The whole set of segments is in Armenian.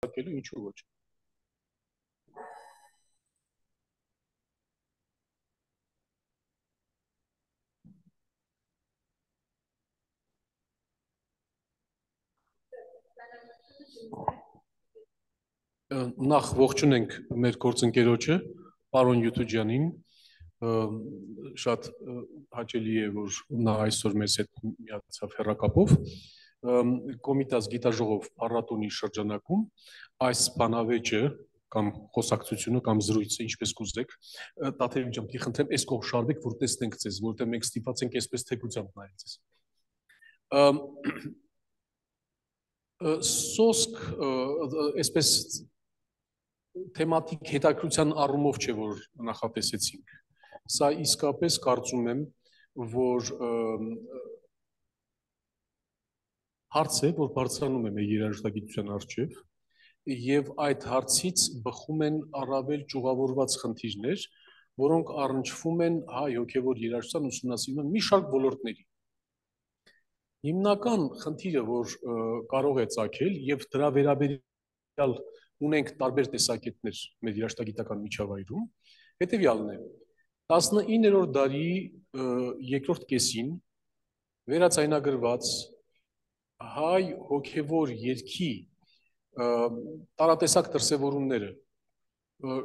քննարկելու, ինչու ոչ։ Նախ ողջունենք մեր գործընկերոջը, պարոն Յութուջյանին, շատ հաճելի է, որ նա այսօր մեզ հետ միացավ հեռակապով, Կոմիտաս գիտաժողով փառատոնի շրջանակում այս բանավեճը կամ խոսակցությունը կամ զրույցը, ինչպես կուզեք, Տաթևի ջան, պիտի խնդրեմ, այս կողմ շարվեք, որ տեսնենք ձեզ, որովհետև մենք ստիպված ենք այսպես թեքությամբ նայել ձեզ։ Սոսկ, այսպես թեմատիկ հետաքրության առումով չէ, որ նախատեսեցինք։ Սա իսկապես կարծում եմ, որ հարց է, որ բարձրանում է մեր երաժշտագիտության առջև, եւ այդ հարցից բխում են առավել ճյուղավորված խնդիրներ, որոնք առնչվում են հայ հոգևոր երաժշտության ուսումնասիրման մի շարք ոլորտների։ Հիմնական խնդիրը, որ կարող է ծագել եւ դրա վերաբերյալ ունենք տարբեր տեսակետներ մեր երաժշտագիտական միջավայրում, հետեւյալն է. 19-րդ դարի երկրորդ կեսին վերածայնագրված հայ հոգևոր երգի տարատեսակ դրսևորումները,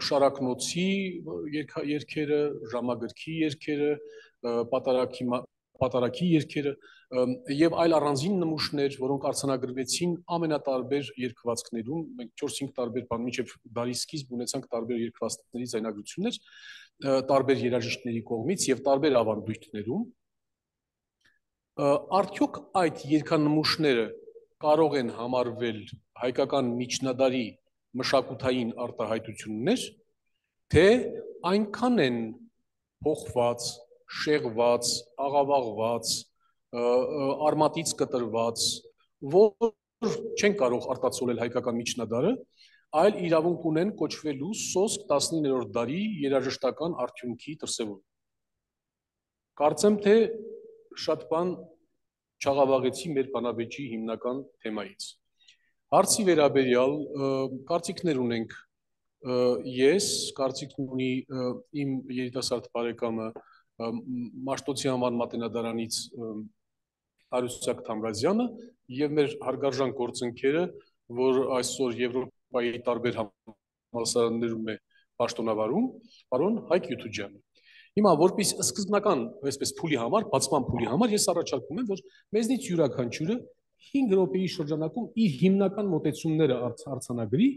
շարակնոցի երգերը, ժամագրքի երգերը, պատարագի երգերը եւ այլ առանձին նմուշներ, որոնք արձանագրվեցին ամենատարբեր երգվածքներում, մենք 4-5 տարբեր բան մինչեւ դարի սկիզբ ունեցանք տարբեր երգվածքների ձայնագրություններ, տարբեր երաժիշտների կողմից եւ տարբեր ավանդույթներում, արդյոք այդ երգանմուշները կարող են համարվել հայկական միջնադարի մշակութային արտահայտություններ, թե այնքան են փոխված, շեղված, աղավաղված, արմատից կտրված, որ չեն կարող արտացոլել հայկական միջնադարը, այլ իրավունք ունեն կոչվելու սոսկ 19-րդ դարի երաժշտական արդյունքի դրսևորում։ Կարծեմ, թե շատ բան չաղավաղեցի մեր բանավեճի հիմնական թեմայից։ Հարցի վերաբերյալ կարծիքներ ունենք ես, կարծիքն ունի իմ երիտասարդ բարեկամը Մաշտոցի անվան մատենադարանից Արուսյակ Թամրազյանը եւ մեր հարգարժան գործընկերը, որ այսօր Եվրոպայի տարբեր համալսարաններում է պաշտոնավարում, պարոն Հայկ Յութուջյանը։ Հիմա որպես սկզբնական, այսպես փուլի համար, բացման փուլի համար ես առաջարկում եմ, որ մեզնից յուրաքանչյուրը 5 րոպեի շրջանակում իր հիմնական մոտեցումները արձանագրի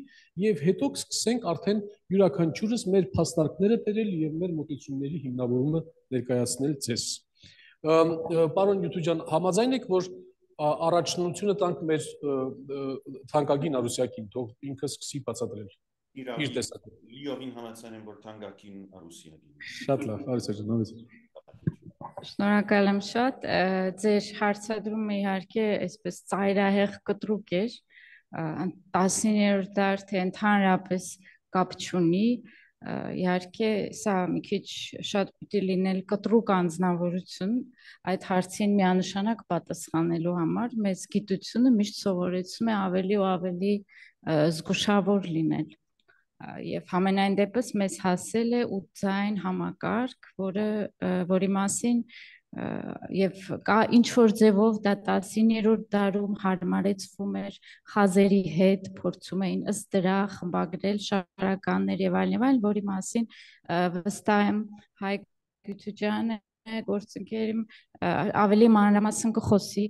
եւ հետո կսկսենք արդեն յուրաքանչյուրս մեր փաստարկները բերել եւ մեր մոտեցումների հիմնավորումը ներկայացնել ձեզ։ Պարոն Յութուջյան, համաձայն եք, որ առաջնությունը տանք մեր թանկագին Արուսյակին, թող ինքը սկսի բացատրել իր տեսակետը։ Լիովին համաձայն եմ, որ թանկագին Արուսյակին։ Շատ լավ, Արուսյակ ջան, Շնորհակալ եմ շատ, ձեր հարցադրումը իհարկե այսպես ծայրահեղ կտրուկ էր, 19-րդ դար, թե ընդհանրապես կապ չունի, իհարկե սա մի քիչ շատ պիտի լինել կտրուկ անձնավորություն այդ հարցին միանշանակ պատասխանելու համար, մեծ գիտությունը միշտ սովորեցում է ավելի ու ավելի զգուշավոր լինել։ Եվ համենայն դեպս մեզ հասել է 8 ձայն համակարգ, որի մասին եւ կա ինչ որ ձևով դա 19-րդ դարում հարմարեցվում էր խազերի հետ, փորձում էին ըստ դրա խմբագրել շարականներ եւ այլն, որի մասին վստահ եմ Հայկ Յութուջյանը գործընկերիմ ավելի մանրամասն կխոսի,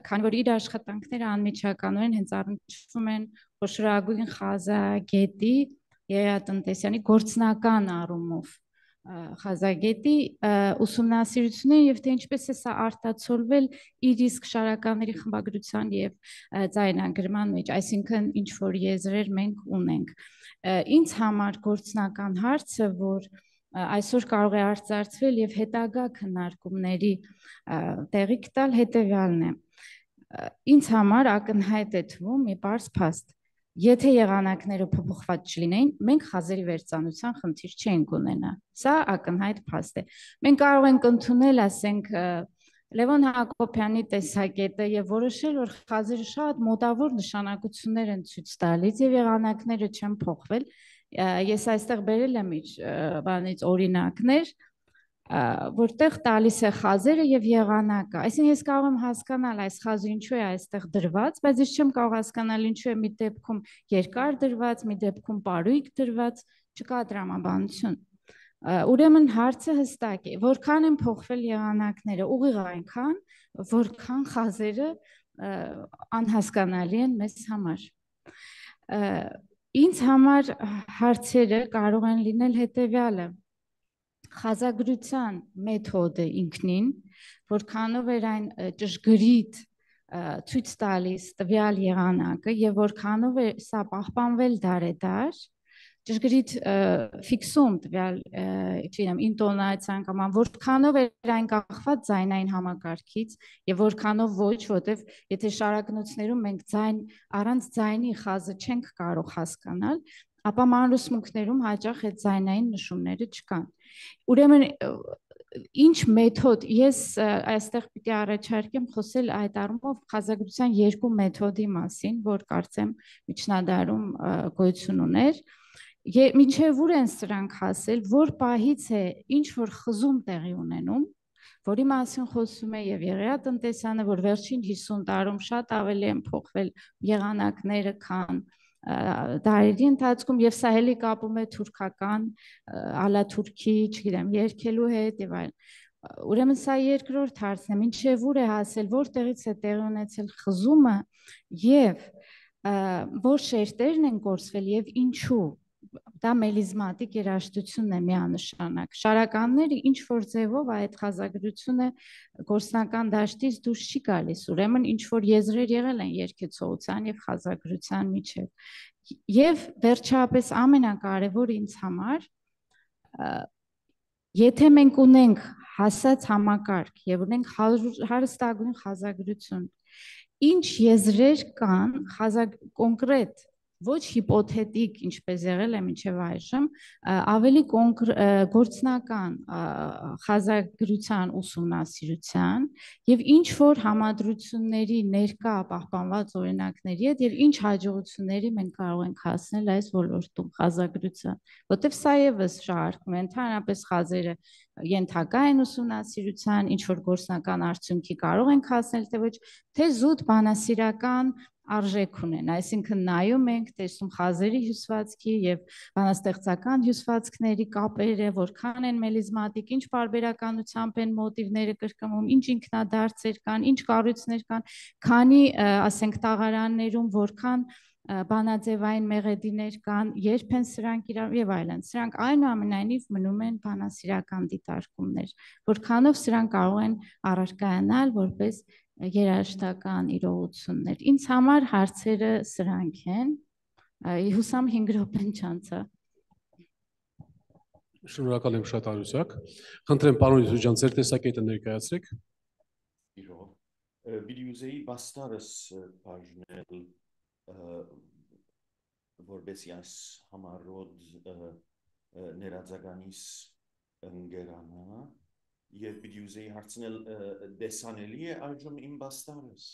քանի որ իր աշխատանքները անմիջականորեն հենց առնչվում են խոշորագույն խազագետի Երաժշտության գործնական առումով խազագետի ուսումնասիրությունը եւ թե ինչպես է սա արտացոլվել իր իսկ շարականների խմբագրության եւ ձայնագրման մեջ, այսինքն ինչ որ եզրեր մենք ունենք։ Ինձ համար գործնական հարցը, որ այսօր կարող է արծարծվել եւ հետագա քննարկումների տեղիք տալ, հետեւյալն է։ Ինձ համար ակնհայտ է թվում մի պարզ փաստ. Եթե եղանակները փոփոխված չլինեին, մենք խազերի վերծանության խնդիր չենք ունենա։ Սա ակնհայտ փաստ է։ Մենք կարող ենք ընդունել, ասենք, Լևոն Հակոբյանի տեսակետը եւ որոշել, որ խազերը շատ մոտավոր նշանակություններ են ցույց տալիս եւ եղանակները չեն փոխվել։ Ես այստեղ բերել եմ իր բանից օրինակներ, որտեղ տալիս է խազերը եւ եղանակը։ Այսինքն ես կարող եմ հասկանալ այս խազը ինչու է այստեղ դրված, բայց ես չեմ կարող հասկանալ ինչու է մի դեպքում երկար դրված, մի դեպքում պարույկ դրված, չկա տրամաբանություն։ Ուրեմն հարցը հստակ է, որքան են փոխվել եղանակները, ուղիղ այնքան, որքան խազերը անհասկանալի են մեզ համար։ Ինձ համար հարցերը կարող են լինել հետևյալը. խազագրության մեթոդը ինքնին, որքանով էր այն ճշգրիտ ցույց տալիս տվյալ եղանակը եւ որքանով է սա պահպանվել դարեդար, ճշգրիտ ֆիքսում տվյալ, չգիտեմ, ինտոնացիան կամ որքանով էր այն կախված ձայնային համակարգից եւ որքանով ոչ, որտեվ եթե շարակնոցներում մենք առանց ձայնի խազը չենք կարող հասկանալ, ապա մանրուսմունքներում հաճախ այդ ձայնային նշումները չկան։ Ուրեմն ինչ մեթոդ, ես այստեղ պիտի առաջարկեմ խոսել այդ առումով խազագրության երկու մեթոդի մասին, որ կարծեմ միջնադարում գոյություն ուներ։ Մինչև ուր են սրանք հասել, որ պահից է ինչ որ խզում տեղի ունենում, որի մասին խոսում է եւ Եղիա տնտեսյանը, որ վերջին 50 տարում շատ ավելի են փոխվել եղանակները, քան դարերի ընթացքում, եւ սա էլի կապում է թուրքական, ալաթուրքի, չգիտեմ, երգելու հետ եւ այլն։ Ուրեմն սա երկրորդ հարցն է, մինչև ուր է հասել, որտեղից է տեղի ունեցել խզումը եւ որ շերտերն են կորսվել եւ ինչու։ Դա մելիզմատիկ երաժշտությունն է միանշանակ։ Շարականները ինչ որ ձևով այդ խազագրությունը գործնական դաշտից դուրս չի գալիս, ուրեմն ինչ որ եզրեր եղել են երգեցողության եւ խազագրության միջեւ։ Եվ վերջապես ամենակարևորը ինձ համար, եթե մենք ունենք հասած համակարգ եւ ունենք հարստագույն խազագրություն, ինչ եզրեր կան կոնկրետ, ոչ հիպոթետիկ, ինչպես եղել է մինչև այժմ, ավելի գործնական խազագրության ուսումնասիրության եւ ինչ որ համադրությունների ներկա պահպանված օրինակների հետ եւ ինչ հաջողությունների մենք կարող ենք հասնել այս ոլորտում խազագրության, որտեվ սա եւս շարքում է, ընդհանրապես խազերը ենթակա են ուսումնասիրության, ինչ որ գործնական արդյունքի կարող ենք հասնել, թե ոչ, թե զուտ բանասիրական արժեք ունեն, այսինքն նայում ենք, տեսնում խազերի հյուսվածքի եւ բանաստեղծական հյուսվածքների կապերը, որքան են մելիզմատիկ, ինչ պարբերականությամբ են մոտիվները կրկնվում, ինչ ինքնադարձեր կան, ինչ կառույցներ կան, քանի, ասենք, տաղարաններում որքան բանաձևային մեղեդիներ կան, երբ են սրանք իրար եւ այլն։ Սրանք այնուամենայնիվ մնում են բանասիրական դիտարկումներ, որքանով սրանք կարող են առարկայանալ որպես երաժշտական իրողություններ։ Ինձ համար հարցերը սրանք են։ Հուսամ 5 րոպեն չանցա։ Շնորհակալ եմ շատ Արուսյակ։ Խնդրեմ պարոն Յուսուջան, ձեր տեսակետը ներկայացրեք։ Իրո։ Բիդյուզեի բաստարս բաժնել որբեսի այս համառոդ ներածականիս ընգերանա եւ բիդյուզեի հարցնել դեսանելի է այժմ իմ բաստարս։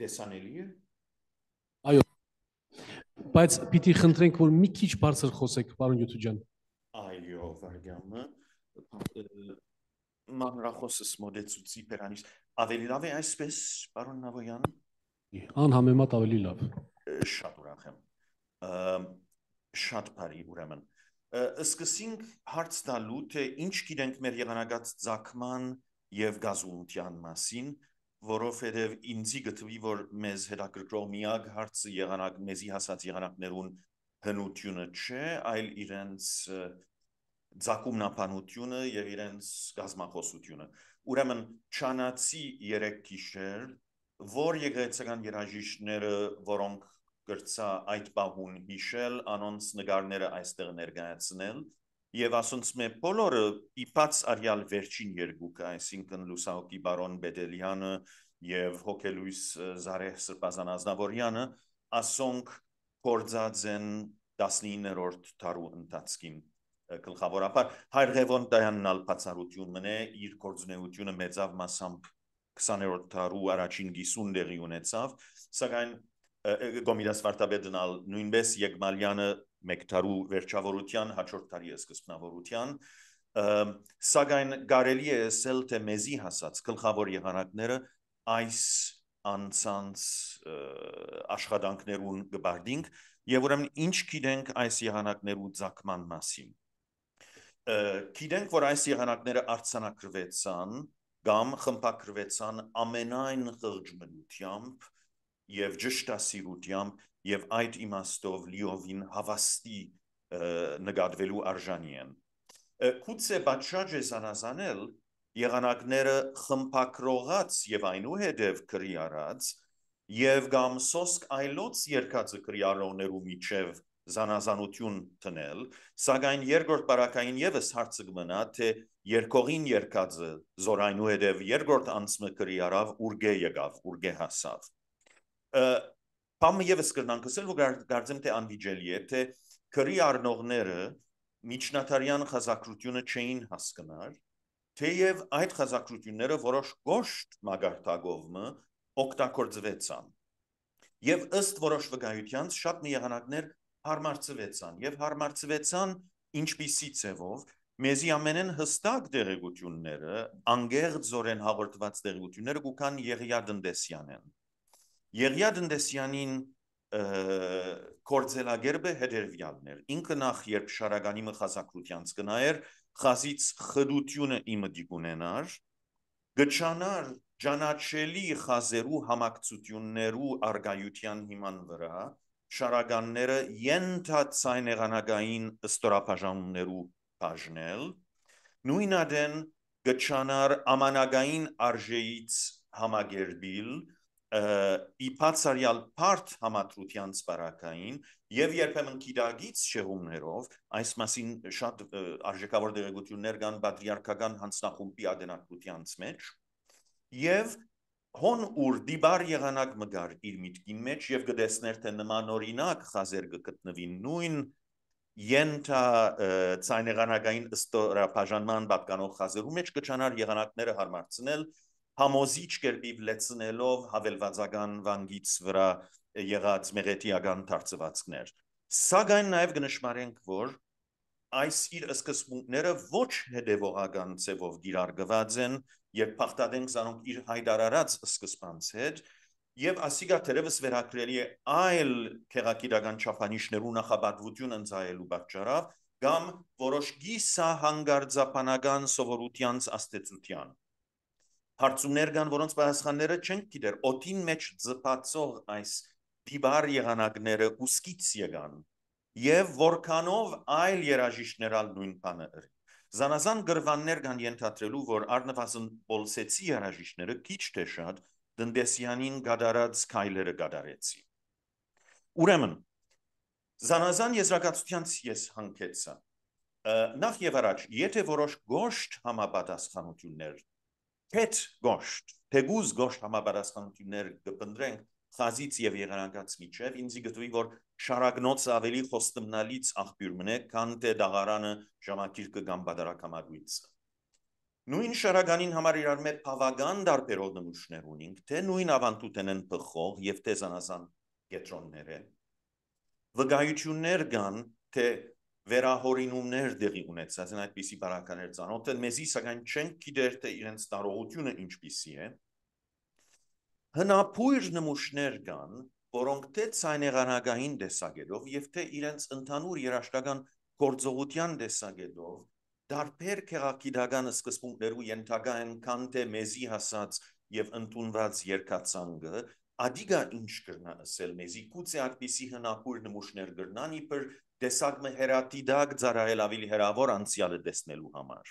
Դեսանելի է։ Այո, բայց պիտի խնդրենք, որ մի քիչ բարձր խոսեք, պարոն Յութուջան։ Այո, վարգամը մանրախոսս մոդեցուցի պերանից ավելի լավ է այսպես, պարոն Նավոյան։ Անհամեմատ ավելի լավ։ Շատ ուրախ եմ։ Շատ բարի ուրեմն։ Սկսենք հարց տալու, թե ինչ գիտենք մեր եղանակած ձգման եւ գազունության մասին, որովհետեւ ինձի գտվի, որ մեզ հետաքրքրող միակ հարցը եղանակ մեզի հասած եղանակներուն հնությունը չէ, այլ իրենց ձակումնապանությունը եւ իրենց գազմախոսությունը։ Ուրեմն չանացի 3 գիշեր, որ եկեղեցական երաժիշտները, որոնք գրծա այդ բահուն հիշել, անոնց նկարները այստեղ ներկայացնել եւ ասոնց մե բոլորը իբաց արյալ վերջին երկուքը, այսինքն լուսահոգի բարոն Բեդելյանը եւ հոգելույս Զարեհ Սրբազան Ազնավուրյանը, ասոնք կործած են 19-րդ դարու ընթացքին գլխավորապես Հայր Ղևոն Դայանն բացառություն մնե իր գործունեությունը մեծավ մասամբ 20-րդ դարու առաջին 50 դեղի ունեցավ սակայն Գոմիրաս Վարդապետն նույնպես Եգմալյանը մեկ դարու վերջավորության հաջորդ դարի սկզբնավորության սակայն կարելի է ասել թե մեզի հասած գլխավոր եղանակները այս անցանց աշխատանքներուն գբարդինք եւ ուրեմն ինչ գիտենք այս եղանակներու ցակման մասին գիտենք որ այս եղանակները արձանագրվեցան կամ խմբագրվեցան ամենայն խղճմնությամբ եւ ճշտասիրությամբ եւ այդ իմաստով լիովին հավաստի նկատվելու արժանի են Գուցե պատշաճ է զանազանել եղանակները խմբագրողած եւ այնուհետեւ քրի արած եւ կամ սոսկ այլոց երկածը քրիարողներու միջև զանազանություն տնել սակայն երկրորդ բարակային եւս հարցը կմնա թե երկողին երկածը զոր այնուհետեւ երկրորդ անցմը քրի արավ ուրգե եկավ ուրգե հասավ Պամը եւս կրնանք ասել որ կարծեմ թե անվիճելի է թե քրի առնողները միջնադարյան խազակրությունը չէին հասկնար թեև այդ խազակրությունները որոշ գոշտ մագարտակով օգտագործվեցան եւ ըստ որոշ վկայության շատ մի եղանակներ հարմարցվեցան եւ հարմարցվեցան ինչպիսի ձևով մեզի ամենեն հստակ դերեկությունները անգեղձորեն հաղորդված դերեկությունները կան Եղիա Տնտեսյանեն Եղիա Տնտեսյանին կորձելագերբը հետերվյալներ ինքը նախ երբ շարագանի մխազակրությանց կնայեր խազից խդությունը իմը դիգունենար գճանար ճանաչելի խազերու համակցություններու արգայության հիման վրա շարագանները ենթացայնեղանակային ստորապաժանումներու բաժնել նույնադեն գճանար ամանագային արժեից համագերբիլ իպացարյալ բարդ համատրության սպարակային եւ երբեմն քիդագից շեղումներով այս մասին շատ արժեքավոր դերեկություններ կան պատրիարքական հանձնախումբի ադենակրությանց մեջ եւ հոն ուր դիբար եղանակ մգար իր միտքին մեջ եւ գտեսներ թե նման օրինակ խազեր կգտնվին նույն ենթա ցայնեղանակային ստորապաժանման պատկանող խազերու մեջ կճանար եղանակները հարմարցնել համոզիչ կերպիվ լեցնելով հավելվածական վանգից վրա եղած մեղետիական դարձվածքներ սակայն նաև կնշմարենք որ այս իր սկզբունքները ոչ հետևողական ձևով գիրարգված են երբ փախտadենք զանոնք իր հայտարարած սկզբանց հետ եւ ասիկա թերևս վերակրելի է այլ քեղակիրական չափանիշներու նախաբատվություն ընծայելու պատճառով կամ որոշ գիսահանգարձապանական սովորությանց աստեցության հարցումներ կան որոնց պատասխանները չենք գիտեր օդին մեջ ձպացող այս դիբար եղանակները ուսկից եկան եւ որքանով այլ երաժիշտներալ նույն բանը զանազան գրվաններ կան ենթադրելու որ առնվազն բոլսեցի երաժիշտները քիչ թե շատ Տնտեսյանին գդարած քայլերը գդարեցի ուրեմն զանազան եզրակացությանց ես հանգեցա նախ եւ առաջ եթե որոշ գոշտ համապատասխանություններ Հետ գոշտ, թեգուզ գոշտ համապատասխանություններ կպնդրենք խազից եւ եղանակած միջև, ինձի գտվի, որ շարագնոց ավելի խոստմնալից աղբյուր մնե, քան թե դաղարանը ժամակիրկը կամ բադարակամագույցը։ Նույն շարագանին համար իրար մեր բավական դարբերով նմուշներ ունենք, թե նույն ավանդութեն են պխող եւ թե զանազան կետրոններ են։ Վկայություններ կան, թե վերահորինումներ դեղի ունեցած են այդպիսի բարականեր ծանոթ են մեզի սակայն չենք գիտեր թե իրենց տարողությունը ինչպիսի է հնապույր նմուշներ կան որոնք թե ցայնեղանակային տեսակետով եւ թե իրենց ընդհանուր երաշտական գործողության տեսակետով դարբեր քեղակիրական սկզբունքներու ենթակա են քան թե մեզի հասած եւ ընդունված երկացանգը Ադիգա ինչ կրնա ասել մեզի գուցե այդպիսի հնապույր նմուշներ կրնան իբր տեսակմը հերատիդակ ծառայել ավելի հերավոր անցյալը տեսնելու համար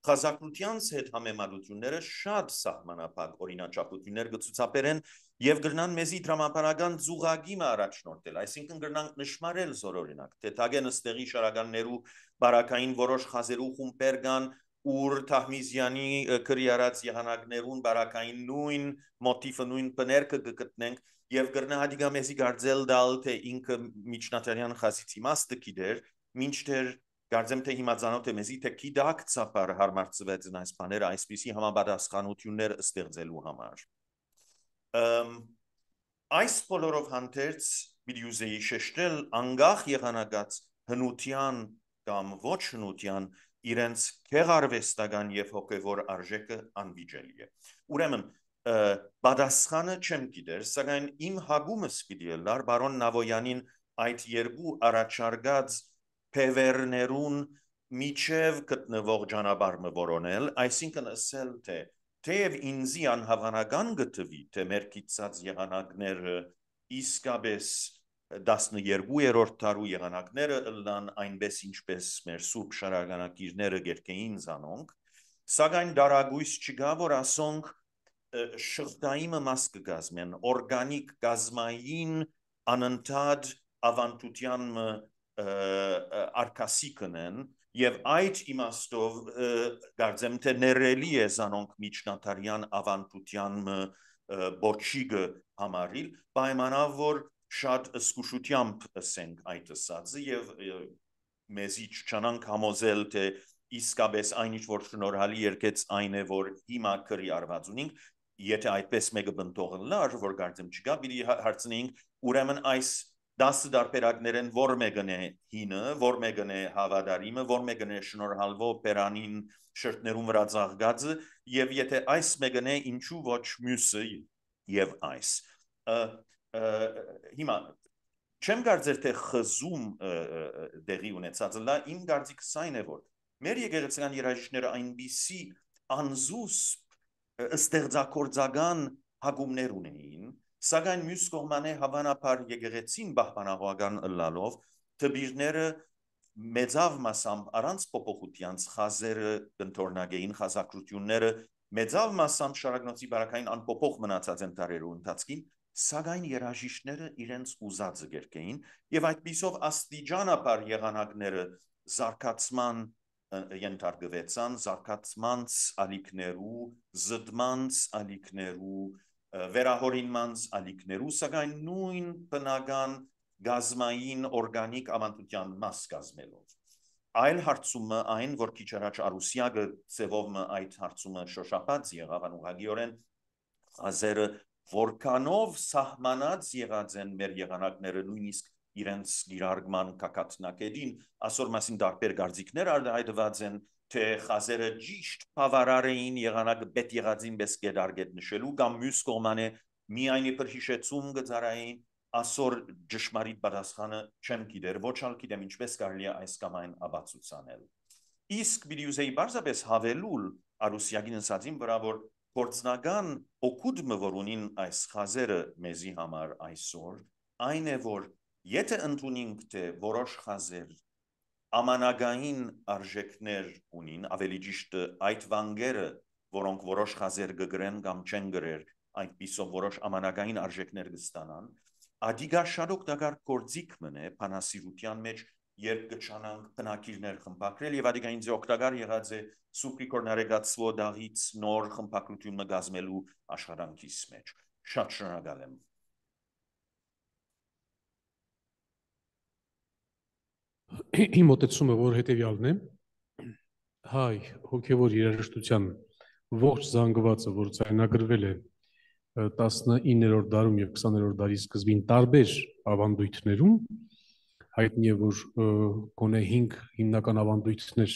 Խազակրությանց հետ համեմատությունները շատ սահմանափակ օրինաչափություններ կցուցաբերեն եւ կրնան մեզի դրամապանական զուգագիմը առաջնորդել այսինքն կրնանք նշмарել զորօրինակ թե թագեն ըստեղի շարականներու բարակային որոշ խազերու խումբեր կան ուր Թահմիզյանի քրի արած եղանակներուն բարակային նույն մոտիվը նույն բներկը կգտնենք եւ գրնահատիկա մեզի գարձել դալ թե ինքը միջնատարյան խասից իմաստը գիտեր մինչդեռ գարձեմ թե հիմա ցանոթ է մեզի թե գիտակցաբար հարմարծվեց այս բաները այսպիսի համապատասխանություններ ստեղծելու համար այս բոլորով հանդերձ պիտի ուզեի շեշտել անգախ եղանակած հնության կամ ոչ հնության իրենց քեղարվեստական եւ հոգեվոր արժեքը անվիճելի է ուրեմն պատասխանը չեմ գիտեր սակայն իմ հագումս պիտի լար բարոն Նավոյանին այդ երկու առաջարկած փևերներուն միջև գտնվող ճանապարհը որոնել այսինքն ասել թե թեև ինձի անհավանական գտվի թե մեր կիցած եղանակները իսկապես 12-րդ դարու եղանակները ըլլան այնպես ինչպես մեր սուրբ շարականակիրները գերկեին զանոնք սակայն դարագույս չկա որ ասոնք շղթայինը մաս կգազմեն օրգանիկ գազմային անընդհատ ավանդության արկասիկն են եւ այդ իմաստով գարձեմ թե ներելի է զանոնք միջնատարյան ավանդության բոչիգը համարիլ պայմանավ որ շատ զգուշությամբ ասենք այդ ասածը եւ մեզի չանանք համոզել թե իսկապես այն ինչ որ շնորհալի երկեց այն է որ հիմա քրի արված ունենք եթե այդպես մեկը բնտողնար որ գարձեմ չկա պիտի հարցնենք ուրեմն այս 10 դարբերակներն որ մեկն է հինը որ մեկն է հավատարիմը որ մեկն է շնորհալվող պերանին շրթներում վրա ծաղկածը եւ եթե այս մեկն է ինչու ոչ մյուսը եւ այս հիմա չեմ կարծեր թե խզում դեղի ունեցած լա իմ կարծիքս այն է որ մեր եկեղեցական երաժիշտները այնպիսի անզուսպ ստեղծագործական հագումներ ունեին սակայն մյուս կողմանը հավանաբար եկեղեցին պահպանողական ըլլալով տբիրները մեծավ մասամբ առանց փոփոխությանց խազերը կընթորնագեին խազակրությունները մեծավ մասամբ շարակնոցի բարակային անփոփոխ մնացած են տարերու ընթացքին սակայն երաժիշտները իրենց ուզածը գերկեին եւ այդպիսով աստիճանաբար եղանակները զարգացման ենթարկվեցան զարգացմանց ալիքներու զդմանց ալիքներու վերահորինմանց ալիքներու սակայն նույն բնական գազմային օրգանիկ ավանդության մաս կազմելով այլ հարցումը այն որ քիչ առաջ Արուսյագը ծևով այդ հարցումը շոշափած եղավ անուղագիորեն ազերը որքանով սահմանած եղած են մեր եղանակները նույնիսկ իրենց գիրարգման կակատնակետին ասոր մասին դարբեր գարձիկներ արտահայտված են թե խազերը ճիշտ բավարար էին եղանակը պետ եղածին պես գետարգետ նշելու կամ մյուս կողմանը միայն իբր հիշեցում գծարային ասոր ճշմարիտ պատասխանը չեմ գիտեր ոչ ալ գիտեմ ինչպես կարելի է այս կամ այն աբացուցանել իսկ պիտի ուզեի բարձրապես հավելուլ Արուսյագին ասածին վրա որ գործնական օգուտը որ ունին այս խազերը մեզի համար այսօր այն է որ եթե ընդունենք թե որոշ խազեր ամանագային արժեքներ ունին ավելի ճիշտ այդ վանգերը որոնք որոշ խազեր գգրեն կամ չեն գրեր այնպիսով որոշ ամանագային արժեքներ կստանան ադիգա շատ օգտակար գործիք մնե բանասիրության մեջ երբ կչանանք բնակիրներ խմբակրել եւ ադիգա ինձ օգտակար եղած է սուպրիկոր նարեգացվո դաղից նոր խմբակրություն մգազմելու աշխատանքիս մեջ շատ շնորհակալ եմ Իմ մոտեցումը որ հետևյալն է հայ հոգևոր երաժշտության ողջ զանգվածը որ ձայնագրվել է 19-րդ դարում եւ 20-րդ դարի սկզբին տարբեր ավանդույթներում հայտնի է որ գոնե 5 հիմնական ավանդույթներ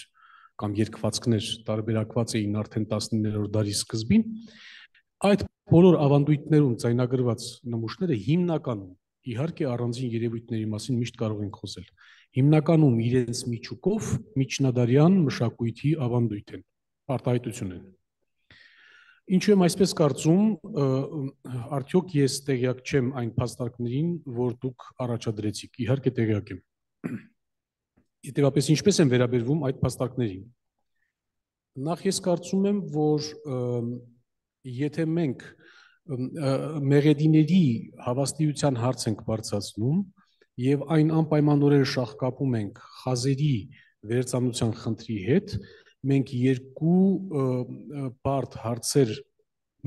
կամ երկվածքներ տարբերակված էին արդեն 19-րդ դարի սկզբին այդ բոլոր ավանդույթներում ձայնագրված նմուշները հիմնականում իհարկե առանձին երևույթների մասին միշտ կարող ենք խոսել հիմնականում իրենց միջուկով միջնադարյան մշակույթի ավանդույթ են արտահայտություն են ինչու եմ այսպես կարծում արդյոք ես տեղյակ չեմ այն փաստարկներին որ դուք առաջադրեցիք իհարկե տեղյակ եմ Հետևաբար ինչպես են վերաբերվում այդ փաստարկներին նախ ես կարծում եմ որ եթե մենք մեղեդիների հավաստիության հարց ենք բարձրացնում եւ այն անպայմանորեն շահկապում ենք խազերի վերծանության խնդրի հետ մենք երկու բարդ հարցեր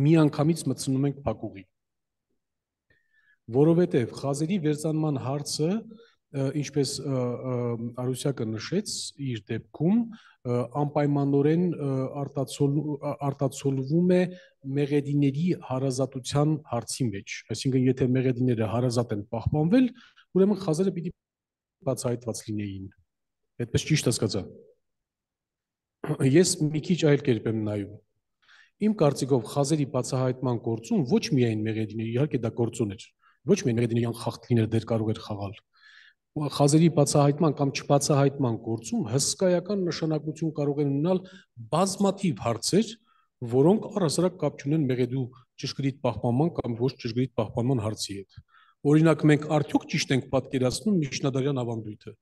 միանգամից մտցնում ենք փակուղի որովհետև խազերի վերծանման հարցը, ինչպես Արուսյակը նշեց իր դեպքում, անպայմանորեն արտացոլվում է մեղեդիների հարազատության հարցի մեջ, այսինքն եթե մեղեդիները հարազատ են պահպանվել, ուրեմն խազերը պիտի բացահայտված լինեին, այդպես ճիշտ հասկացա։ Ես մի քիչ այլ կերպ եմ նայում։ Իմ կարծիքով խազերի բացահայտման գործում ոչ միայն մեղեդիների, իհարկե դա գործոն էր, ոչ միայն մեղեդիների անխախտ լինել դեր կարող էր խաղալ։ Խազերի բացահայտման կամ չբացահայտման գործում հսկայական նշանակություն կարող են ունենալ բազմաթիվ հարցեր, որոնք առհասարակ կապ չունեն մեղեդու ճշգրիտ պահպանման կամ ոչ ճշգրիտ պահպանման հարցի հետ։ Օրինակ, մենք արդյոք ճիշտ ենք պատկերացնում միջնադարյան ավանդույթը։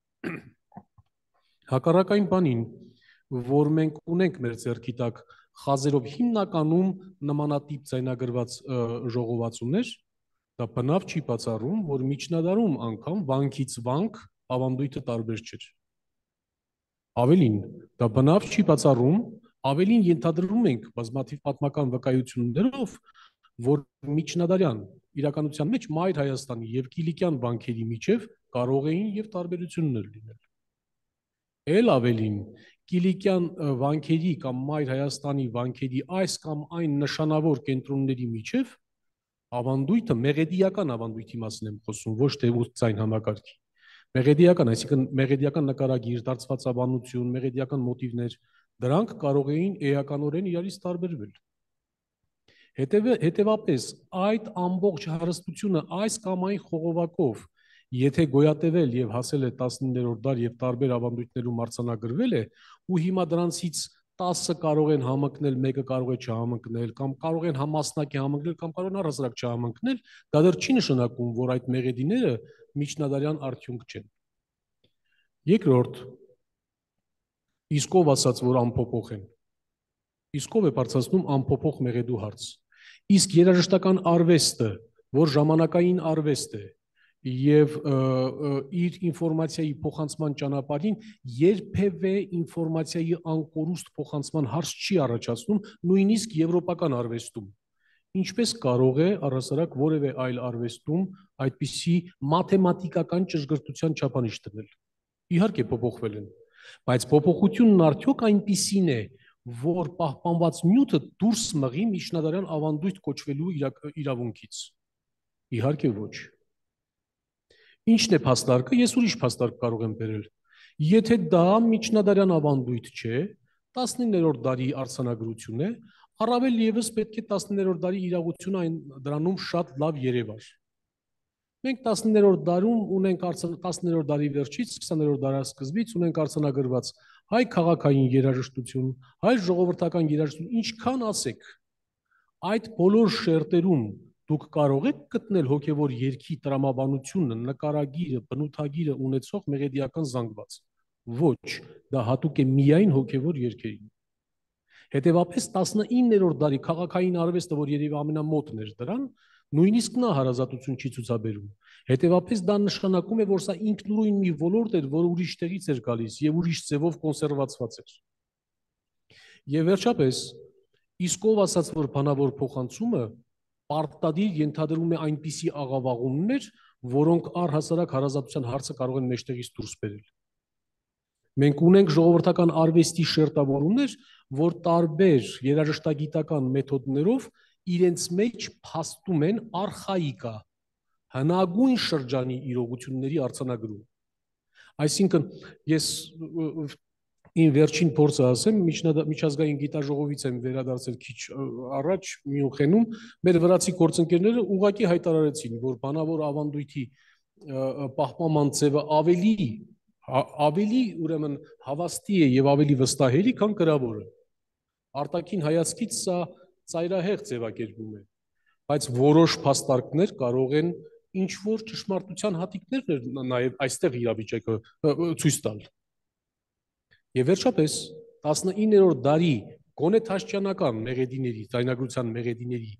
Հակառակ այն բանին, որ մենք ունենք մեր ձեռքի տակ խազերով հիմնականում նմանատիպ ձայնագրված ժողովածուներ, դա բնավ չի բացառում, որ միջնադարում անգամ վանքից վանք ավանդույթը տարբեր չէր։ Ավելին, դա բնավ չի բացառում, ավելին ենթադրում ենք բազմաթիվ պատմական վկայություններով, որ միջնադարյան իրականության մեջ Մայր Հայաստանի եւ Կիլիկյան վանքերի միջև կարող էին եւ տարբերություններ լինել։ Էլ ավելին, Կիլիկյան վանքերի կամ Մայր Հայաստանի վանքերի այս կամ այն նշանավոր կենտրոնների միջև ավանդույթը մեղեդիական ավանդույթի մասին եմ խոսում, ոչ թե ուսուցային համակարգի։ Մեղեդիական, այսինքն մեղեդիական նկարագիր, դարձվածաբանություն, մեղեդիական մոտիվներ, դրանք կարող էին էականորեն իրարից տարբերվել։ Հետևաբար, այդ ամբողջ հարստությունը այս կամ այն խողովակով, եթե գոյատևել եւ հասել է 19-րդ դար եւ տարբեր ավանդույթներում արձանագրվել է, ու հիմա դրանցից 10-ը կարող են համընկնել, մեկը կարող է չհամընկնել, կամ կարող են համասնակի համընկնել, կամ կարող են առհասարակ չհամընկնել, դա դեռ չի նշանակում, որ այդ մեղեդիները միջնադարյան արդյունք չեն։ Երկրորդ, իսկ ով ասաց, որ անփոփոխ են։ Իսկ ով է բարձրացնում անփոփոխ մեղեդու հարց։ Իսկ երաժշտական արվեստը, որ ժամանակային արվեստ է, եւ իր ինֆորմացիայի փոխանցման ճանապարհին երբևէ ինֆորմացիայի անկորուստ փոխանցման հարց չի առաջացնում, նույնիսկ եվրոպական արվեստում։ Ինչպես կարող է առհասարակ որևէ այլ արվեստում այդպիսի մաթեմատիկական ճշգրտության չափանիշ դնել։ Իհարկե փոփոխվել են, բայց փոփոխությունն արդյոք այնպիսին է, որ պահպանված նյութը դուրս մղի միջնադարյան ավանդույթ կոչվելու իրավունքից։ Իհարկե ոչ։ Ինչն է փաստարկը, ես ուրիշ փաստարկ կարող եմ բերել։ Եթե դա միջնադարյան ավանդույթ չէ, 19-րդ դարի արձանագրություն է, առավել եւս պետք է 19-րդ դարի իրողությունը դրանում շատ լավ երևար։ Մենք 19-րդ դարում ունենք 19-րդ դարի վերջից 20-րդ դարաշրջանից ունենք արձանագրված հայ քաղաքային երաժշտություն, հայ ժողովրդական երաժշտություն, ինչքան ասեք, այդ բոլոր շերտերում դուք կարող եք գտնել հոգևոր երգի տրամաբանությունը, նկարագիրը, բնութագիրը ունեցող մեղեդիական զանգված։ Ոչ, դա հատուկ է միայն հոգևոր երգերին։ Հետևաբար 19-րդ դարի քաղաքային արվեստը, որ երևի ամենամոտն էր դրան, նույնիսկ նա հարազատություն չի ցուցաբերում։ Հետևաբար դա նշանակում է, որ սա ինքնուրույն մի ոլորտ էր, որը ուրիշ տեղից էր գալիս եւ ուրիշ ձևով կոնսերվացված էր։ Եվ վերջապես, իսկ ով ասաց, որ բանավոր փոխանցումը պարտադիր ենթադրում է այնպիսի աղավաղումներ, որոնք առհասարակ հարազատության հարցը կարող են մեջտեղից դուրս բերել։ Մենք ունենք ժողովրդական արվեստի շերտավորումներ, որ տարբեր երաժշտագիտական մեթոդներով իրենց մեջ փաստում են արխայիկա, հնագույն շրջանի իրողությունների արձանագրում։ Այսինքն, ես իմ վերջին փորձը ասեմ, միջազգային գիտաժողովից եմ վերադարձել քիչ առաջ Մյունխենում, մեր վրացի գործընկերները ուղղակի հայտարարեցին, որ բանավոր ավանդույթի պահպանման ձևը ավելի ուրեմն հավաստի է եւ ավելի վստահելի, քան գրավորը։ Արտաքին հայացքից սա ծայրահեղ ձևակերպում է, բայց որոշ փաստարկներ կարող են ինչ որ ճշմարտության հատիկներ նաեւ այստեղ իրավիճակը ցույց տալ։ Եվ վերջապես 19-րդ դարի գոնե Թաշչյանական մեղեդիների, ձայնագրության մեղեդիների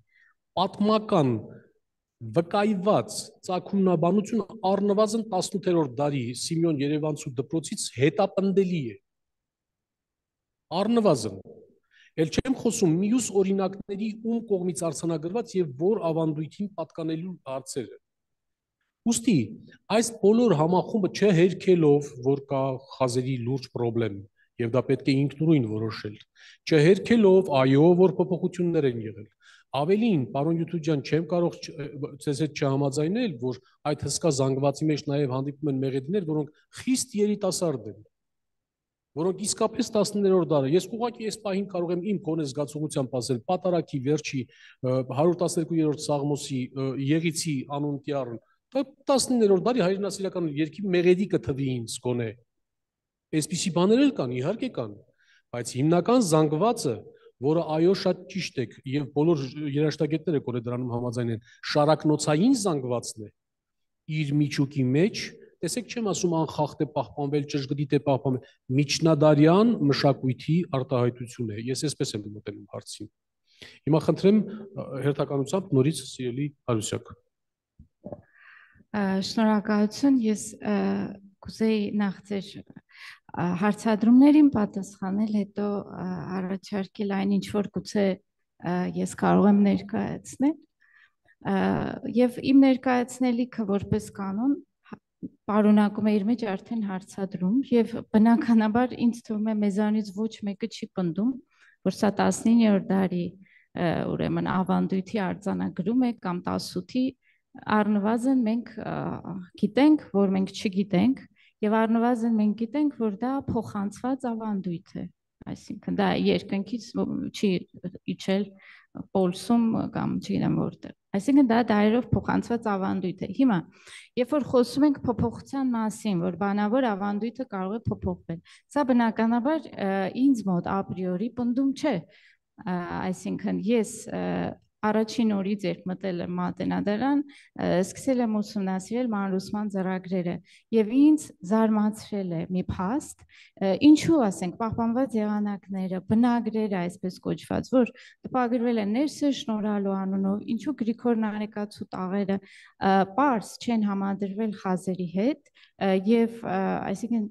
պատմական վկայված ծագումնաբանությունը առնվազն 18-րդ դարի Սիմեոն Երևանցու դպրոցից հետապնդելի է։ Առնվազն։ Էլ չեմ խոսում մյուս օրինակների ում կողմից արձանագրված եւ որ ավանդույթին պատկանելու հարցերը։ Ուստի այս բոլոր համախումբը չհերքելով, որ կա խազերի լուրջ խնդրեմ, եւ դա պետք է ինքնուրույն որոշել, չհերքելով, այո, որ փոփոխություններ են եղել։ Ավելին, պարոն Յութուջյան, չեմ կարող ձեզ հետ չհամաձայնել, որ այդ հսկա զանգվածի մեջ նաև հանդիպում են մեղեդիներ, որոնք խիստ երիտասարդ են, որոնք իսկապես 19-րդ դարը, ես ուղղակի այս պահին կարող եմ իմ կոնե զգացողությամբ ասել, Պատարագի վերջի 112-րդ Սաղմոսի Եղիցի անունտյարն, 19-րդ դարի հայրենասիրական երգի մեղեդի կթվի ինձ կոնե։ Այսպիսի բաներ էլ կան, իհարկե կան, բայց հիմնական զանգվածը, որը այո շատ ճիշտ եք եւ բոլոր երաժշտագետները կորե դրանում համաձայն են, շարակնոցային զանգվածն է իր միջուկի մեջ, տեսեք չեմ ասում անխախտ է պահպանվել, ճշգրիտ է պահպանվել, միջնադարյան մշակույթի արտահայտություն է, ես այսպես եմ մոտենում հարցին։ Հիմա խնդրեմ հերթականությամբ նորից սիրելի Հարուսյակ։ Շնորհակալություն, ես կուզեի նախ ձեր հարցադրումներին պատասխանել, հետո առաջարկել այն ինչ որ գուցե ես կարող եմ ներկայացնել, եւ իմ ներկայացնելիքը որպես կանոն պարունակում է իր մեջ արդեն հարցադրում եւ բնականաբար ինձ թվում է մեզանից ոչ մեկը չի պնդում, որ սա 19-րդ դարի ուրեմն ավանդույթի արձանագրում է կամ 18-ի առնվազն մենք գիտենք, որ մենք չգիտենք եւ առնվազն մենք գիտենք, որ դա փոխանցված ավանդույթ է, այսինքն դա երկնքից չի իջել Պոլսում կամ չգիտեմ որտեղ, այսինքն դա դարերով փոխանցված ավանդույթ է։ Հիմա, երբ որ խոսում ենք փոփոխության մասին, որ բանավոր ավանդույթը կարող է փոփոխվել, սա բնականաբար ինձ մոտ ապրիորի պնդում չէ, այսինքն ես առաջին օրից երբ մտել եմ Մատենադարան, սկսել եմ ուսումնասիրել մանրուսման ծրագրերը եւ ինձ զարմացրել է մի փաստ, ինչու ասենք պահպանված եղանակները, բնագրերը այսպես կոչված, որ տպագրվել են Ներսես շնորհալու անունով, ինչու Գրիգոր Նարեկացու տաղերը պարզ չեն համադրվել խազերի հետ եւ այսինքն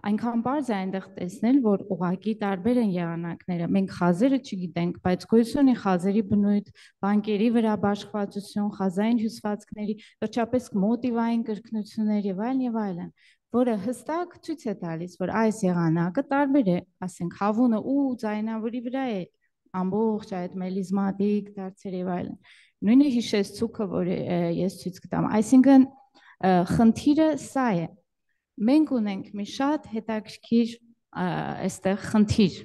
այնքան պարզ է այնտեղ տեսնել, որ ուղղակի տարբեր են եղանակները։ Մենք խազերը չգիտենք, բայց գոյություն ունի խազերի բնույթ, բանկերի վրա բաշխվածություն, խազային հյուսվածքների, վերջապես մոտիվային կրկնություններ եւ այլն, որը հստակ ցույց է տալիս, որ այս եղանակը տարբեր է, ասենք հավունը ու ձայնավորի վրա է ամբողջ այդ մելիզմատիկ դարձեր եւ այլն։ Նույնը հիշեցուցքը, որ ես ցույց կտամ, այսինքն խնդիրը սա է։ Մենք ունենք մի շատ հետաքրքիր այստեղ խնդիր։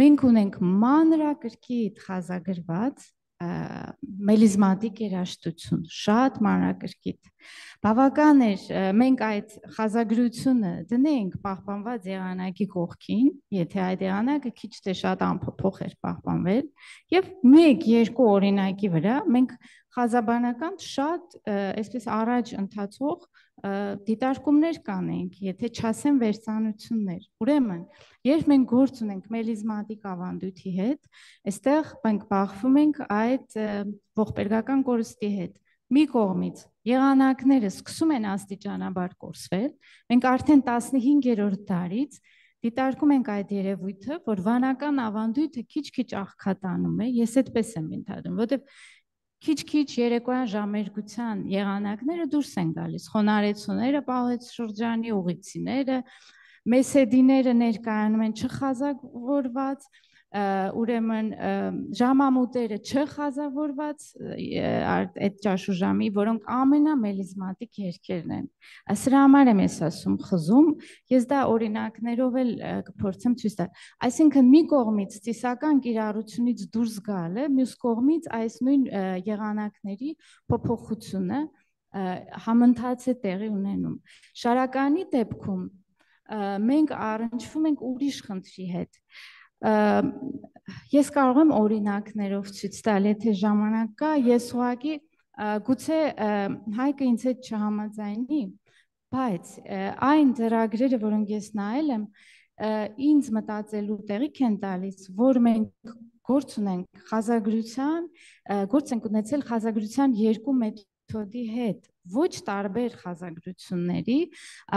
Մենք ունենք մանրակրկիտ խազագրված մելիզմատիկ երաժշտություն, շատ մանրակրկիտ։ Բավական էր մենք այդ խազագրությունը դնենք պահպանված եղանակի կողքին, եթե այդ եղանակը քիչ թե շատ անփոփոխ էր պահպանվել, եւ 1-2 օրինակի վրա մենք խազաբանական շատ այսպես առաջ ընթացող դիտարկումներ կանենք, եթե չասեմ վերցանություններ։ Ուրեմն, երբ մենք գործ ունենք մելիզմատիկ ավանդույթի հետ, այստեղ մենք բախվում ենք այդ ողբերգական կորստի հետ։ Մի կողմից եղանակները սկսում են աստիճանաբար կորսվել, մենք արդեն 15-րդ դարից դիտարկում ենք այդ երևույթը, որ վանական ավանդույթը քիչ-քիչ աղքատանում է, ես այդպես եմ ենթադրում, որովհետև քիչ-քիչ երեկոյան ժամերգության եղանակները դուրս են գալիս, խոնարեցուները, պահեց շրջանի ուղիցիները, մեսեդիները ներկայանում են չխազավորված, ուրեմն ժամամուտերը չխազավորված այդ ճաշուժամի, որոնք ամենամելիզմատիկ երգերն են։ Սրա համար եմ ես ասում խզում, ես դա օրինակներով էլ կփորձեմ ցույց տալ։ Այսինքն մի կողմից ծիսական կիրառությունից դուրս գալը, մյուս կողմից այս նույն եղանակների փոփոխությունը համընթաց է տեղի ունենում։ Շարականի դեպքում մենք առնչվում ենք ուրիշ խնդրի հետ։ Ես կարող եմ օրինակներով ցույց տալ, եթե ժամանակ կա, ես ուղղակի գուցե Հայկը ինձ հետ չհամաձայնի, բայց այն ծրագրերը, որոնք ես նայել եմ, ինձ մտածելու տեղիք են տալիս, որ մենք գործ ունենք խազագրության, գործ ենք ունեցել խազագրության երկու մեթոդի հետ, ոչ տարբեր խազագրությունների,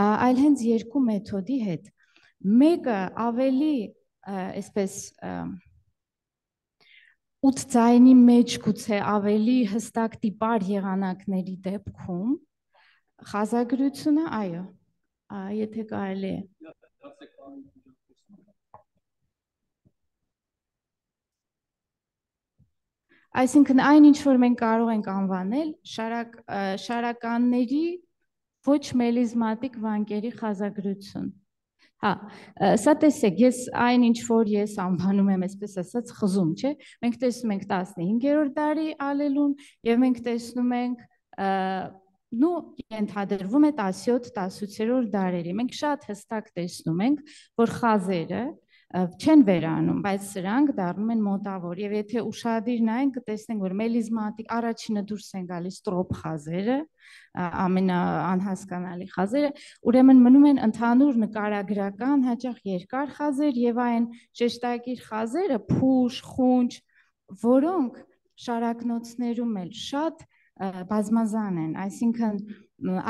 այլ հենց երկու մեթոդի հետ։ Մեկը ավելի այսպես 8 ձայնի մեջ գուցե ավելի հստակ տիպար եղանակների դեպքում խազագրությունը, այո, եթե կարելի է։ Այսինքն այն ինչ որ մենք կարող ենք անվանել շարականների ոչ մելիզմատիկ վանկերի խազագրություն։ Հա, սա տեսեք, ես այն ինչ որ ես անվանում եմ, այսպես ասած, խզում, չէ՞։ Մենք տեսնում ենք 15-րդ դարի ալելուն եւ մենք տեսնում ենք ենթադրվում է 17-18-րդ դարերի։ Մենք շատ հստակ տեսնում ենք, որ խազերը չեն վերանում, բայց սրանք դառնում են մոտավոր եւ եթե ուշադիր նայենք կտեսնենք որ մելիզմատիկ առաջինը դուրս են գալիս տրոփ խազերը, ամենաանհասկանալի խազերը, ուրեմն մնում են ընդհանուր նկարագրական հաճախ երկար խազեր եւ այն շեշտակիր խազերը փուշ, խունջ, որոնք շարակնոցներում էլ շատ բազմազան են, այսինքն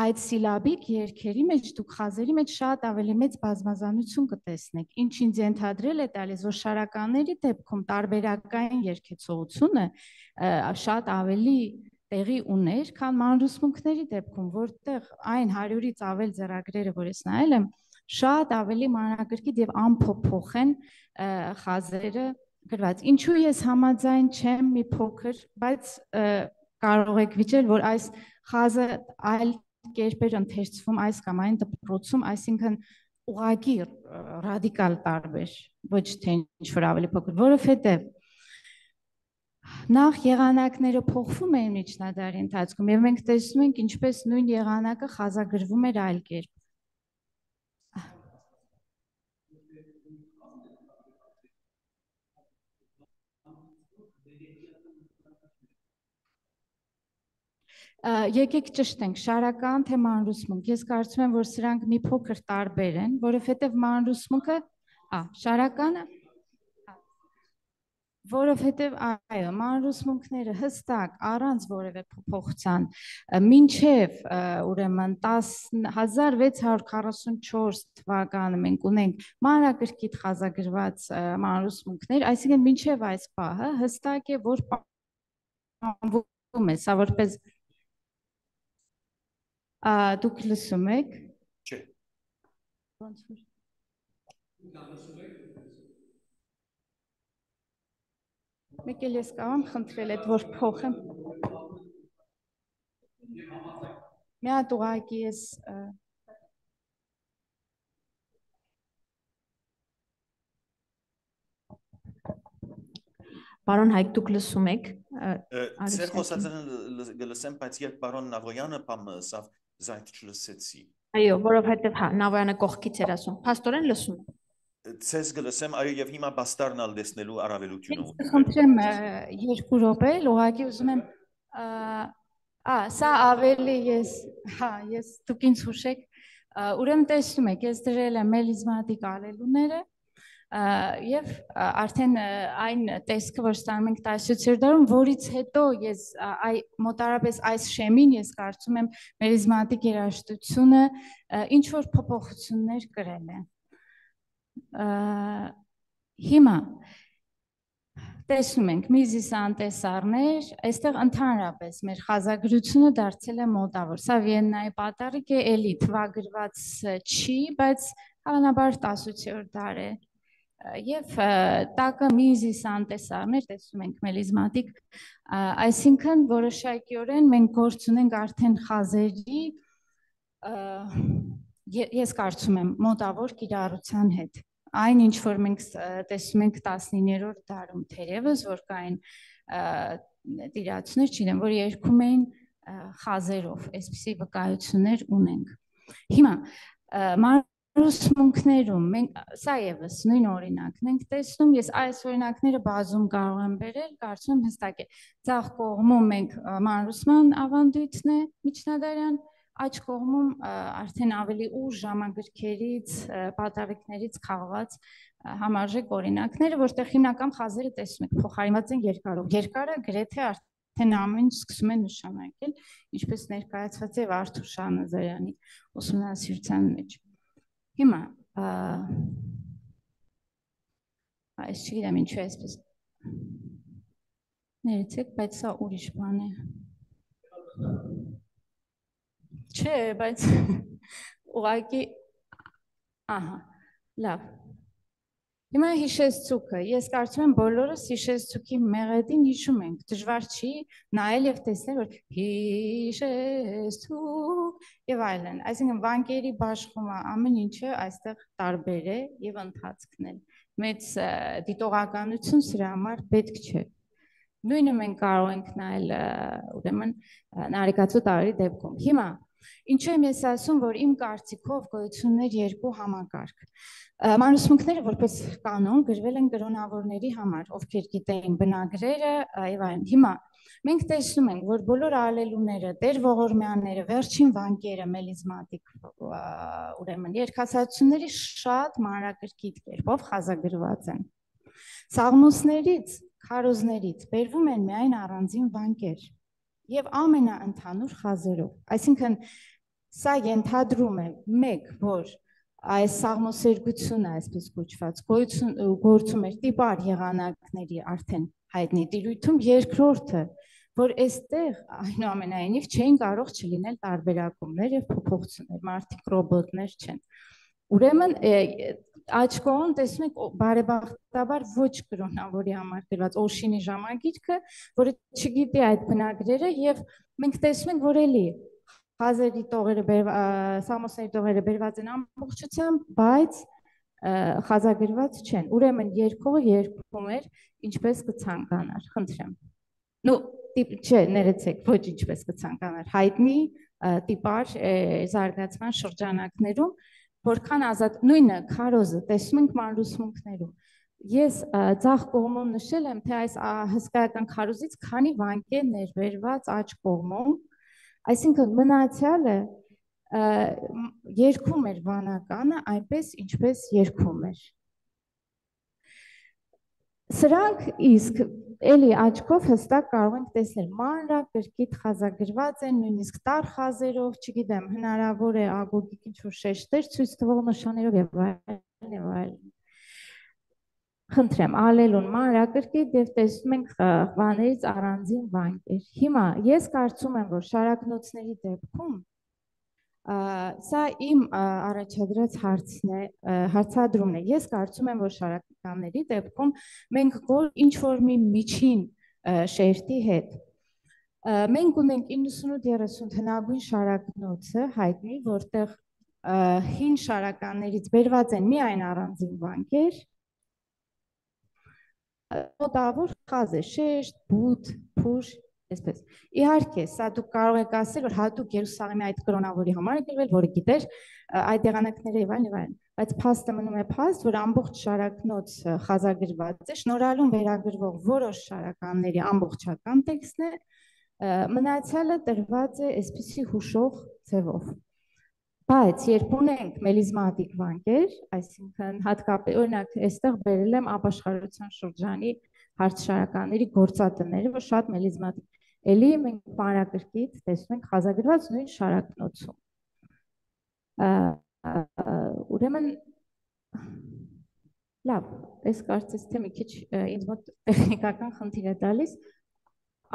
այդ սիլաբիկ երգերի մեջ դուք խազերի մեջ շատ ավելի մեծ բազմազանություն կտեսնեք, ինչ ինձ ենթադրել է տալիս, որ շարականների դեպքում տարբերակային երգեցողությունը շատ ավելի տեղի ուներ, քան մանրուսմունքների դեպքում, որտեղ այն 100-ից ավել ձեռագրերը, որ ես նայել եմ, շատ ավելի մանրակրկիտ եւ անփոփոխ են խազերը գրված։ Ինչու ես համաձայն չեմ մի փոքր, բայց կարող եք վիճել, որ այս խազը այլ կերպեր ընթերցվում այս կամ այն դպրոցում, այսինքն ուղղակի ռադիկալ տարբեր, ոչ թե ինչ-որ ավելի փոքր, որովհետև նախ եղանակները փոխվում էին միջնադարի ընթացքում եւ մենք տեսնում ենք ինչպես նույն եղանակը խազագրվում էր այլ կերպ։ Եկեք ճշտենք, շարական թե մանրուսմունք, ես կարծում եմ, որ սրանք մի փոքր տարբեր են, որովհետև մանրուսմունքը, շարականը, որովհետև այո, մանրուսմունքները հստակ առանց որևէ փոփոխության, մինչև ուրեմն 1644 թվականը մենք ունենք մանրակրկիտ խազագրված մանրուսմունքներ, այսինքն մինչև այս պահը հստակ է, որ պահանջվում է, սա որպես դուք լսում եք։ Չէ։ Մեկ էլ ես կարող եմ խնդրել այդ որ փոխեմ։ Մի հատ ուղղակի ես Պարոն Հայկ, դուք լսում եք։ Ձեր խոսածը գլսեմ, բայց երբ պարոն Նավոյանը բամը ասավ, զայդ չլսեցի։ Այո, որովհետև հա, Նավոյանը կողքից էր ասում։ Փաստորեն լսում եք։ Ցես գլսեմ, այո, եւ հիմա բաստարնալ դեսնելու առավելությունը ունի։ Խնդրեմ 2 րոպե, ուղղակի ուզում եմ սա ավելի ես դուք ինձ հուշեք, ուրեմն տեսնում եք, ես դրել եմ մելիզմատիկ ալելուները եւ արդեն այն տեսքը, որ ստանում ենք 17-րդ դարում, որից հետո ես մոտարապես այս շեմին ես կարծում եմ մելիզմատիկ երաժշտությունը ինչ որ փոփոխություններ կրել է։ Հիմա տեսնում ենք միզիս անտեսարներ, այստեղ ընդհանրապես մեր խազագրությունը դարձել է մոտավոր։ Սա Վիեննայի պատառիկ է, էլի թվագրված չի, բայց հավանաբար 18-րդ դար է։ Եվ տակը միզիս անտեսարներ, տեսնում ենք մելիզմատիկ, այսինքն որոշակիորեն մենք գործ ունենք արդեն խազերի, ես կարծում եմ մոտավոր կիրառության հետ։ Այն ինչ որ մենք տեսնում ենք 19-րդ դարում թերևս, որ կային տիրացներ, չգիտեմ, որ երգում էին խազերով, այսպիսի վկայություններ ունենք։ Հիմա մանրուսմունքներում մենք սա եւս նույն օրինակն ենք տեսնում, ես այս օրինակները բազում կարող եմ բերել, կարծում եմ հստակ է։ Ձախ կողմում մենք մանրուսման ավանդույթն է միջնադարյան, աջ կողմում արդեն ավելի ուշ ժամագրքերից, պատավիկներից քաղված համարժեք օրինակները, որտեղ հիմնական խազերը տեսնում եք փոխարինված են երկարով։ Երկարը գրեթե արդեն ամեն ինչ սկսում է նշանակել, ինչպես ներկայացված է Արթուր Շահնազարյանի ուսումնասիրության մեջ։ Հիմա այս չգիտեմ ինչու է այսպես։ Ներեցեք, բայց սա ուրիշ բան է։ Չէ, բայց ուղղակի ահա, լավ։ Հիմա հիշեցուցուկը, ես կարծում եմ բոլորս հիշեցուցուկի մեղեդին հիշում ենք, դժվար չի նայել եւ տեսնել, որ հիշեցուցուկ եւ այլն, այսինքն վանկերի բաշխումը ամեն ինչը այստեղ տարբեր է եւ ընթացքն է։ Մեծ դիտողականություն սրա համար պետք չէ։ Նույնը մենք կարող ենք նայել ուրեմն նարեկացու տարի դեպքում։ Հիմա ինչու եմ ես ասում, որ իմ կարծիքով գոյություններ երկու համակարգ։ Մանուսմունքները որպես կանոն գրվել են կրոնավորների համար, ովքեր գիտեին բնագրերը եւ այլն։ Հիմա մենք տեսնում ենք, որ բոլոր ալելուները, Տեր Ողորմյանները, վերջին վանկերը, մելիզմատիկ ուրեմն երկհասացությունների շատ մանրակրկիտ կերպով խազագրված են։ Սաղմոսներից, քարոզներից բերվում են միայն առանձին վանկեր եւ ամենաընդհանուր խազերով։ Այսինքն սա ենթադրում է մեկ, որ այս սաղմոսերգությունը, այսպես կոչված, գործում էր տիպար եղանակների արդեն հայտնի տիրույթում, երկրորդը, որ այստեղ այնուամենայնիվ չէին կարող չլինել տարբերակումներ եւ փոփոխություններ, մարդիկ ռոբոտներ չեն։ Ուրեմն աջ կողմում տեսնում եք բարեբախտաբար ոչ կրոնավորի համար գրված Օշինի ժամագիրքը, որը չգիտի այդ բնագրերը եւ մենք տեսնում ենք, որ էլի խազերի տողերը, սամոսների տողերը բերված են ամբողջությամբ, բայց խազագրված չեն։ Ուրեմն երկողը երգում էր ինչպես կցանկանար, խնդրեմ։ Նու չէ, ներեցեք, ոչ ինչպես կցանկանար, հայտնի տիպար զարգացման շրջանակներում, որքան ազատ նույնը քարոզը տեսնում ենք մանրուսմունքներում։ Ես ձախ կողմում նշել եմ, թե այս հսկայական քարոզից քանի վանկ է ներբերված աջ կողմում, այսինքն մնացյալը երգում էր վանականը այնպես, ինչպես երգում էր։ Սրանք իսկ էլի աչքով հստակ կարող ենք տեսնել, մանրակրկիտ խազագրված են, նույնիսկ տար խազերով, չգիտեմ, հնարավոր է ագոգիկ ինչ-որ շեշտեր ցույց տվող նշաններով եւ այլն։ Խնդրեմ, ալելուն մանրակրկիտ եւ տեսնում ենք բաներից առանձին վանկեր։ Հիմա ես կարծում եմ, որ շարակնոցների դեպքում սա իմ առաջադրած հարցն է, հարցադրումն է։ Ես կարծում եմ, որ շարականների դեպքում մենք ինչ-որ մի միջին շերտի հետ մենք ունենք 98-30 հնագույն շարակնոցը հայտնի, որտեղ հին շարականներից բերված են միայն առանձին վանկեր, մոտավոր խազ է, շեշտ, բութ, փուշ, այսպես։ Իհարկե, սա դուք կարող եք ասել, որ հատուկ Երուսաղեմի այդ կրոնավորի համար է գրվել, որը գիտեր այդ եղանակները եւ այլն, բայց փաստը մնում է փաստ, որ ամբողջ շարակնոց խազագրված է, շնորհալուն վերագրվող որոշ շարականների ամբողջական տեքստն է, մնացյալը տրված է այսպիսի հուշող ձևով։ Բայց երբ ունենք մելիզմատիկ վանկեր, այսինքն հատկապես օրինակ այստեղ բերել եմ ապաշխարության շրջանի հարցշարականների գործատները, որ շատ մելիզմատիկ։ Էլի մենք մանրակրկիտ տեսնում ենք խազագրված նույն շարակնոցում։ Ուրեմն լավ, այս կարծես թե մի քիչ ինձ մոտ տեխնիկական խնդիր է տալիս։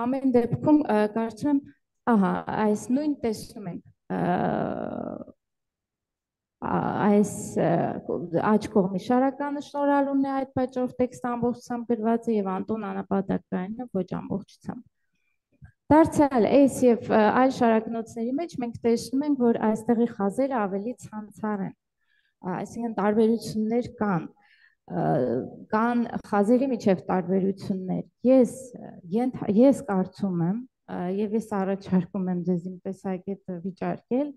Ամեն դեպքում կարծում եմ, ահա, այս նույն տեսնում ենք այս աջ կողմի շարականը շնորհալուն է, այդ պատճառով տեքստը ամբողջությամբ գրված է եւ Անտոն Անապատակյանը ոչ ամբողջությամբ։ Դարձյալ այս եւ այլ շարակնոցների մեջ մենք տեսնում ենք, որ այստեղի խազերը ավելի ցանցառ են, այսինքն տարբերություններ կան խազերի միջև տարբերություններ։ Ես կարծում եմ եւ ես առաջարկում եմ ձեզ իմ տեսակետը վիճարկել,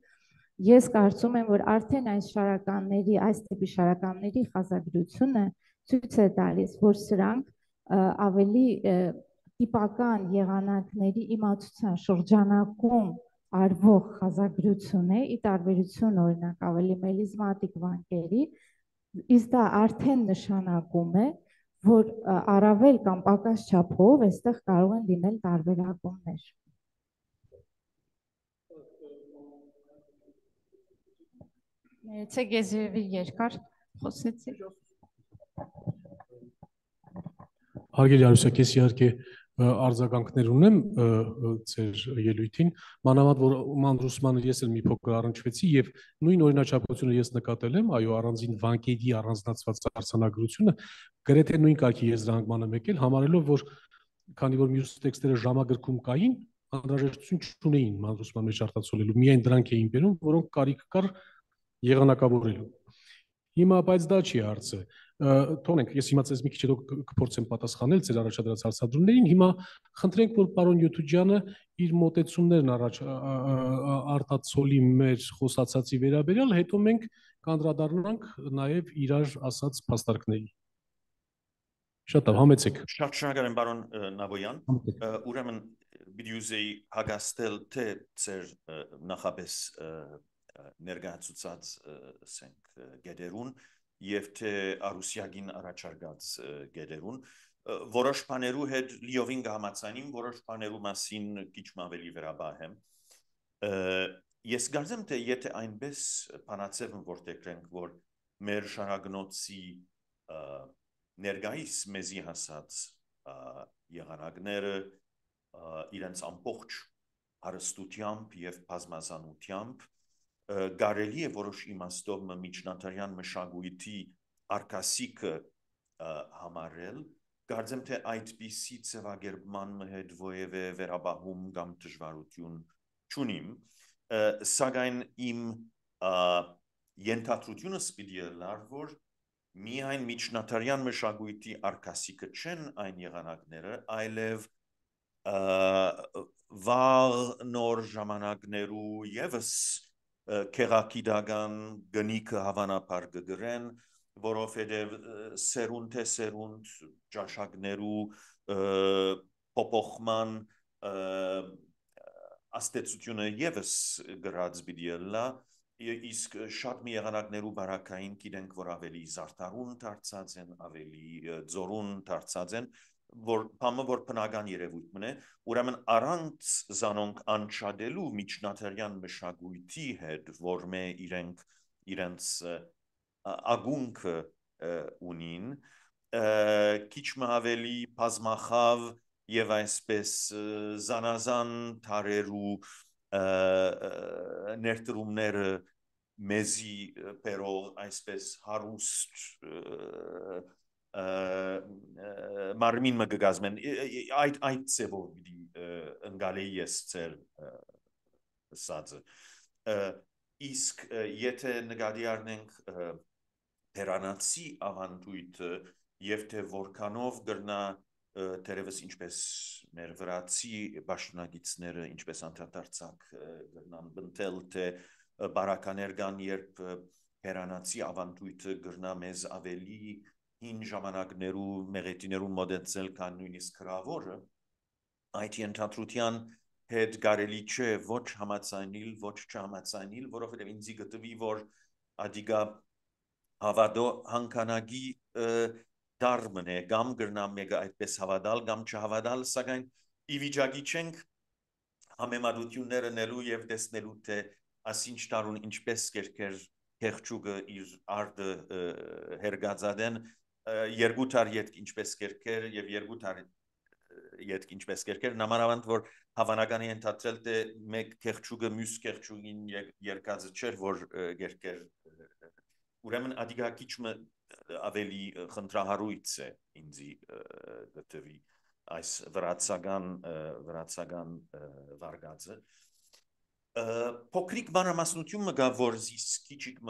ես կարծում եմ, որ արդեն այս շարականների, այս տիպի շարականների խազագրությունը ցույց է տալիս, որ սրանք ավելի տիպական եղանակների իմացության շրջանակում արվող խազագրություն է, ի տարբերություն օրինակ ավելի մելիզմատիկ վանկերի, իսկ դա արդեն նշանակում է, որ առավել կամ պակաս չափով այստեղ կարող են լինել տարբերակումներ։ Ներեցեք, ես երկար խոսեցի։ Հարգելի Արուսակ, ես իհարկե արձագանքներ ունեմ ձեր ելույթին, մանավանդ որ մանրուսմանը ես էլ մի փոքր առնչվեցի եւ նույն օրինաչափությունը ես նկատել եմ, այո, առանձին վանկերի առանձնացված արձանագրությունը գրեթե նույն կարգի եզրահանգման եմ եկել, համարելով որ քանի որ մյուս տեքստերը ժամագրքում կային, անհրաժեշտություն չունեին մանրուսման մեջ արտացոլելու, միայն դրանք էին բերում, որոնք կարիք կար եղանակավորելու։ Հիմա բայց դա չի հարցը։ Թողնենք, ես հիմա ձեզ մի քիչ հետո կփորձեմ պատասխանել ձեր առաջադրած հարցադրումներին։ Հիմա խնդրենք, որ պարոն Յութուջյանը իր մոտեցումներն արտացոլի մեր խոսացածի վերաբերյալ, հետո մենք կանդրադառնանք նաև իրար ասած փաստարկների։ Շատ լավ, համեցեք։ Շատ շնորհակալ եմ պարոն Նավոյան։ Ուրեմն բիդյուզեի հագաստել թե ձեր նախապես ներկայացուցած ասենք գեդերուն եւ թե Արուսյագին առաջարկած գեդերուն որոշ բաներու հետ լիովին կհամաձայնեմ, որոշ բաներու մասին քիչ ավելի վերաբահեմ։ Ես գարզեմ թե եթե այնպես բանացեմ որտեղենք որ մեր շարագնոցի ներգայիս մեզի հասած եղանակները իրենց ամբողջ հարստությամբ եւ բազմազանությամբ կարելի է որոշ իմաստով միջնադարյան մշակույթի արկասիկը համարել, կարծեմ թե այդպիսի ձևակերպման հետ որևէ վերաբահում կամ դժվարություն չունիմ, սակայն իմ ենթադրությունս պիտի լար, որ միայն միջնադարյան մշակույթի արկասիկը չեն այն եղանակները, այլև վաղ նոր ժամանակներու եւս քեղակիդական գնիքը հավանաբար կգրեն, որովհետև սերունդ թե սերունդ ճաշակներու փոփոխման աստեցությունը եւս գրած բիդիելա, իսկ շատ մի եղանակներու բարակային գիտենք, որ ավելի զարդարուն դարձած են, ավելի ձորուն դարձած են, որ բամը որ բնական երևույթ մնե, ուրեմն առանց զանոնք անչադելու միջնադարյան մշակույթի հետ, որ մե իրենց ագունքը ունին, քիչ ավելի բազմախավ եւ այսպես զանազան թարերու ներդրումները մեզի բերող այսպես հարուստ մարմին մգգազմեն այդ ծևով ընկալեի ես ծեր սածը իսկ եթե նկատի առնենք հերանացի ավանդույթը եւ թե որքանով գրնա թերևս ինչպես մեր վրացի պաշտոնագետները ինչպես անդրադարձակ գրնան բնտել թե բարականեր կան երբ հերանացի ավանդույթը գրնա մեզ ավելի հին ժամանակներու մեղեդիներու մոդեցել կան նույնիսկ հրավորը այդ ենթադրության հետ կարելի չէ ոչ համաձայնել ոչ չհամաձայնել որովհետև ինձ գտվի որ ադիգա հավատո հանքանագի դարմն է կամ գրնամ մեկը այդպես հավատալ կամ չհավատալ սակայն ի վիճակի չենք համեմատությունները նելու եւ տեսնելու թե ասինչ տարուն ինչպես կերկեր քեղճուկը իր արդը հերգածադեն երկու տար յետք ինչպես կերկեր եւ երկու տար յետք ինչպես կերկեր նամանավանդ որ հավանական է ընդհատել թե մեկ քեղճուկը մյուս քեղճուկին երկածը չէր որ կերկեր ուրեմն ադիգա քիչ ավելի խնդրահարույց է ինձի գտվի այս վրացական վարգածը փոքրիկ մանրամասնություն մգա որ զիս քիչիկ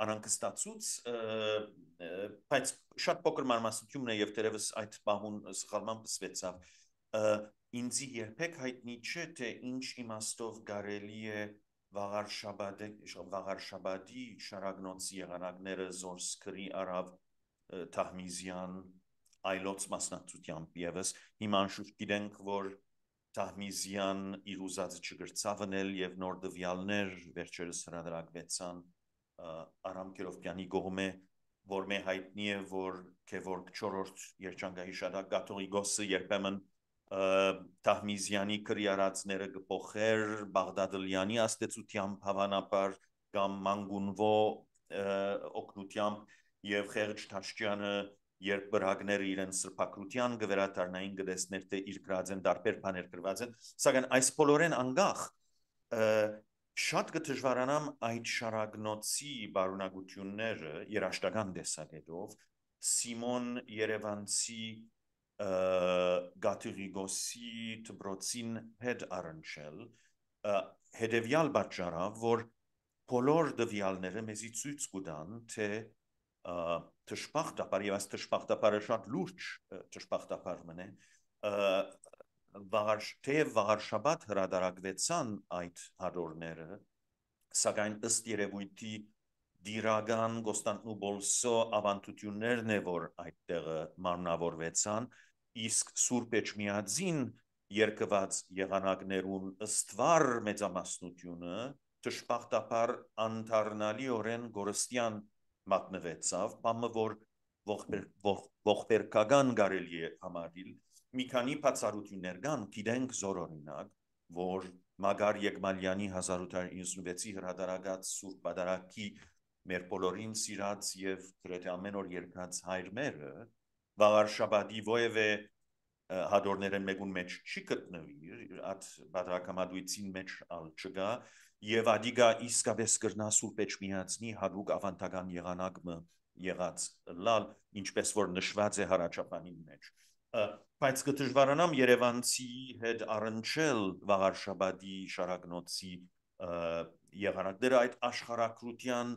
անանկստացուց բայց շատ փոքր մանրամասնությունն է եւ դերևս այդ բահուն սխալման պսվեցավ ինձի երբեք հայտնի չէ թե ինչ իմաստով կարելի է վաղար շաբաթի շարագնոցի եղանակները զորսկրի արավ Թահմիզյան այլոց մասնակցությամբ եւս հիմա անշուշտ գիտենք որ Թահմիզյան իր ուզածը չգրծավնել եւ նոր դվյալներ վերջերս հրադարակվեցան Արամ Կերովկյանի կողմէ որ մե հայտնի է որ Քևորգ 4-րդ երջանկայի շարակ կաթողիկոսը երբեմն Թահմիզյանի քրիարածները կփոխեր Բաղդադլյանի աստեցությամբ հավանաբար կամ Մանգունվո օգնությամբ եւ Խեղճ Թաշկյանը երբ բրհակները իրեն սրբակրության գվերադառնային գտեսներ թե իր գրած են դարբեր բաներ գրված են, սակայն այս բոլորեն անգախ շատ կդժվարանամ այդ շարագնոցի բարունակությունները երաշտական տեսակետով Սիմոն Երևանցի Գաթիղիգոսի դպրոցին հետ առնչել հետևյալ պատճառով, որ բոլոր դվյալները մեզի ցույց կտան, թե թշպախտապար եւ այս թշպախտապարը շատ լուրջ թշպախտապար մնե վաղար շաբաթ հրադարակվեցան այդ հադորները, սակայն ըստ երևույթի դիրական Կոստանդնուպոլսո ավանդություններն է, որ այդտեղը մարմնավորվեցան, իսկ Սուրբ Էջմիածին երկված եղանակներուն ըստվար մեծամասնությունը թշպախտապար անթարնալիորեն գորստյան մատնվեցավ, բամը որ ողբերգական կարելի է համարել, մի քանի բացառություններ կան, գիտենք զորօրինակ, որ Մագար Եկմալյանի 1896-ի հրադարակած Սուրբ Պատարագի մեր բոլորին սիրած եւ գրեթե ամեն օր երգած հայրմերը վաղար շաբաթի ովևէ հադորներն մեկուն մեջ չի գտնվի, այդ բادرակամադույցին մեջ ալ չկա եւ ադիգա իսկապես կրնա Սուրբ Էջմիածնի հadouk ավանդական եղանակը եղած լալ, ինչպես որ նշված է հարաճապանին մեջ բայց կդժվարանամ Երևանցի հետ առնչել վաղար շաբաթի շարագնոցի եղանակները այդ աշխարհակրության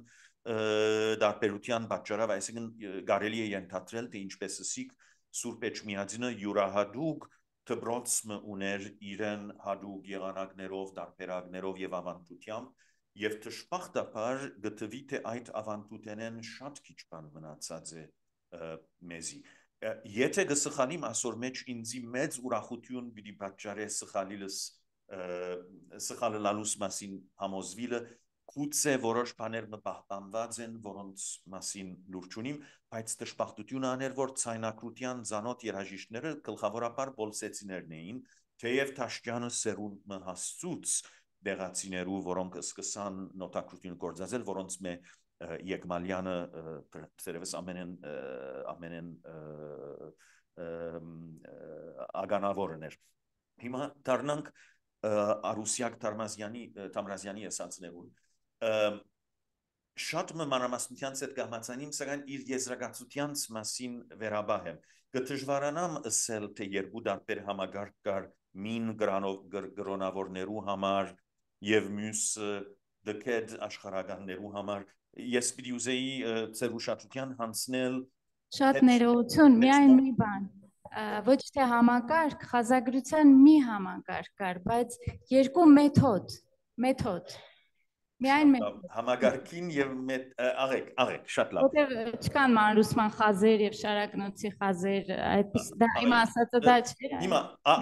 դարբերության պատճառով, այսինքն կարելի է ենթադրել, թե ինչպես ասիկ Սուրբ Էջմիածինը յուրահատուկ դպրոցը ուներ իրեն հadouk եղանակներով, դարբերակներով եւ ավանդությամբ եւ թշպախտապար գտվի թե այդ ավանդութենեն շատ քիչ բան մնացած է մեզի Եթե գսխանիմ ասոր մեջ ինձի մեծ ուրախություն պիտի պատճառե սխալիլս սխալելալուս մասին համոզվիլը գուցե որոշ բաներ մպահպանված են որոնց մասին լուրջ ունիմ բայց դժբախտություն աներ որ ցայնակրության ցանոթ երաժիշտները գլխավորապես բոլսեցիներն էին թեև Թաշկյանը սերունդը հասցուց դեղացիներու որոնք սկսան նոտակրություն գործածել որոնց մե Եկմալյանը ծերևս ամենեն ագանավորն էր հիմա դառնանք Արուսյակ Թամրազյանի ասածներուն շատ մանրամասնությանց հետ կհամաձայնիմ սակայն իր եզրակացությանց մասին վերաբահ եմ կդժվարանամ ասել թե երկու դարբեր համագարկ կար մին գրոնավորներու համար եւ մյուս դքեդ աշխարհականներու համար Ես պիտի ուզեի ձեր ուշադրության հանձնել Շատ ներողություն, միայն մի բան ոչ թե համակարգ, խազագրության մի համակարգ կար, բայց երկու մեթոդ միայն համակարգին եւ աղեք շատ լավ Որտեղ չկան մանրուսման խազեր եւ շարակնոցի խազեր, այդպես դա իմ ասածը դա չէ Հիմա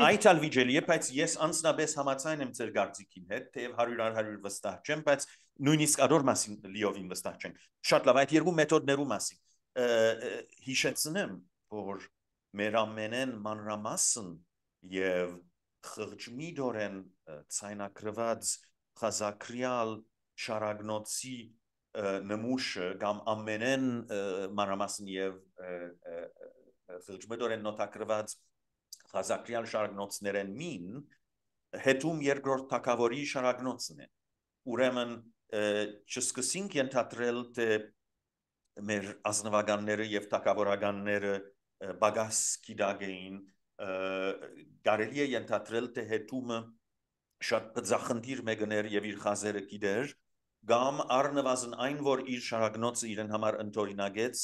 այդ ալ վիճելի է, բայց ես անձնապես համաձայն եմ ձեր կարծիքին հետ, թեև 100% վստահ չեմ, բայց նույնիսկ ադոր մասին լիովին վստահ չենք։ Շատ լավ, այդ երկու մեթոդներու մասին հիշեցնեմ, որ մեր ամենեն մանրամասն եւ խղճմիդորեն ցայնակրված խազակրյալ շարագնոցի նմուշը կամ ամենեն մանրամասն եւ խղճմիդորեն նոտակրված խազակրյալ շարագնոցներեն մին հետում երկրորդ թակավորի շարագնոցն է ուրեմն չսկսինք ենթադրել թե մեր ազնվականները եւ թակավորականները բագաս գիտակ էին կարելի է ենթադրել թե հետումը շատ բծախնդիր մեկներ եւ իր խազերը գիտեր կամ առնվազն այն որ իր շարագնոցը իրեն համար ընթորինագեց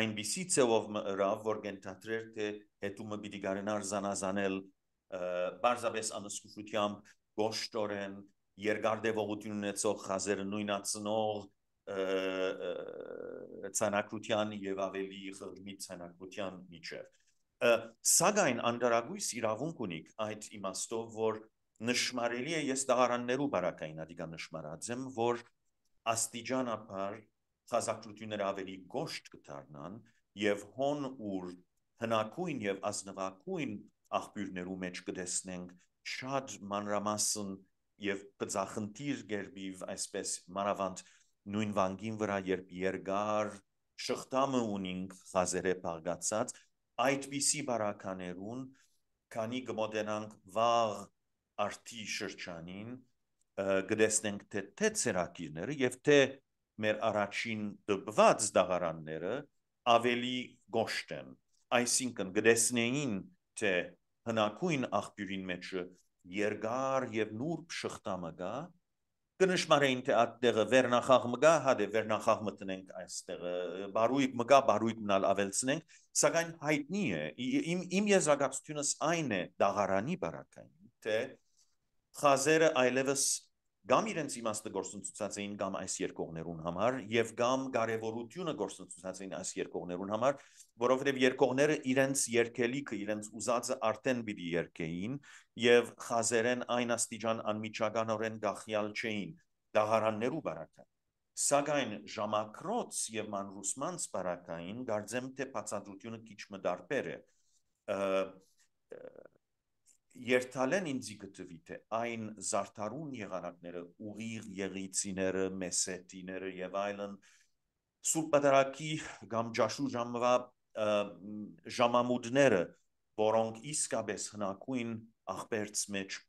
այնպիսի ցեվով մռավ որ ենթադրեր թե հետումը պիտի գարենար զանազանել բարձրապես անսկուշությամբ գոշտորեն երկարդեվողություն ունեցող խազերը նույնացնող ցանակրության եւ ավելի խղճմիտ ցանակրության միջև սակայն անդրագույս իրավունք ունիք այդ իմաստով որ նշмарելի է ես դաղարաններու բարակային ադիգա նշмарած եմ որ աստիճանաբար խազակրությունները ավելի գոշտ կդառնան եւ հոն ուր հնակույն եւ ազնվակույն աղբյուրներու մեջ կտեսնենք շատ մանրամասն եւ բծախնդիր գերբիվ այսպես մանավանդ նույն վանգին վրա երբ երկար շղթամը ունինք խազերը բաղգացած այդպիսի բարականերուն քանի գմոդենանք վաղ արդի շրջանին գտեսնենք թե ցերակիրները եւ թե մեր առաջին դպված դաղարանները ավելի գոշտ են այսինքն գտեսնեին թե հնակույն աղբյուրին մեջ երկար եւ նուրբ շղթամը գա կնշմարեին թե այդտեղը վերնախաղ մգա հադե վերնախաղ մտնենք այստեղը բարույկ մգա բարույկ մնալ ավելցնենք սակայն հայտնի է իմ եզրակացությունս այն է դաղարանի բարակային թե խազերը այլևս գամ իրենց իմաստը գործընծուցած էին գամ այս երկողներուն համար եւ գամ կարեւորությունը գործընծուցած էին այս երկողներուն համար որովհետեւ երկողները իրենց երկելիքը իրենց ուզածը արդեն պիտի երկեին եւ խազերեն այն աստիճան անմիջականորեն գախյալ չէին դաղարաններու բարակային սակայն ժամակրոց եւ մանրուսմանց բարակային գարձեմ թե բացատրությունը քիչ մդարբեր է երթալեն ինձի գտվի թե այն զարդարուն եղանակները ուղիղ եղիցիները մեսետիները եւ այլն սուրբ պատարակի կամ ջաշու ժամվա ժամամուդները որոնք իսկապես հնակույն աղբերց մեջ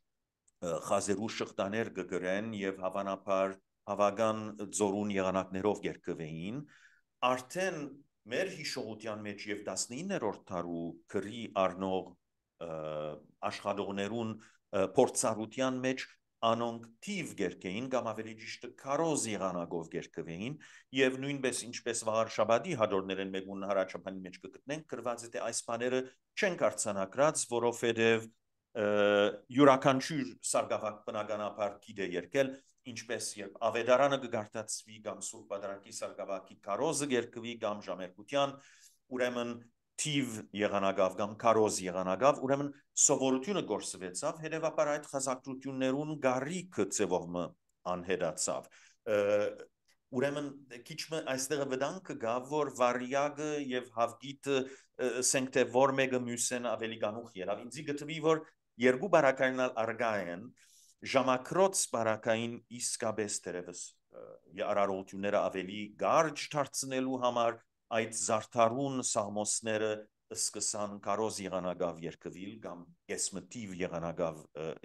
խազերու շղթաներ գգրեն եւ հավանաբար հավական ձորուն եղանակներով երկվեին արդեն մեր հիշողության մեջ եւ 19-րդ դարու քրի առնող աշխատողներուն փորձառության մեջ անոնք թիվ գերկեին կամ ավելի ճիշտ քարոզ եղանակով գերկվեին եւ նույնպես ինչպես վաղար շաբաթի հաջորդներեն մեկուն հարաճապանի մեջ կգտնենք գրված է թե այս բաները չեն կարծանակրած որովհետեւ յուրաքանչյուր սարգսակ բնականաբար գիտե երկել ինչպես երբ ավետարանը կգարտացվի կամ սուրբ պատարակի սարգսակի քարոզը գերկվի կամ ժամերկության ուրեմն թիվ եղանակավ կամ քարոզ եղանակավ ուրեմն սովորությունը գործվեցավ հետևաբար այդ խազակրություններուն գարիքը ծևողը անհետացավ ուրեմն քիչմը այստեղ վտանգը գա որ վարիագը եւ հավգիտը ասենք թե որ մեկը մյուսեն ավելի գանուխ ելավ ինձի գտվի որ երկու բարակայինալ արգա են ժամակրոց բարակային իսկապես դերևս արարողությունները ավելի գարջ դարձնելու համար այդ զարդարուն սաղմոսները սկսան կարոզ եղանակավ երկվիլ կամ կեսմտիվ եղանակավ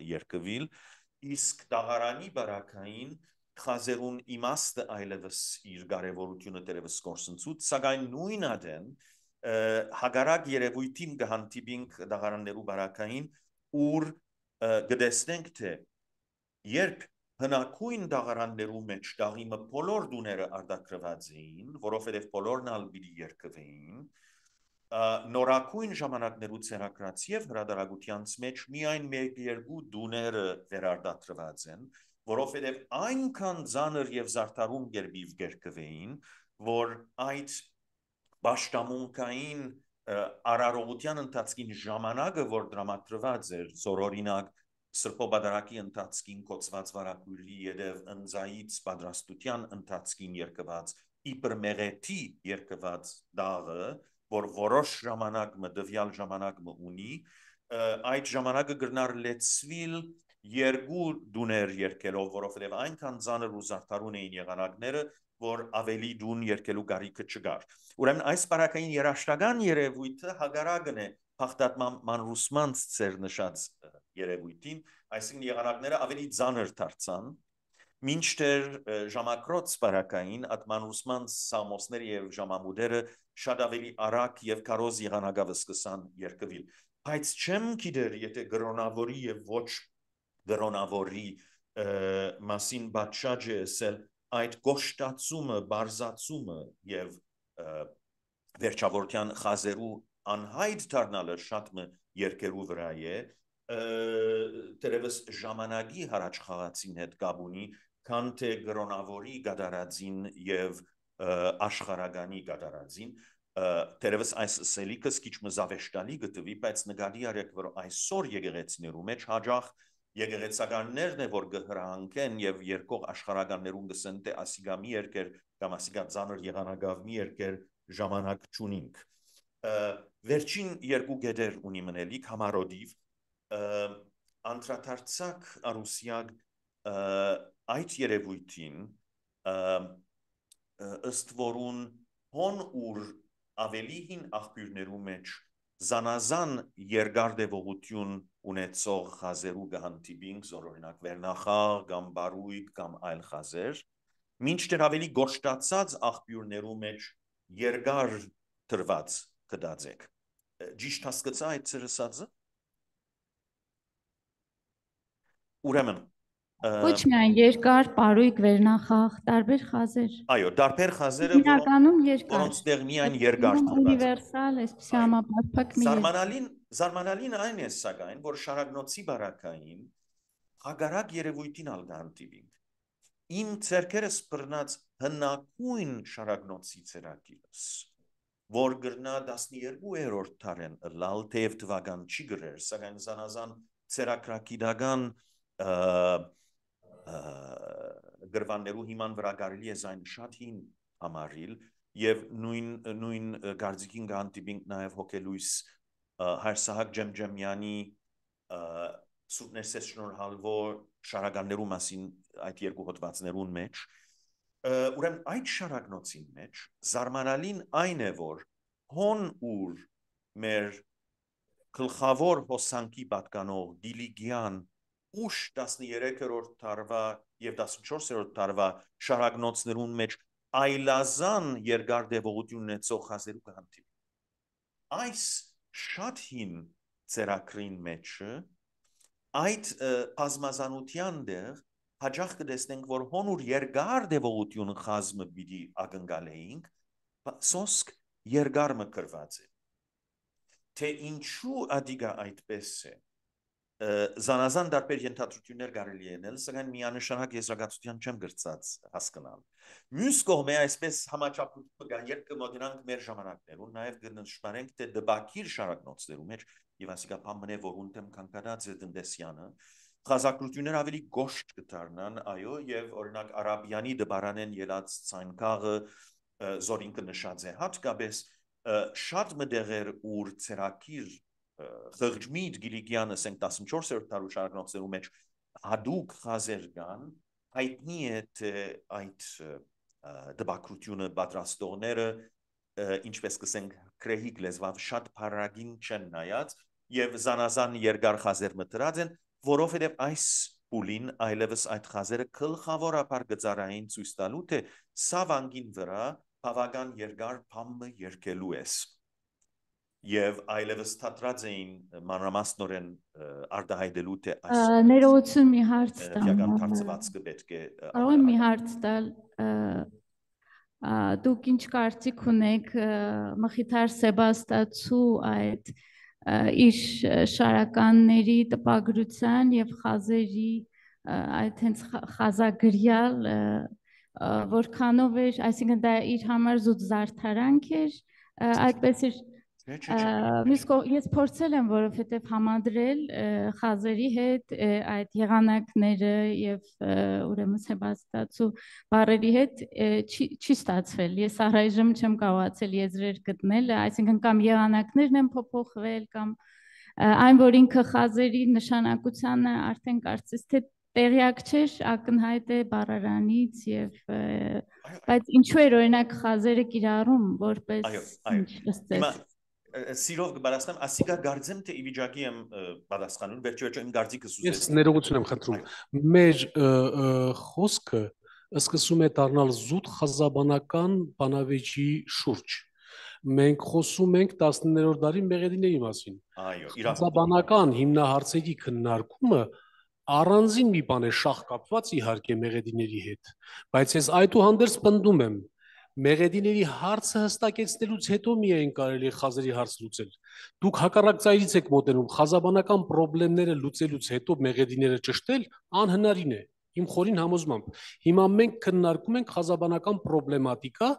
երկվիլ իսկ դաղարանի բարակային խազերուն իմաստը այլևս իր կարևորությունը դերևս գործընծուց սակայն նույն ադեն հագարակ երևույթին կհանդիպինք դաղարաններու բարակային ուր գտեսնենք թե երբ հնակույն դաղարաններու մեջ դաղիմը բոլոր դուները արտադրված էին, որովհետև բոլորն ալ պիտի երկվեին, նորակույն ժամանակներու ցերակրած եւ հրադարագությանց մեջ միայն մեկ-երկու դուները վերարտադրված են, որովհետև այնքան ծանր եւ զարդարուն գերբիվ երկվեին, որ այդ պաշտամունքային արարողության ընթացքին ժամանակը, որ դրամատրված էր, զորօրինակ սրբոբադարակի ընթացքին կոծված վարակույրի եդև ընձայից պատրաստության ընթացքին երկված իբր մեղեթի երկված դաղը, որ որոշ ժամանակ դվյալ ժամանակ ունի, այդ ժամանակը գրնար լեցվիլ երկու դուներ երկելով, որովհետև այնքան ծանր ու զարդարուն էին եղանակները, որ ավելի դուն երկելու կարիքը չկար։ Ուրեմն այս բարակային երաշտական երևույթը հագարակն է փախտատման մանրուսմանց ծեր նշած երևույթին, այսինքն եղանակները ավելի ծանր դարձան, մինչդեռ ժամակրոց բարակային ատմանուսման սամոսները եւ ժամամուդերը շատ ավելի արագ եւ կարոզ եղանակավ սկսան երկվիլ։ Բայց չեմ գիտեր, եթե գրոնավորի եւ ոչ գրոնավորի մասին բացաճ է ասել այդ գոշտացումը, բարձացումը եւ վերջավորության խազերու անհայտ դառնալը շատ մը երկերու վրա է դերևս ժամանակի հարաճ խաղացին հետ գաբունի քան թե գրոնավորի գդարածին եւ աշխարհականի գդարածին դերևս այս սելիկս քիչ մը զավեշտալի գտվի բայց նկատի արեք որ այսօր եկեղեցիներու մեջ հաջող եկեղեցականներն է որ գհրանքեն եւ երկող աշխարհականներուն գսեն թե ասիգա մի երկեր կամ ասիգա ծանր եղանակավ մի երկեր ժամանակ ճունինք վերջին երկու գեդեր ունի մնելիք համարոդիվ անդրադարձակ արուսյակ այդ երևույթին ըստ որուն հոն ուր ավելի հին աղբյուրներու մեջ զանազան երկարդևողություն ունեցող խազերու գահանտիբինք, օրինակ վերնախաղ, կամ բարույկ, կամ այլ խազեր, մինչդեռ ավելի գոշտացած աղբյուրներու մեջ երկար թրված կդածեք։ Ճիշտ հասկացա այդ ծրսածը։ Ուրեմն Ոչ միայն երկար, պարույկ, վերնախաղ, տարբեր խազեր։ Այո, տարբեր խազերը, Իրականում երկար։ որոնց տեղ միայն երկար թրված։ Ունիվերսալ, այսպիսի համապարփակ մի Զարմանալին այն է սակայն, որ շարագնոցի բարակային հագարակ երևույթին ալգանտիվին։ Իմ ցերկերս բռնած հնակույն շարագնոցի ցերակիրս, որ գրնա 12-րդ դարեն լալ թեև թվական չի գրեր, սակայն զանազան ցերակրակիդական գրվաններու հիման վրա կարելի է զայն շատ հին համարիլ եւ նույն գարձիկին գանտիբինք նաեւ հոգելույս Հայրսահակ Ջեմջեմյանի սուրբներսես շնորհալվոր շարականներու մասին այդ երկու հոդվածներուն մեջ ուրեմն այդ շարակնոցին մեջ զարմանալին այն է որ հոն ուր մեր գլխավոր հոսանքի պատկանող դիլիգյան ուշ 13-րդ դարվա եւ 14-րդ դարվա շարակնոցներուն մեջ այլազան երկարդևողություն ունեցող խազերու կհանդիպի։ Այս շատ հին ծերակրին մեջ այդ բազմազանության դեղ հաջող կտեսնենք որ հոնուր երկարդևողություն խազմը պիտի ակնկալեինք սոսկ երկար մկրված է թե ինչու ադիգա այդպես է զանազան դարբեր ենթադրություններ կարելի ենել, սակայն միանշանակ եզրակացության չեմ գրծած հասկանալ։ Մյուս կողմը այսպես համաչափություն կա, երբ կմոտենանք մեր ժամանակներուն, նաև կնշмарենք թե դբակիր շարակնոցներու մեջ եւ ասիկա բամնե որ ունտեմ կանկադած է տնտեսյանը, խազակրություններ ավելի գոշտ կդառնան, այո, եւ օրինակ արաբյանի դբարանեն ելած ցանկաղը զորին կնշած է հատկապես շատ մդեղեր ուր ցերակիր Խղճմիտ Գիլիգյանը 14-րդ դարու շարակնոցներու մեջ հադուկ խազեր կան, հայտնի է թե այդ դբակրությունը պատրաստողները ինչպես կսենք քրեհիկ լեզվով շատ փարագին չեն նայած եւ զանազան երկար խազեր մտրած են, որովհետեւ այս պուլին այլևս այդ խազերը գլխավորապես գծարային ցույց տալու թե սա վանգին վրա բավական երկար փամը երկելու ես Եվ այլևս թատրած էին մանրամասնորեն արտահայտելու թե այս ներողություն մի հարց տամ թարցվածքը պետք է կարող եմ մի հարց տալ դուք ինչ կարծիք ունեք Մխիթար Սեբաստացու այդ իր շարականների տպագրության եւ խազերի այդ հենց խազագրյալ որքանով էր այսինքն դա իր համար զուտ զարդարանք էր այդպես էր Ես փորձել եմ, որովհետև համադրել խազերի հետ այդ եղանակները եւ ուրեմն Սեբաստացու բառերի հետ չի ստացվել։ Ես առայժմ չեմ կարողացել եզրեր գտնել, այսինքն կամ եղանակներն են փոփոխվել կամ այն որ ինքը խազերի նշանակությանը արդեն կարծես թե տեղյակ չէր, ակնհայտ է բառարանից եւ բայց ինչու էր օրինակ խազերը կիրառում որպես ինչ Սիրով կբարասնեմ, ասիկա գարձեմ թե իվիճակի եմ բադասխանում, վերջիվերջո իմ գարձիկը սուզել։ Ես ներողություն եմ խնդրում։ Մեր խոսքը սկսում է դառնալ զուտ խազաբանական բանավեճի շուրջ։ Մենք խոսում ենք 19-րդ դարի մեղեդիների մասին։ Այո, խազաբանական հիմնահարցերի քննարկումը առանձին մի բան է շահ կապված իհարկե մեղեդիների հետ, բայց ես այդուհանդերձ պնդում եմ Մեղեդիների հարցը հստակեցնելուց հետո միայն կարելի է խազերի հարց լուծել։ Դուք հակառակ ծայրից եք մոտենում, խազաբանական խնդիրները լուծելուց հետո մեղեդիները ճշտել անհնարին է։ Իմ խորին համոզմամբ։ Հիմա մենք քննարկում ենք խազաբանական պրոբլեմատիկա,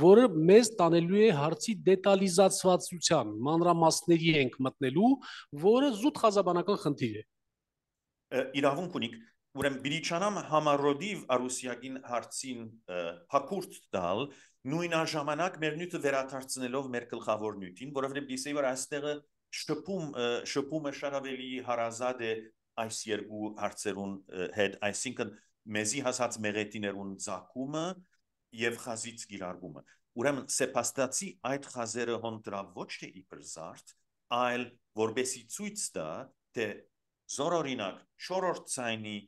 որը մեզ տանելու է հարցի դետալիզացվածության, մանրամասների ենք մտնելու, որը զուտ խազաբանական խնդիր է։ Իրավունք ունիք, ուրեմն բիլիչանամ համառոդիվ արուսիագին հարցին հակուրդ տալ նույն ժամանակ մեր նյութը վերադարձնելով մեր գլխավոր նյութին, որովհետև դիսեի որ այստեղը շփումը շատ ավելի հարազատ է այս երկու հարցերուն հետ, այսինքն մեզի հասած մեղեդիներուն ցակումը եւ խազից գիրարգումը։ ուրեմն սեպաստացի այդ խազերը հոն դրավ ոչ թե իբր զարդ, այլ որբեսի ցույց տա, թե զորօրինակ չորրորդ ցայնի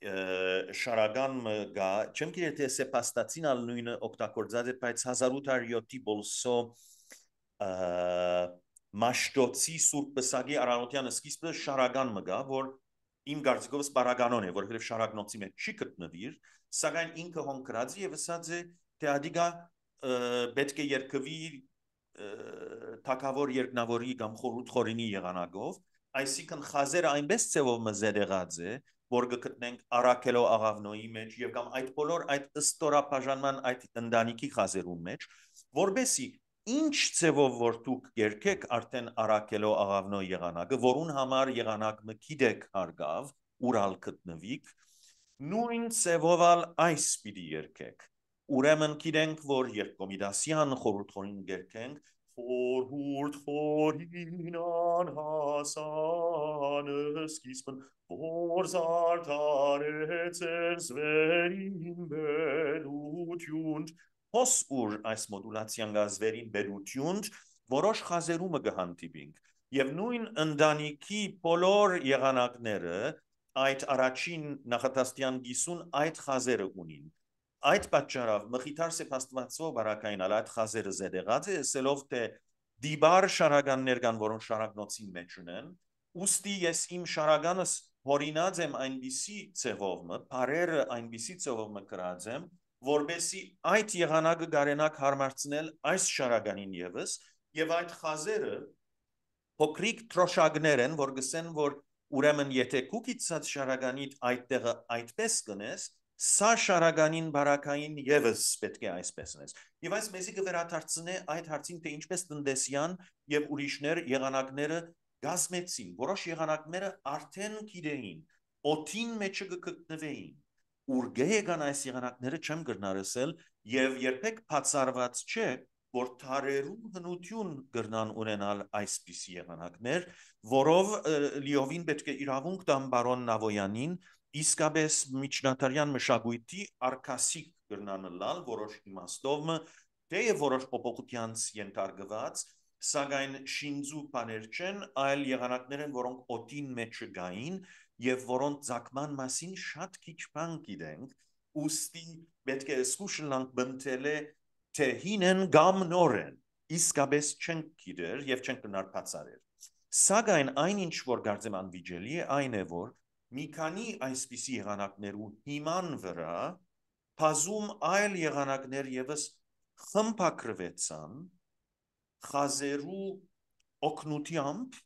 շարական գա, չեմ գիտի թե սեպաստացին ալ նույնը օգտագործած է, բայց 1807-ի բոլսո մաշտոցի Սուրբ Պսակի Արանոթյան սկիզբը շարական մգա, որ իմ կարծիքով սպարականոն է, որովհետև շարակնոցի մեջ չի գտնվիր, սակայն ինքը հոնկրած է եւ ասած է, թե ադիգա պետք է երկվի թակավոր երկնավորի կամ խորհուրդ խորինի եղանակով, այսինքն խազերը այնպես ձևով մզերեղած է, որ գտնենք Արաքելո աղավնոյի մեջ եւ կամ այդ բոլոր այդ ըստորապաժանման այդ ընտանիքի խազերու մեջ, որբեսի ինչ ձևով որ դուք երկեք արդեն Արաքելո աղավնո եղանակը, որուն համար եղանակը գիտեք հարգավ, ուրալ գտնվիք, նույն ձևով այս պիտի երկեք։ Ուրեմն գիտենք, որ Երկոմիդասյան խորհուրդ երկենք, խորհուրդ խորին անհասան սկիզբն, որ զարդարեց զվերին բերություն, հոս ուր այս մոդուլացիան գազվերին բերություն, որոշ խազերումը գհանդիպինք, և նույն ընտանիքի բոլոր եղանակները այդ առաջին նախատաստյան գիսուն այդ խազերը ունին։ Այդ պատճառով մխիթար սեպաստվածով բարակային այդ խազերը զեդեղած է, ասելով թե դիբար շարականներ կան, որոնք շարակնոցի մեջ ունեն, ուստի ես իմ շարականս հորինած եմ այնպիսի ձևով, բարերը այնպիսի ձևով կրած եմ, որբեսի այդ եղանակը կարենակ հարմարցնել այս շարականին ևս, եւ այդ խազերը փոքրիկ թրոշակներ են, որ գսեն, որ ուրեմն եթե կուկիցած շարականիդ այդտեղը այդպես կնես, սա շարականին բարակային ևս պետք է այսպես նես։ Եվ այս մեզի կվերադարձնե այդ հարցին, թե ինչպես տնտեսյան եւ ուրիշներ եղանակները գազմեցին, որոշ եղանակները արդեն գիտեին, օդին մեջը կգտնվեին, ուր գեգան այս եղանակները չեմ գրնարսել եւ երբեք բացառված չէ, որ թարերու հնություն գրնան ունենալ այսպիսի եղանակներ, որով լիովին պետք է իրավունք տամ բարոն Նավոյանին, իսկապես միջնադարյան մշակույթի արկասիկ գրնանլալ, որոշ իմաստով թեև որոշ փոփոխությանց ենթարկված, սակայն շինձու բաներ չեն, այլ եղանակներ են, որոնք օդին մեջ գային եւ որոնց ցակման մասին շատ քիչ բան գիտենք, ուստի պետք է սկուշլանք բնտել է թե հինեն կամ նորեն, իսկապես չենք գիտեր եւ չենք գնար բացարել։ Սակայն այնինչ որ կարծեմ անվիճելի է, այն է որ մի քանի այսպիսի եղանակներու հիման վրա բազում այլ եղանակներ ևս խմբագրվեցան խազերու օգնությամբ,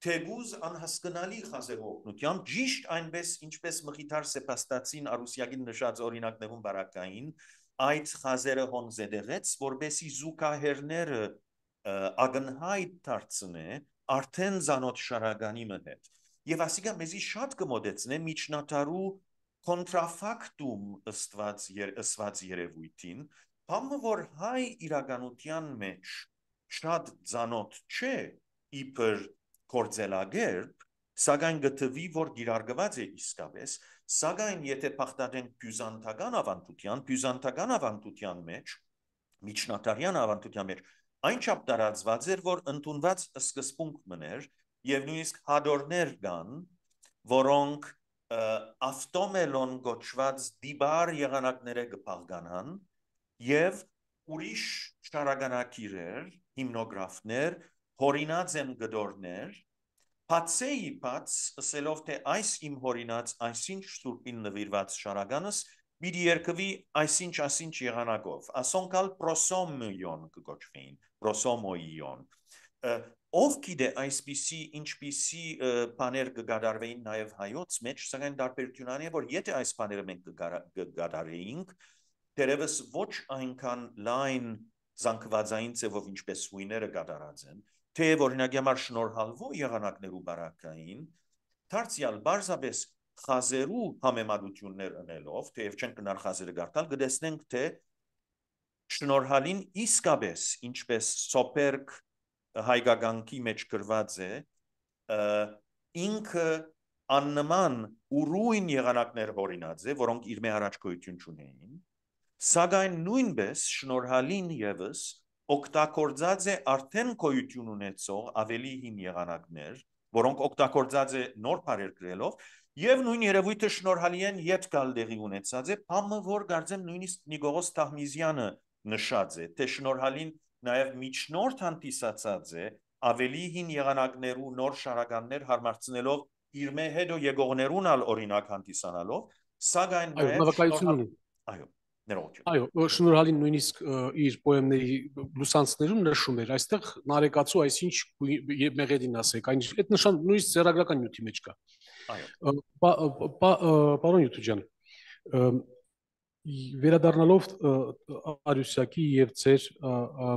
թեգուզ անհասկանալի խազերու օգնությամբ, ճիշտ այնպես ինչպես մխիթար սեպաստացին Արուսյագին նշած օրինակներուն բարակային, այդ խազերը հոն զեդեղեց, որբեսի զուգահեռները ագնհայտ դարձնե արդեն զանոթ շարականի հետ։ Եվ ասիկա մեզի շատ կմոդեցնե միջնադարու կոնտրաֆակտում ըստված երևույթին, բամը որ հայ իրականության մեջ շատ զանոթ չէ իբր կործելագերբ, սակայն գտվի, որ գիրարգված է իսկապես, սակայն եթե պախտադենք բյուզանդական ավանդության մեջ, միջնադարյան ավանդության մեջ, այնչափ տարածված էր, որ ընդունված սկզբունք մներ եւ նույնիսկ հադորներ կան, որոնք ավտոմելոն գոչված դիբար եղանակները կփաղկանան եւ ուրիշ շարականակիրեր, հիմնոգրաֆներ, հորինած են գդորներ, բացեի բաց, ասելով թե այս իմ հորինած այսինչ սուրբին նվիրված շարականս պիտի երկվի այսինչ եղանակով, ասոնքալ պրոսոմոյոն կգոչվեին, պրոսոմոյոն։ Ով գիտե այսպիսի ինչպիսի բաներ կգադարվեին նաև հայոց մեջ, սակայն տարբերությունն է, որ եթե այս բաները մենք կգադարեինք, դերևս ոչ այնքան լայն զանգվածային ձևով ինչպես հույները գադարած են, թե օրինակի համար շնորհալվող եղանակներու բարակային, դարձյալ բարձրապես խազերու համեմատություններ ունելով, թեև չենք գնար խազերը գարտալ, կտեսնենք, թե շնորհալին իսկապես ինչպես սոպերկ հայկականքի մեջ գրված է, ինքը աննման ուրույն եղանակներ հորինած է, որոնք իր մեջ առաջ գոյություն չունեին, Սակայն նույնպես շնորհալին ևս օգտագործած է արդեն գոյություն ունեցող ավելի հին եղանակներ, որոնք օգտագործած է նոր բարեր գրելով, եւ նույն երևույթը շնորհալի են յետ գալ դեղի ունեցած է, բամը որ գարձեմ նույնիսկ Նիկողոս Թահմիզյանը նշած է, թե շնորհալին նաեւ միջնորդ հանդիսացած է ավելի հին եղանակներու նոր շարականներ հարմարցնելով իր մե հետո եկողներուն ալ օրինակ հանդիսանալով, սակայն Այո, նվկայություն ունի։ Այո, ներողություն։ Այո, շնորհալին նույնիսկ իր պոեմների լուսանցներում նշում էր, այստեղ նարեկացու այսինչ մեղեդին ասեք, այն այդ նշան նույնիսկ ծերագրական նյութի մեջ կա։ Այո։ Պարոն Յութուջան, վերադառնալով Արուսյակի եւ ձեր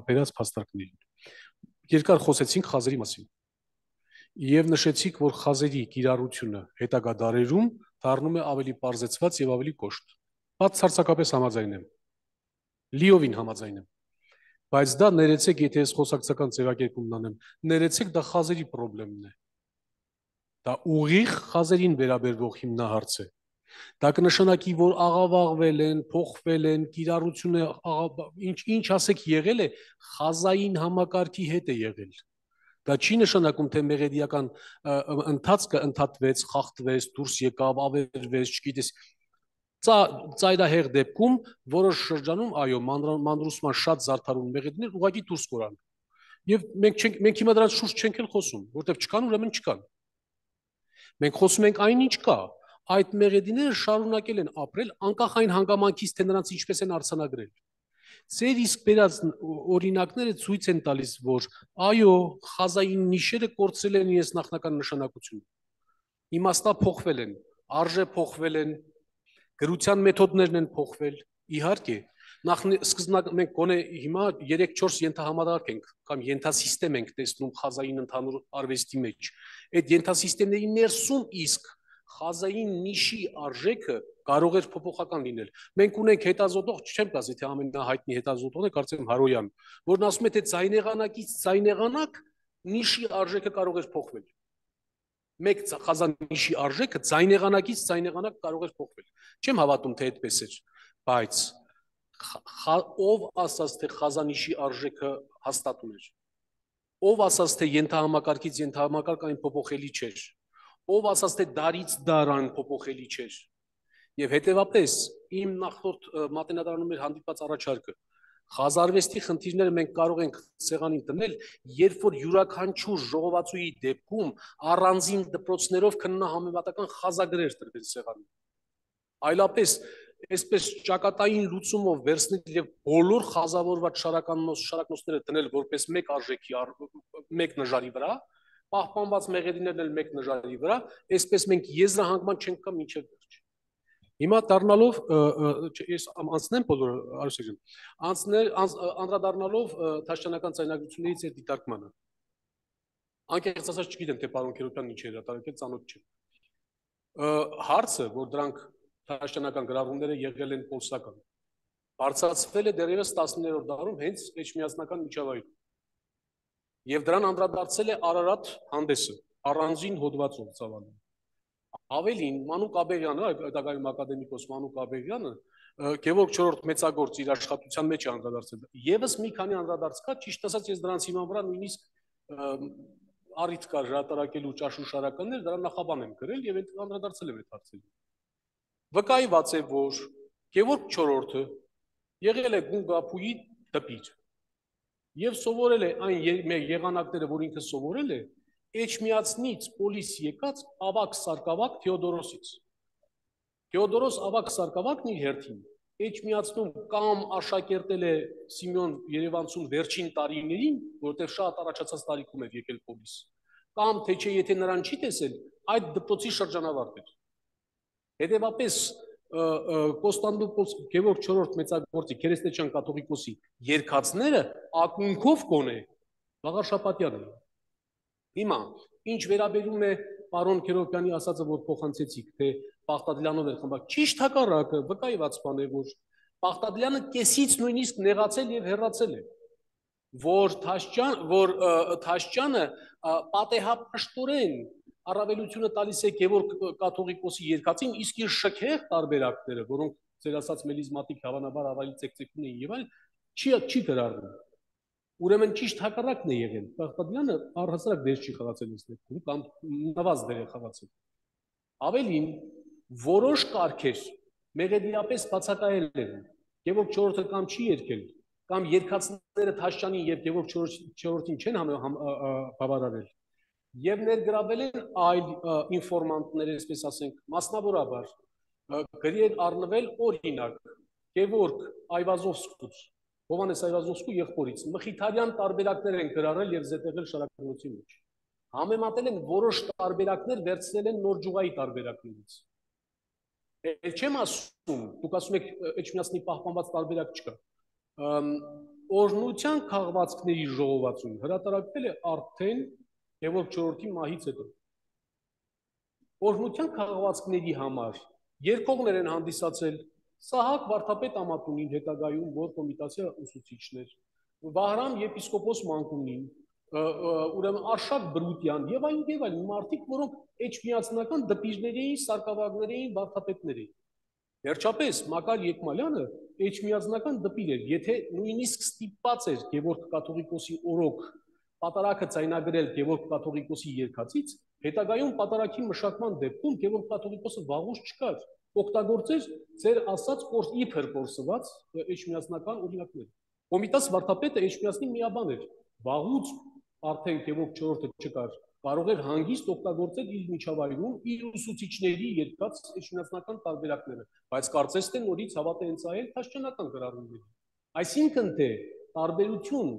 բերած փաստարկներին, երկար խոսեցինք խազերի մասին եւ նշեցիք, որ խազերի կիրառությունը հետագա դարերում դառնում է ավելի պարզեցված եւ ավելի կոշտ։ Բացարձակապես համաձայն եմ, լիովին համաձայն եմ, բայց դա ներեցեք, եթե ես խոսակցական ձևակերպումն անեմ, ներեցեք, դա խազերի խնդիրն է, դա ուղիղ խազերին վերաբերվող հիմնահարց է, դա կնշանակի, որ աղավաղվել են, փոխվել են, կիրառությունը ինչ ասեք եղել է, խազային համակարգի հետ է եղել, դա չի նշանակում, թե մեղեդիական ընթացքը ընդհատվեց, խախտվեց, դուրս եկավ, ավերվեց, չգիտես, ծայրահեղ դեպքում որոշ շրջանում, այո, մանրուսման շատ զարդարուն մեղեդիներ ուղղակի դուրս կորան։ Եվ մենք հիմա դրանց շուրջ չենք էլ խոսում, որտեղ չկան, ուրեմն չկան։ Մենք խոսում ենք այն ինչ կա, այդ մեղեդիները շարունակել են ապրել անկախ այն հանգամանքից, թե նրանց ինչպես են արձանագրել։ Ձեր իսկ բերած օրինակները ցույց են տալիս, որ այո, խազային նիշերը կորցրել են իրենց նախնական նշանակությունը։ Իմաստա փոխվել են, արժե փոխվել են, գրության մեթոդներն են փոխվել, իհարկե, սկզբնակ մենք գոնե հիմա 3-4 ենթահամարարկ ենք կամ ենթասիստեմ ենք տեսնում խազային ընդհանուր արվեստի մեջ։ Այդ ենթասիստեմների ներսում իսկ խազային նիշի արժեքը կարող էր փոփոխական լինել։ Մենք ունենք հետազոտող, չեմ կասի, թե ամենահայտնի հետազոտողն է, կարծեմ Հարոյան, որն ասում է, թե ձայնեղանակից ձայնեղանակ նիշի արժեքը կարող էր փոխվել։ Մեկ խազանիշի արժեքը ձայնեղանակից ձայնեղանակ կարող էր փոխվել։ Չեմ հավատում, թե այդպես էր, բայց ով ասաց, թե խազանիշի արժեքը հաստատուն էր։ Ով ասաց, թե ենթահամակարգից ենթահամակարգ այն փոփոխելի չէր։ Ով ասաց, թե դարից դար այն փոփոխելի չէր։ Եվ հետևապես իմ նախորդ մատենադարանում էր հանդիպած առաջարկը։ Խազարվեստի խնդիրները մենք կարող ենք սեղանին դնել, երբ որ յուրաքանչյուր ժողովածուի դեպքում առանձին դպրոցներով քննահամեմատական խազագրեր տրվեն սեղանին։ Այլապես այսպես ճակատային լուծումով վերցնել եւ բոլոր խազավորված շարակնոցները դնել որպես մեկ արժեքի մեկ նժարի վրա, պահպանված մեղեդիներն էլ մեկ նժարի վրա, այսպես մենք եզրահանգման չենք կա մինչև վերջ։ Հիմա դառնալով ես անցնեմ բոլոր Արուսյան, անդրադառնալով Թաշչյանական ցայնագրություններից այդ դիտարկմանը։ Անկեղծ ասած չգիտեմ, թե պարոն Քերոբյանն ինչ է հրատարակել, ծանոթ չեմ։ Հարցը, որ դրանք Թաշչյանական գրառումները եղել են պոլսական, բարձրացվել է դեռևս 19-րդ դարում հենց էջմիածնական միջավայրում։ Եվ դրան անդրադարձել է Արարատ հանդեսը, առանձին հոդվածով ծավալում։ Ավելին, Մանուկ Աբեղյանը, հետագայում ակադեմիկոս Մանուկ Աբեղյանը, Գևորգ IV մեծագործ իր աշխատության մեջ է անդրադարձել։ Եվս մի քանի անդրադարձ կա, ճիշտ ասած ես դրանց հիման վրա նույնիսկ առիթ կար հրատարակելու ճաշուշարականներ, դրա նախաբան եմ գրել եւ այդ անդրադարձել եմ այդ հարցերին։ Վկայված է, որ Գևորգ IV-ը եղել է Գունգափուի դպիր եւ սովորել է այն եղանակները, որ ինքը սովորել է Էջմիածնից պոլիս եկած ավակ սարկավակ Թեոդորոսից։ Թեոդորոս ավակ սարկավակն իր հերթին Էջմիածնում կամ աշակերտել է Սիմեոն Երևանցուն վերջին տարիներին, որտեղ շատ առաջացած տարիքում էր եկել պոլիս, կամ թե չէ եթե նրան չի տեսել, այդ դպրոցի շրջանավարտ էր։ Հետևապես Կոստանդնուպոլ Գևորգ IV մեծագործի քերեստեչյան կաթողիկոսի երկացները ակունքով կոնե Վաղարշապատյանը։ Հիմա, ինչ վերաբերում է պարոն Քերոբյանի ասածը, որ փոխանցեցիք, թե Պախտադլյանով էր խմբակ, ճիշտ հակառակը, վկայված բան է, որ Պախտադլյանը կեսից նույնիսկ նեղացել եւ հեռացել է, որ Թաշչյանը պատեհապաշտորեն առավելությունը տալիս է Գևորգ կաթողիկոսի երկացին, իսկ իր շքեղ տարբերակները, որոնք ձեր ասած մելիզմատիկ հավանաբար ավելի ցեկցեկուն էին եւ այլն, չի գրառվում։ Ուրեմն ճիշտ հակառակն է եղել։ Բաղդադյանը առհասարակ դեր չի խաղացել այս դեպքում, կամ նվազ դեր է խաղացել։ Ավելին, որոշ կարգեր մեղեդիապես բացակայել են, Գևորգ 4-ը կամ չի երգել, կամ երգացները Թաշյանին եւ Գևորգ 4-ին չեն բավարարել, եւ ներգրավել են այլ ինֆորմանտներ, այսպես ասենք, մասնավորաբար գրի են առնվել օրինակ Գևորգ Այվազովսկուց, Հովանես Այվազովսկու եղբորից մխիթարյան տարբերակներ են գրառել եւ զետեղել շարակնոցի մեջ։ Համեմատել են որոշ տարբերակներ, վերցնել են նոր ջուղայի տարբերակներից։ Էլ չեմ ասում, դուք ասում եք Էջմիածնի պահպանված տարբերակ չկա։ Օրհնության քաղվածքների ժողովածուն հրատարակվել է արդեն Գևորգ 4-ի մահից հետո։ Օրհնության քաղվածքների համար երկողներ են հանդիսացել Սահակ Վարդապետ Ամատունին, հետագայում որ կոմիտասիա ուսուցիչներ, Վահրամ եպիսկոպոս Մանկունին, ուրեմն Արշակ Բրուտյան եւ այլն մարդիկ, որոնք էջմիածնական դպիրների էին, սարկավագներ էին, վարդապետներ էին։ Վերջապես Մակար Եկմալյանը էջմիածնական դպիր էր, եթե նույնիսկ ստիպված էր Գևորգ կաթողիկոսի օրոք պատարակը ձայնագրել Գևորգ կաթողիկոսի երկացից, հետագայում պատարակի մշակման դեպքում Գևորգ կաթողիկոսը վաղուց չկար, օգտագործեր ձեր ասած իբր կորսված էջմիածնական օրինակներ։ Կոմիտաս Վարդապետը էջմիածնի միաբան էր, վաղուց արդեն Գևորգ 4-ը չկար, կարող էր հանգիստ օգտագործել իր միջավայրում իր ուսուցիչների երկած էջմիածնական տարբերակները, բայց կարծես թե նորից հավատ է ընծայել Թաշյանական գրառումներին։ Այսինքն թե տարբերություն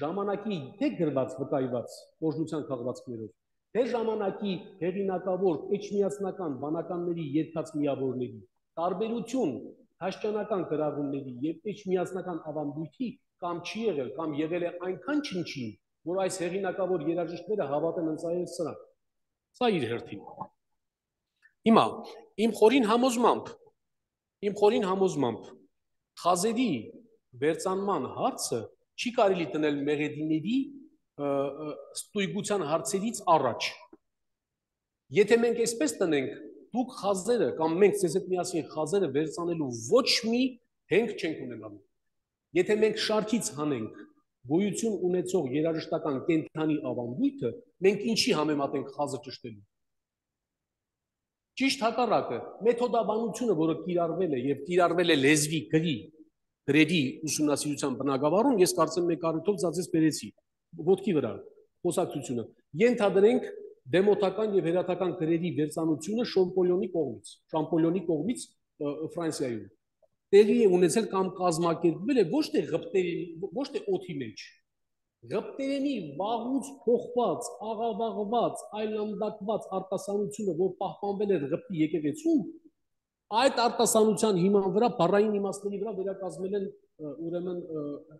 ժամանակի թե գրված վկայված օրհնության քաղվածքներով, թե ժամանակի հեղինակավոր էջմիածնական բանականների երկած միավորների, տարբերություն Թաշյանական գրառումների եւ էջմիածնական ավանդույթի կամ չի եղել, կամ եղել է այնքան չնչին, որ այս հեղինակավոր երաժիշտները հավատ են ընծայել սրանք։ Սա իր հերթին։ Հիմա իմ խորին համոզմամբ խազերի վերցանման հարցը չի կարելի տնել մեղեդիների ստույգության հարցերից առաջ։ Եթե մենք այսպես տնենք, դուք խազերը կամ մենք ձեզ հետ միասին խազերը վերցանելու ոչ մի հենք չենք ունենալու։ Եթե մենք շարքից հանենք գոյություն ունեցող երաժշտական կենթանի ավանդույթը, մենք ինչի համեմատենք խազը ճշտելու։ Ճիշտ հակառակը, մեթոդաբանությունը, որը կիրառվել է եւ կիրառվել է լեզվի գրերի ուսումնասիրության բնագավառում, ես կարծեմ մեկ առիթով ծածես բերեցի ոտքի վրա խոսակցությունը, ենթադրենք դեմոտական եւ հերաթական գրերի վերծանությունը Շամպոլյոնի կողմից Ֆրանսիայում տեղի է ունեցել կամ կազմակերպվել է ոչ թե օդի մեջ, Գպտերենի վաղուց փոխված, աղավաղված, այլանդակված արտասանությունը, որ պահպանվել էր Գպտի եկեղեցում, այդ արտասանության հիման վրա, բառային իմաստների վրա վերակազմել են ուրեմն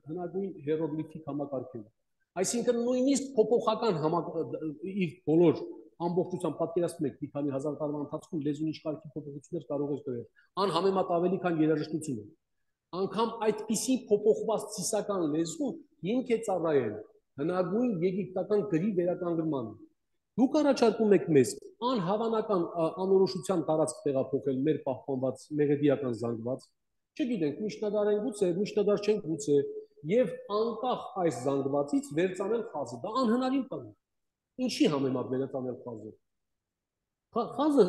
հնագույն հիերոգլիֆիկ համակարգերը։ Այսինքն նույնիսկ փոփոխական իր բոլոր ամբողջությամբ պատկերացնում եք մի քանի հազար տարվա ընթացքում լեզուն ինչ կարգի փոփոխություններ կարող էր կրել, անհամեմատ ավելի քան երաժշտությունը։ Անգամ այդպիսի փոփոխված ծիսական լեզուն հիմք է ծառայել հնագույն եգիպտական գրի վերականգնմանը։ Դուք առաջարկում եք մեզ անհավանական անորոշության տարածք տեղափոխել մեր պահպանված մեղեդիական զանգված, չգիտենք, միջնադար են գուցե, միջնադար չեն գուցե, եւ անկախ այս զանգվածից վերցանել խազը, դա անհնարին բան է։ Ինչի համեմատ վերցանել խազը։ Խազը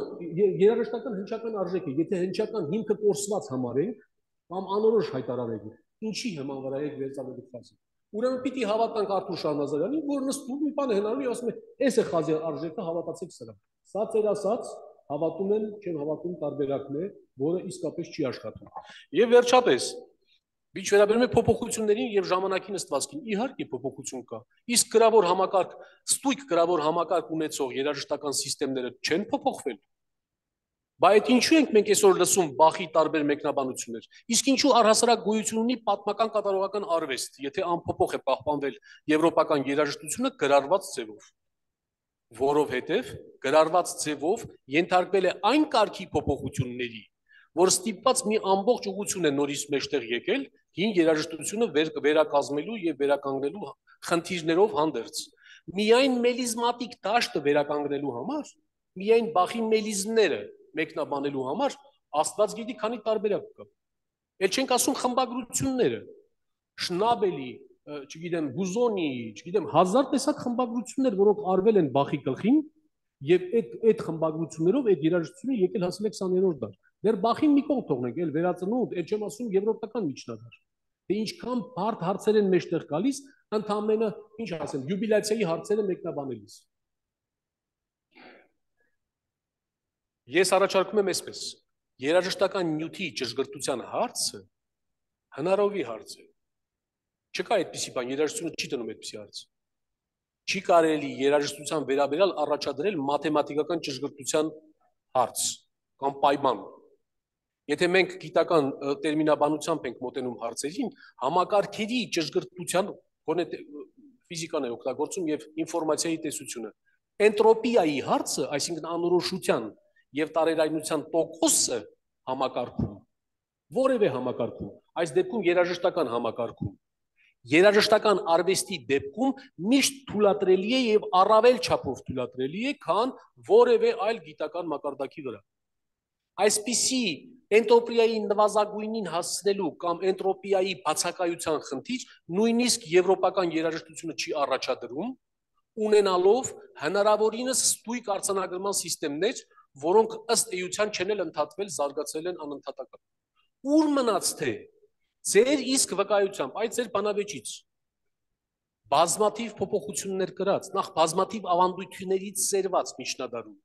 երաժշտական հնչական արժեք է, եթե հնչական հիմքը կորսված համարենք կամ անորոշ հայտարարենք, ինչի հիման վրա եք վերցանել խազը։ Ուրեմն պիտի հավատանք Արթուր Շահնազարյանին, որ նստում մի բան է հնարում եւ ասում է, «Էս է խազի արժեքը, հավատացեք սրան»։ Սա ծեր ասած, հավատում եմ, չեմ հավատում տարբերակն է, որը իսկապես չի աշխատում։ Եվ վերջապես, ինչ վերաբերում է փոփոխություններին եւ ժամանակի նստվածքին, իհարկե փոփոխություն կա։ Իսկ գրավոր համակարգ, ստույգ գրավոր համակարգ ունեցող երաժշտական համակարգերը չեն փոփոխվել։ Բայց այդ ինչու ենք մենք այսօր լսում Բախի տարբեր մեկնաբանություններ։ Իսկ ինչու առհասարակ գոյություն ունի պատմական կատարողական արվեստ, եթե անփոփոխ է պահպանվել եվրոպական երաժշտությունը գրառված ձևով։ Որովհետև գրառված ձևով ենթարկվել է այն կարգի փոփոխությունների, որ ստիպված մի ամբողջ ուղղություն է նորից մեջտեղ եկել հին երաժշտությունը վերակազմելու եւ վերականգնելու խնդիրներով հանդերձ։ Միայն մելիզմատիկ դաշտը վերականգնելու համար, միայն Բախի մելիզմները մեկնաբանելու համար Աստված գիտի քանի տարբերակ կա։ Էլ չենք ասում խմբագրությունները, Շնաբելի, չգիտեմ, Բուզոնի, չգիտեմ, 1000 տեսակ խմբագրություններ, որոնք արվել են Բախի գլխին, եւ այդ խմբագրություններով այդ երաժշտությունը եկել հասել է 20-րդ դար։ Դեռ Բախին մի կողմ թողնենք, էլ վերածնունդ, այդ չեմ ասում եվրոպական միջնադար։ Դե ինչքան բարդ հարցեր են մեջտեղ գալիս, ընդամենը, ինչ ասեմ, յուբիլացիայի հարցերը մեկնաբանելիս։ Ես առաջարկում եմ այսպես. երաժշտական նյութի ճշգրտության հարցը հնարովի հարց է։ Չկա այդպիսի բան, երաժշտությունը չի դնում այդպիսի հարց։ Չի կարելի երաժշտության վերաբերյալ առաջադրել մաթեմատիկական ճշգրտության հարց կամ պայման։ Եթե մենք գիտական տերմինաբանությամբ ենք մոտենում հարցերին, համակարգերի ճշգրտության, գոնե ֆիզիկան է օգտագործում եւ ինֆորմացիայի տեսությունը։ Էնտրոպիայի հարցը, այսինքն անորոշության եւ տարերայնության տոկոսը համակարգում, որևէ համակարգում, այս դեպքում երաժշտական համակարգում, երաժշտական արվեստի դեպքում միշտ թույլատրելի է եւ առավել չափով թույլատրելի է, քան որևէ այլ գիտական մակարդակի վրա։ Այսպիսի էնտրոպիայի նվազագույնին հասցնելու կամ էնտրոպիայի բացակայության խնդիր նույնիսկ եվրոպական երաժշտությունը չի առաջադրում, ունենալով հնարավորինս ստույգ արձանագրման սիստեմներ, որոնք ըստ էության չեն էլ ընդհատվել, զարգացել են անընդհատական։ Ուր մնաց թե ձեր իսկ վկայությամբ, այդ ձեր բանավեճից բազմաթիվ փոփոխություններ կրած, նախ բազմաթիվ ավանդույթներից սերված միջնադարում,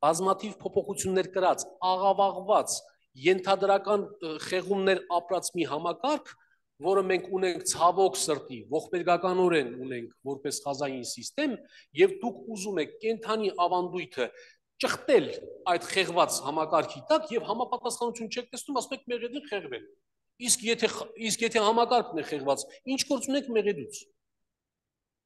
բազմաթիվ փոփոխություններ կրած, աղավաղված, ենթադրական խեղումներ ապրած մի համակարգ, որը մենք ունենք ցավոք սրտի, ողբերգականորեն ունենք որպես խազային սիստեմ, եւ դուք ուզում եք կենթանի ավանդույթը ճխտել այդ խեղված համակարգի տակ եւ համապատասխանություն չեք տեսնում, ասում եք մեղեդին խեղվել։ Իսկ եթե համակարգն է խեղված, ինչ գործ ունեք մեղեդուց։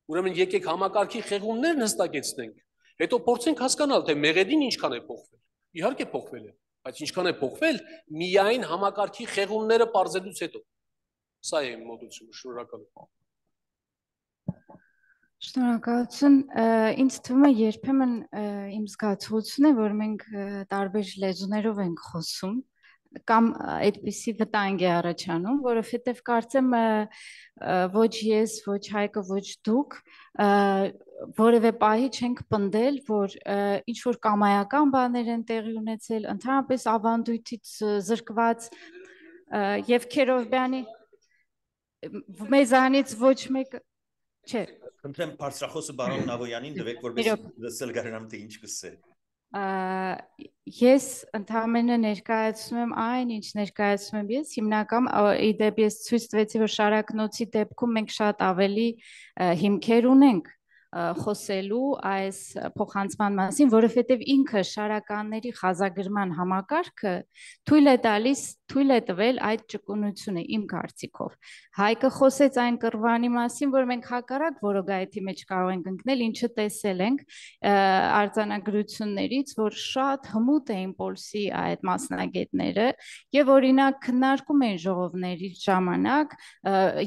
Ուրեմն եկեք համակարգի խեղումներն հստակեցնենք, հետո փորձենք հասկանալ, թե մեղեդին ինչքան է փոխվել։ Իհարկե փոխվել է, բայց ինչքան է փոխվել, միայն համակարգի խեղումները պարզելուց հետո։ Սա է իմ մոտեցումը, շնորհակալ եմ։ Շնորհակալություն, ինձ թվում է երբեմն իմ զգացողությունն է, որ մենք տարբեր լեզուներով ենք խոսում կամ այդպիսի վտանգ է առաջանում, որովհետև կարծեմ ոչ ես, ոչ Հայկը, ոչ դուք որևէ պահի չենք պնդել, որ ինչ որ կամայական բաներ են տեղի ունեցել, ընդհանրապես ավանդույթից զրկված եւ Քերովբյանի մեզանից ոչ մեկը չէ։ Խնդրեմ բարձրախոսը բարոն Նավոյանին տվեք, որպես լսել կարողանամ թե ինչ կսե։ Ես ընդհանրապես ներկայացնում եմ այն, ինչ ներկայացնում եմ ես, հիմնական իդեպ ես ցույց տվեցի, որ շարակնոցի դեպքում մենք շատ ավելի հիմքեր ունենք խոսելու այս փոխանցման մասին, որովհետև ինքը շարականների խազագրման համակարգը թույլ է տվել այդ ճկունությունը իմ կարծիքով։ Հայկը խոսեց այն կռվանի մասին, որ մենք հակառակ որոգայթի մեջ կարող ենք ընկնել, ինչը տեսել ենք արձանագրություններից, որ շատ հմուտ էին Պոլսի այդ մասնագետները եւ օրինակ քննարկում են ժողովների ժամանակ,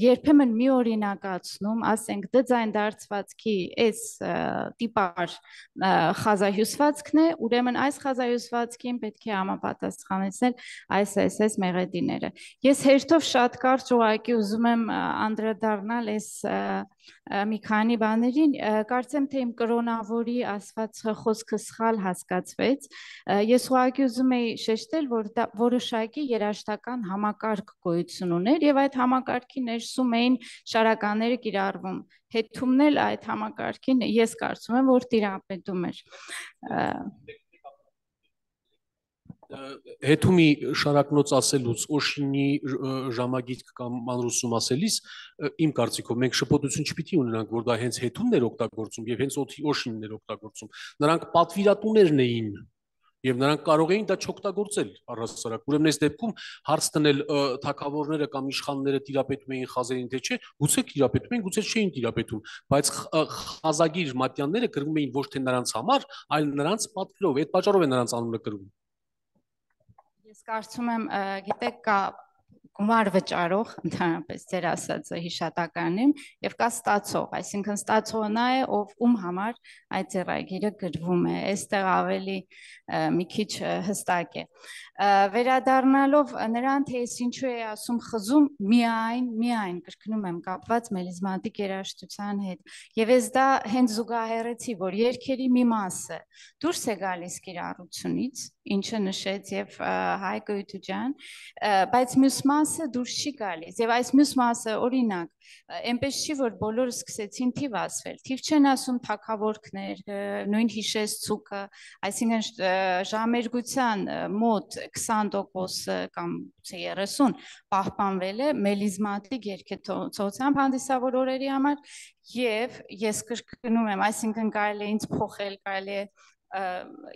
երբեմն մի օրինակացնում, ասենք դձայն դարձվածքի այս տիպար խազահյուսվածքն է, ուրեմն այս խազահյուսվածքին պետք է համապատասխանեցնել այս մեղեդիները։ Ես հերթով շատ կարճ ուղղակի ուզում եմ անդրադառնալ այս մի քանի բաներին, կարծեմ թե իմ կրոնավորի ասված խոսքը սխալ հասկացվեց։ Ես ուղղակի ուզում էի շեշտել, որ դա որոշակի երաժշտական համակարգ գոյություն ուներ եւ այդ համակարգի ներսում էին շարականները կիրառվում։ Հետումն էլ այդ համակարգին ես կարծում եմ, որ տիրապետում էր։ Հետումի շարակնոց ասելուց Օշինի ժամագիրք կամ մանրուսում ասելիս իմ կարծիքով մենք շփոթություն չպիտի ունենանք, որ դա հենց հետումն էր օգտագործում եւ հենց Օշինն էր օգտագործում։ Նրանք պատվիրատուներն էին եւ նրանք կարող էին դա չօգտագործել առհասարակ։ Ուրեմն այս դեպքում հարց տնել թագավորները կամ իշխանները տիրապետում էին խազերին թե չէ, գուցե տիրապետում էին, գուցե չէին տիրապետում, բայց խազագիր մատյանները կրվում էին ոչ թե նրանց համար, այլ նրանց պատվիրով, այդ պատճառով է նրանց անունը կրվում։ Ես կարծում եմ, գիտեք, կա գումար վճարող, ընդհանրապես ձեր ասածը հիշատակարանում եւ կա ստացող, այսինքն ստացողը նա է, ում համար այդ ձեռագիրը գրվում է, այստեղ ավելի մի քիչ հստակ է։ Վերադառնալով նրան, թե ես ինչու է ասում խզում, միայն կրկնում եմ կապված մելիզմատիկ երաժշտության հետ։ Եվ ես դա հենց զուգահեռեցի, որ երգերի մի մասը դուրս է գալիս կիրառությունից, ինչը նշեց եւ Հայկ Գոյթուջան, բայց մյուս մասը դուրս չի գալիս եւ այս մյուս մասը օրինակ այնպես չի որ բոլորը սկսեցին թիվ ասվել, թիվ չեն ասում թագավորքներ, նույն հիշես ցուկը, այսինքն ժամերգության մոտ 20% կամ 30 պահպանվել է մելիզմատիկ երգեցությամբ հանդիսավոր օրերի համար եւ ես կրկնում եմ, այսինքն կարելի է ինձ փոխել, կարելի է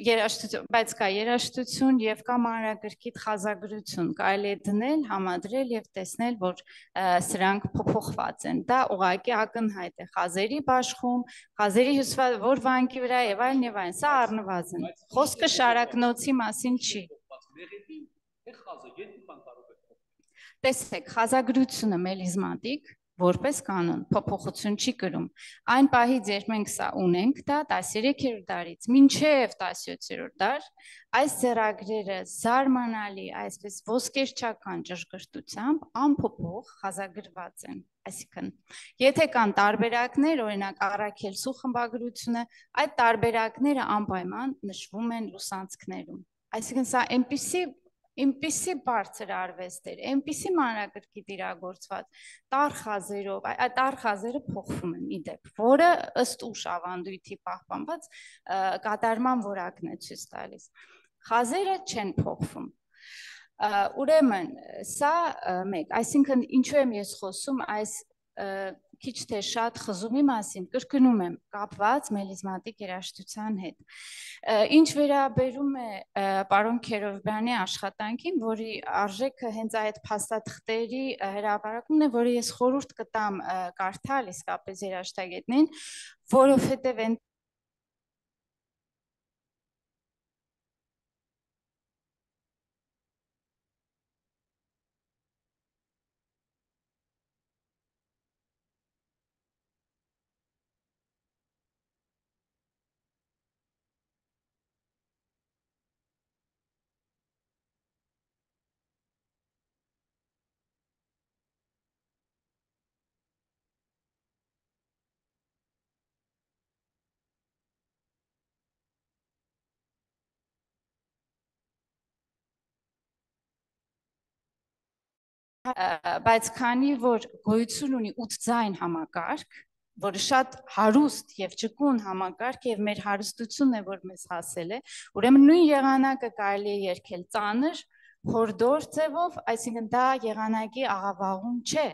երաժշտություն, բայց կա երաժշտություն եւ կա մանրագրքիտ խազագրություն, կարելի է դնել, համադրել եւ տեսնել, որ սրանք փոփոխված են։ Դա ուղղակի ակնհայտ է խազերի բաշխում, խազերի հյուսված որ վանքի վրա եւ այլն, սա առնվազն։ Խոսքը շարակնոցի մասին չի։ Տեսեք, խազագրությունը մելիզմատիկ որպես կանոն փոփոխություն չի կրում։ Այն պահից, երբ մենք սա ունենք, դա 13-րդ դարից մինչև 17-րդ դար, այս ձեռագրերը զարմանալի, այսպես ոսկերչական ճշգրտությամբ անփոփոխ խազագրված են։ Այսինքն, եթե կան տարբերակներ, օրինակ Առաքելսու խմբագրությունը, այդ տարբերակները անպայման նշվում են լուսանցքներում։ Այսինքն, սա այնպիսի բարձր արվեստ էր, այնպիսի մանրագրքիտ իրագործված, տառ խազերով, այդ տառ խազերը փոխվում են իդեպ, որը ըստ ուշ ավանդույթի պահպանված կատարման որակն է ցույց տալիս։ Խազերը չեն փոխվում։ Ուրեմն, սա մեկ, այսինքն ինչու եմ ես խոսում այս քիչ թե շատ խզումի մասին, կրկնում եմ, կապված մելիզմատիկ երաժշտության հետ։ Ինչ վերաբերում է պարոն Քերովբյանի աշխատանքին, որի արժեքը հենց այդ փաստաթղթերի հրապարակումն է, որը ես խորհուրդ կտամ կարդալ իսկապես երաժշտագետներին, որովհետև այն բայց քանի որ գոյություն ունի 8 ձայն համակարգ, որը շատ հարուստ եւ ճկուն համակարգ եւ մեր հարստությունն է, որ մեզ հասել է, ուրեմն նույն եղանակը կարելի է երգել ծանր, հորդոր ձևով, այսինքն դա եղանակի աղավաղում չէ։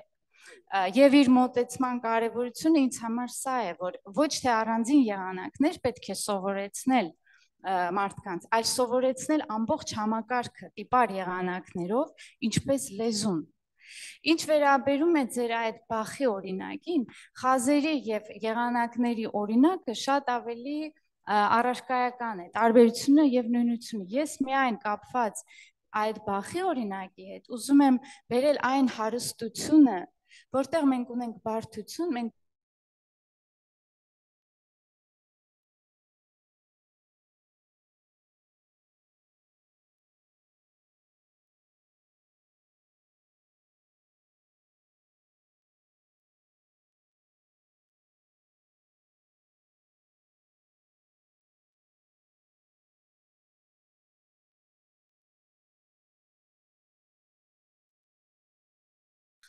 Եվ իր մոտեցման կարևորությունը ինձ համար սա է, որ ոչ թե առանձին եղանակներ պետք է սովորեցնել մարդկանց, այլ սովորեցնել ամբողջ համակարգը տիպար եղանակներով, ինչպես լեզուն։ Ինչ վերաբերում է ձեր այդ Բախի օրինակին, խազերի եւ եղանակների օրինակը շատ ավելի առարկայական է, տարբերությունը եւ նույնությունը։ Ես միայն կապված այդ Բախի օրինակի հետ ուզում եմ բերել այն հարստությունը, որտեղ մենք ունենք բարդություն, մենք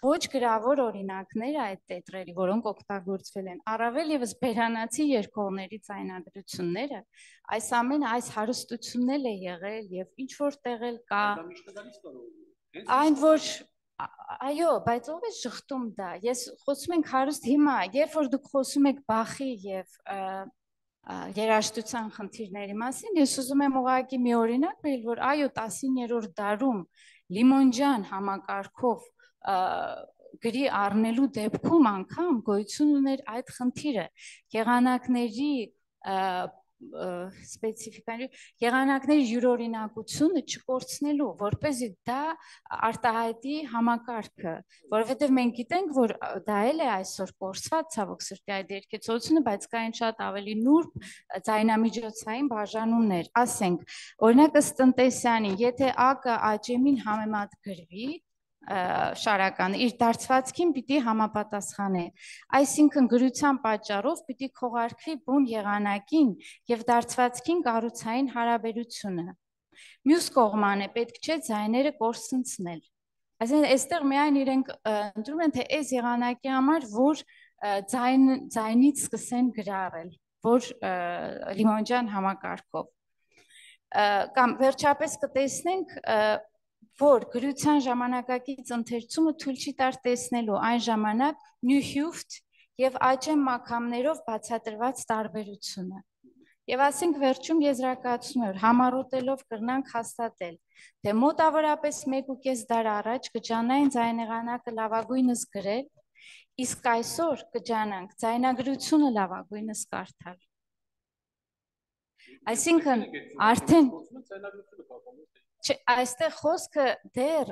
ոչ գրավոր օրինակներ այդ տետրերի, որոնք օգտագործվել են, առավել եւս բերանացի երկողների ձայնագրությունները, այս ամենը այս հարստությունն է եղել եւ ինչ որ տեղել կա։ Այն որ այո, բայց ով է շղթում դա։ Ես խոսում ենք հարուստ հիմա, երբ որ դուք խոսում եք Բախի եւ երաժշտության խնդիրների մասին, ես ուզում եմ ուղղակի մի օրինակ բերել, որ այո 19-րդ դարում Լիմոնջան համակարգով գրի առնելու դեպքում անգամ գոյություն ուներ այդ խնդիրը, եղանակների սպეციფիկան եղանակների յուրօրինակությունը չկորցնելու, որպեսզի դա արտահայտի համակարգը, որովհետև մենք գիտենք, որ դա էլ է այսօր կորցված ցավոք սրտի այդ երկեցությունը, բայց կային շատ ավելի նուրբ ձայնամիջոցային բաժանումներ, ասենք, օրինակ ըստ Տնտեսյանի, եթե ԱԿ ԱՃՄ-ին համեմատ գրվի, շարական իր դարձվածքին պիտի համապատասխանե, այսինքն գրության պատճառով պիտի քողարկվի բուն եղանակին եւ դարձվածքին կառուցային հարաբերությունը։ Մյուս կողմանը պետք չէ ձայները կորսնցնել։ Այսինքն այստեղ միայն իրենք ընտրում են թե այս եղանակի համար, որ ձայնից սկսեն գրառել, որ Լիմոնյան համակարգով։ Կամ վերջապես կտեսնենք որ գրության ժամանակակից ընթերցումը թույլ չի տար տեսնելու այն ժամանակ նյուհյուֆտ եւ աճեմ մակամներով բացատրված տարբերությունը։ Եվ ասենք վերջում եզրակացնում եմ, համառոտելով կրնանք հաստատել, թե մոտավորապես 1.5 դար առաջ կջանային ձայնեղանակը լավագույնս գրել, իսկ այսօր կջանանք ձայնագրությունը լավագույնս կարդալ։ Այսինքն արդեն այստեղ խոսքը դեռ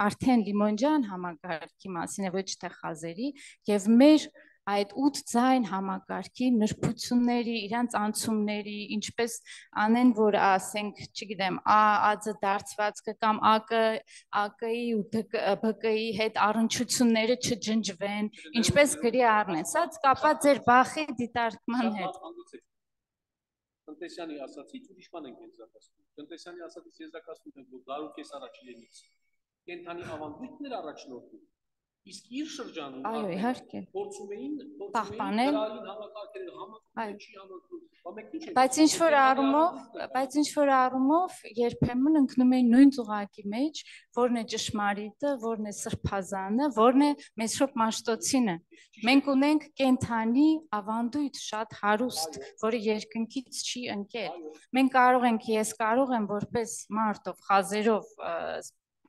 արդեն Լիմոնյան համակարգի մասին է, ոչ թե խազերի, եւ մեր այդ 8 ձայն համակարգի նրբությունների, իրանց անցումների, ինչպես անեն, որ ասենք, չգիտեմ, ԱԱԾ դարձվածքը կամ ԱԿ-ի ու ԲԿ-ի հետ առնչությունները չջնջվեն, ինչպես գրի առնեն, սա կապված ձեր բախի դիտարկման հետ։ Տնտեսյանի ասացից ուրիշ բան ենք եզրակացնում։ Տնտեսյանի ասացից եզրակացնում ենք, որ դարուկես առաջ իրենից կենթանի ավանդույթներ առաջնորդում, իսկ իր շրջանում այո, իհարկե փորձում էին պահպանել համակարգերը համակարգը չի համակարգում, բայց ինչ որ առումով երբեմն ընկնում են նույն ծուղակի մեջ, որն է ճշմարիտը, որն է սրբազանը, որն է Մեսրոպ Մաշտոցինը։ Մենք ունենք կենթանի ավանդույթ շատ հարուստ, որը երկնքից չի ընկել։ Մենք ես կարող եմ որպես մարդով, խազերով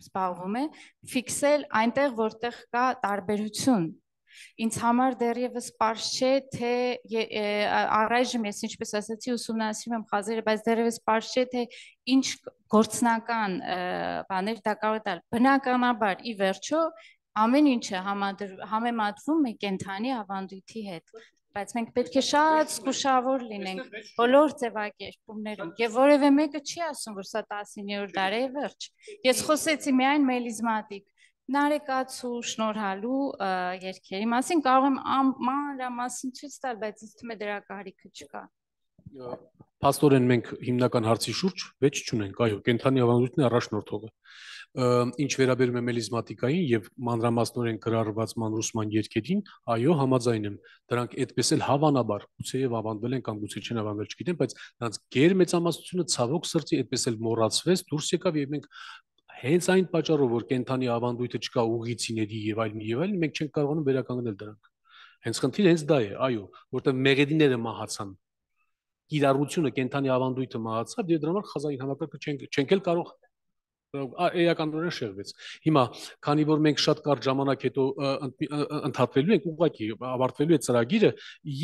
զբաղվում է, ֆիքսել այնտեղ, որտեղ կա տարբերություն։ Ինձ համար դեռևս պարզ չէ, թե առայժմ ես ինչպես ասացի ուսումնասիրում եմ խազերը, բայց դեռևս պարզ չէ, թե ինչ գործնական բաներ դա կարող է տալ։ Բնականաբար ի վերջո ամեն ինչը համեմատվում է կենթանի ավանդույթի հետ, բայց մենք պետք է շատ զգուշավոր լինենք բոլոր ձևակերպումներում, եւ որևէ մեկը չի ասում, որ սա 19-րդ դարի է վերջ։ Ես խոսեցի միայն մելիզմատիկ նարեկացու, շնորհալու երգերի մասին, կարող եմ մանրամասն ցույց տալ, բայց ինձ թվում է դրա կարիքը չկա։ Փաստորեն մենք հիմնական հարցի շուրջ վեճ չունենք, այո, կենթանի ավանդույթն է առաջնորդողը։ Ինչ վերաբերում է մելիզմատիկային եւ մանրամասնորեն գրառված մանրուսման երգերին, այո, համաձայն եմ, դրանք այդպես էլ հավանաբար գուցեև ավանդվել են կամ գուցե չեն ավանդվել, չգիտեմ, բայց նրանց գերմեծամասնությունը ցավոք սրտի այդպես էլ մոռացվեց, դուրս եկավ եւ մենք հենց այն պատճառով, որ կենթանի ավանդույթը չկա ուղիցիների եւ այլն, մենք չենք կարողանում վերականգնել դրանք։ Հենց խնդիրը հենց դա է, այո, որտեղ մեղեդիները մահացան։ Կիրառությունը կենթանի ավանդույթը մահացավ եւ դրա համար խազային համակարգը չենք էլ կարող էականորեն շեղվեց։ Հիմա, քանի որ մենք շատ կարճ ժամանակ հետո ընդհատվելու ենք, ուղղակի ավարտվելու է ծրագիրը,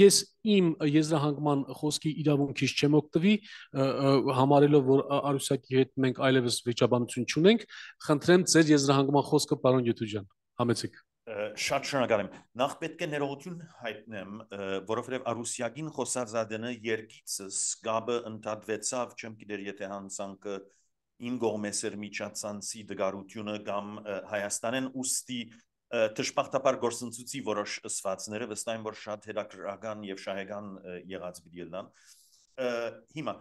ես իմ եզրահանգման խոսքի իրավունքից չեմ օգտվի, համարելով, որ Արուսյակի հետ մենք այլևս վիճաբանություն չունենք, խնդրեմ ձեր եզրահանգման խոսքը, պարոն Յութուջան, համեցեք։ Շատ շնորհակալ եմ։ Նախ պետք է ներողություն հայտնեմ, որովհետև Արուսյակին խոսածադենը երգիցս գաբը ընդհատվեցավ, չեմ գիտեր, եթե հանցանքը ին գողմեսեր միջացանցի դգարությունը կամ Հայաստանեն ուստի թշպախտապար գործընծուցի որոշ ըսվածները վստահ եմ, որ շատ հետաքրքրական եւ շահեկան եղած բիդելան։ Հիմա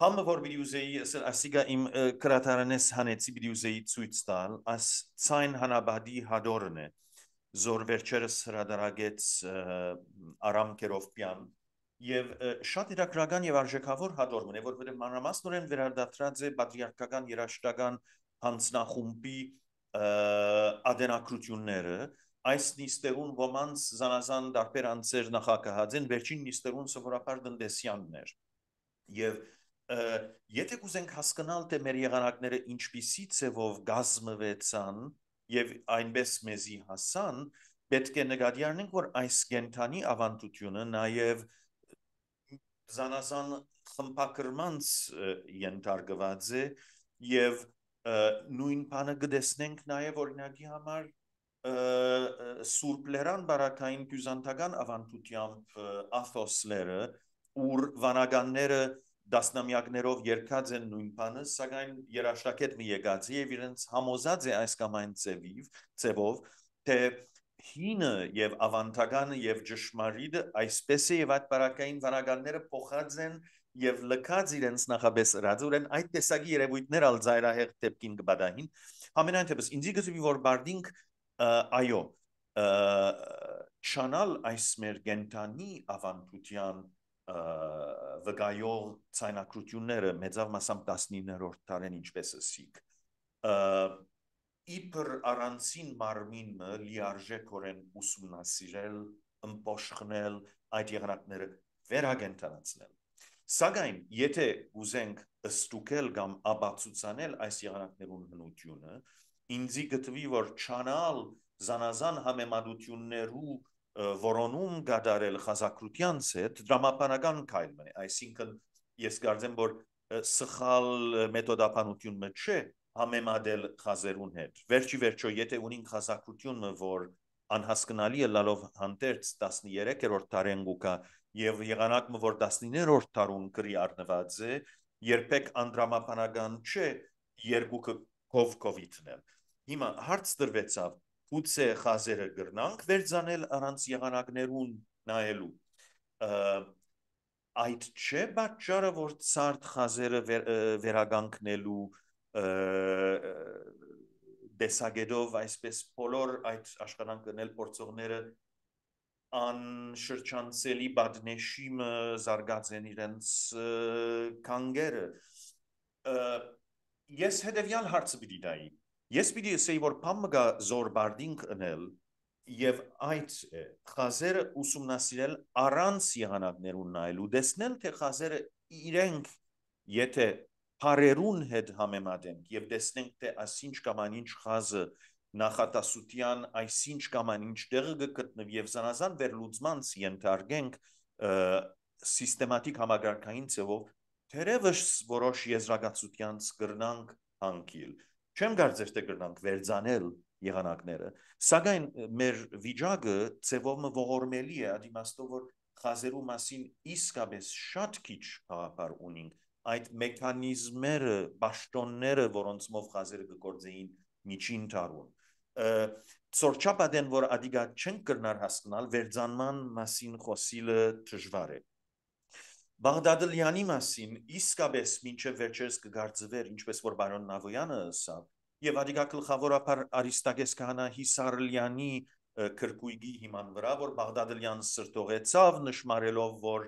Համը որ բիդյուզեի ասիգա իմ կրատարանես հանեցի բիդյուզեի ցույց տալ, աս ցայն հանաբադի հադորն է, զոր վերջերս հրադարագեց Արամ Կերովպյան եւ շատ իրակրական եւ արժեքավոր հադորն է, որովհետեւ մանրամասնորեն վերադարձած է պատրիարքական երաշտական հանձնախումբի ադենակրությունները, այս նիստերուն ոմանց զանազան դարբեր անձեր նախակահած են, վերջին նիստերուն սովորաբար տնտեսյաններ եւ եթե կուզենք հասկանալ թե մեր եղանակները ինչպիսի ցևով գազմվեցան եւ այնպես մեզի հասան, պետք է նկատի առնենք, որ այս կենթանի ավանդությունը նաեւ զանազան խմբակրմանց ենթարկված է եւ նույն բանը գտեսնենք նաեւ օրինակի համար Սուրբ Լերան բարակային բյուզանդական ավանդությամբ Աթոսլերը ուր վանականները դասնամյակներով երկած են նույն բանը, սակայն երաշտակետ մի եկած եւ իրենց համոզած է այս կամ այն ծևով, թե հինը եւ ավանդականը եւ ճշմարիտը այսպես է եւ այդ բարակային վանականները փոխած են եւ լքած իրենց նախաբես ռադուրեն այդ տեսակի երևույթներ ալ զայրահեղ դեպքին կբադահին ամենայնտեպս ինձ գտվի որ բարդինք այո չանալ այս մեր գենտանի ավանդության վկայող ցայնակրությունները մեծավ մասամբ 19-րդ դարին ինչպես ասիկ իբր առանցին մարմինը լիարժեքորեն ուսումնասիրել, ըմբոշխնել այդ եղանակները վերագենտանացնել Սակայն եթե ուզենք ստուգել կամ աբացուցանել այս եղանակներուն հնությունը ինձի գտվի որ չանալ զանազան համեմատություններու որոնում գադարել խազակրությանց հետ դրամապանական քայլ է այսինքն ես կարծեմ որ սխալ մեթոդապանությունը չէ համեմատել խազերուն հետ վերջի վերջո եթե ունին խազակրությունը որ անհասկանալի է լալով հանդերձ 13-րդ դարեն գուկա եւ եղանակը որ 19-րդ դարուն գրի առնված է երբեք անդրամապանական չէ երկուքը կովիդներ հիմա հարց դրվեցավ Գուցե խազերը գրնանք վերցանել առանց եղանակներուն նայելու այդ չէ պատճառը որ ցարտ խազերը վերագանքնելու դեսագետով այսպես բոլոր այդ աշխատանքներ փորձողները անշրջանցելի բադնեշիմը զարգացեն իրենց կանգերը ես հետևյալ հարցը պիտի տայի Ես պիտի ասեի, որ պամգա զոր բարդինք ընել և այդ խազերը ուսումնասիրել առանց եղանակներուն նայելու, դեսնել, թե խազերը իրենք եթե պարերուն հետ համեմատենք և դեսնենք, թե ասինչ կամ անինչ խազը նախատասության այսինչ կամ անինչ տեղը գտնվի և զանազան վերլուծմանց ենթարկենք սիստեմատիկ համագարկային ձևով, թերևս որոշ եզրակացությանց կրնանք հանգիլ Չեմ կարծեր թե կրնանք վերցանել եղանակները, սակայն մեր վիճակը ձևով ողորմելի է, ադիմաստով որ խազերու մասին իսկապես շատ քիչ խաղապար ունենք, այդ մեքանիզմները, պաշտոնները, որոնցմով խազերը կգործեին միջին տարուն։ Ծորչապատեն, որ ադիգա չենք կրնար հասկանալ, վերցանման մասին խոսիլը դժվար է։ Բաղդադլյանի մասին իսկապես մինչև վերջերս կգարձվեր, ինչպես որ բարոն Նավոյանը ասավ, եւ ադիգա գլխավորապես Արիստագես քահանա Հիսարլյանի քրկույգի հիման վրա, որ Բաղդադլյանը սրտողեցավ նշмарելով, որ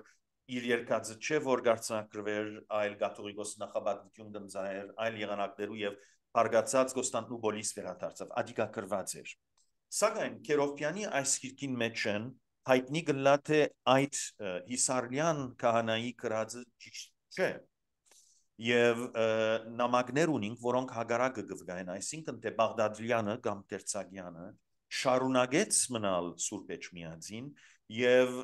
իր երկածը չէ, որ գարցնակրվեր այլ կաթողիկոս նախաբադություն դմզայր, այլ եղանակներու եւ հարգացած Կոստանդնուպոլիս վերադարձավ, ադիգա կրված էր։ Սակայն Քերովպյանի այս քիրքին մեջ են հայտնի գլա թե այդ Հիսարլյան քահանայի կրածը ճիշտ չէ եւ նամակներ ունենք որոնք հագարակը գվգային այսինքն թե Բաղդադլյանը կամ Տերցագյանը շարունակեց մնալ Սուրբ Էջմիածին եւ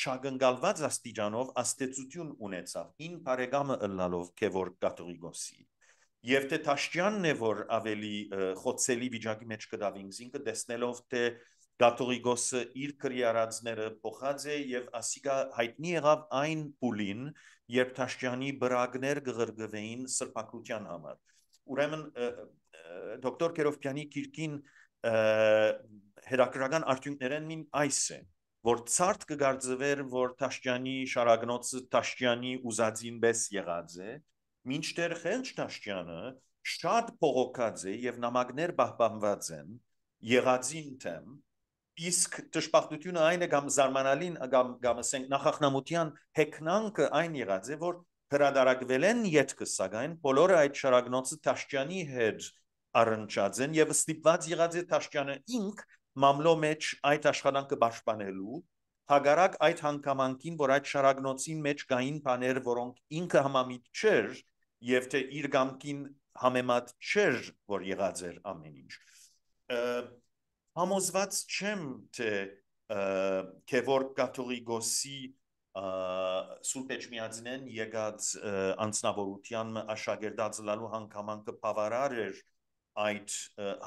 չագնկալված աստիճանով աստեցություն ունեցավ հին բարեկամը ըլլալով քևոր կաթողիկոսի եւ թե Թաշտյանն է որ ավելի խոցելի վիճակի մեջ կդավինք ինքը տեսնելով թե Կաթողիկոսը իր քրիարածները փոխած է եւ ասիկա հայտնի եղավ այն փուլին երբ Թաշտյանի բրագներ գղրգվեին սրբակրության համար ուրեմն դոկտոր Քերովպյանի քիրքին հետաքրական արդյունքներն մին այս է որ ցարտ կգարձվեր որ Թաշտյանի շարագնոցը Թաշտյանի ուզածին պես եղած է մինչդեռ Խելջ Թաշտյանը շատ փողոքած է եւ նամակներ պահպանված են եղածին թեմ Իսկ դժբախտությունը այն է կամ զարմանալին կամ ասենք նախախնամության հեքնանքը այն եղած է որ հրադարակվել են յետքը սակայն բոլորը այդ շարագնոցը Թաշտյանի հետ առնչած են եւ ստիպված եղած է Թաշտյանը ինք մամլո մեջ այդ աշխատանքը պաշտպանելու հագարակ այդ հանգամանքին որ այդ շարագնոցին մեջ կային բաներ որոնք ինքը համամիտ չէր եւ թե իր գամքին համեմատ չէր որ եղած էր ամեն ինչ Համոզված չեմ թե Քևոր կաթողիկոսի Սուրբ Էջմիածնեն եկած անձնավորության աշակերտած լալու հանգամանքը բավարար էր այդ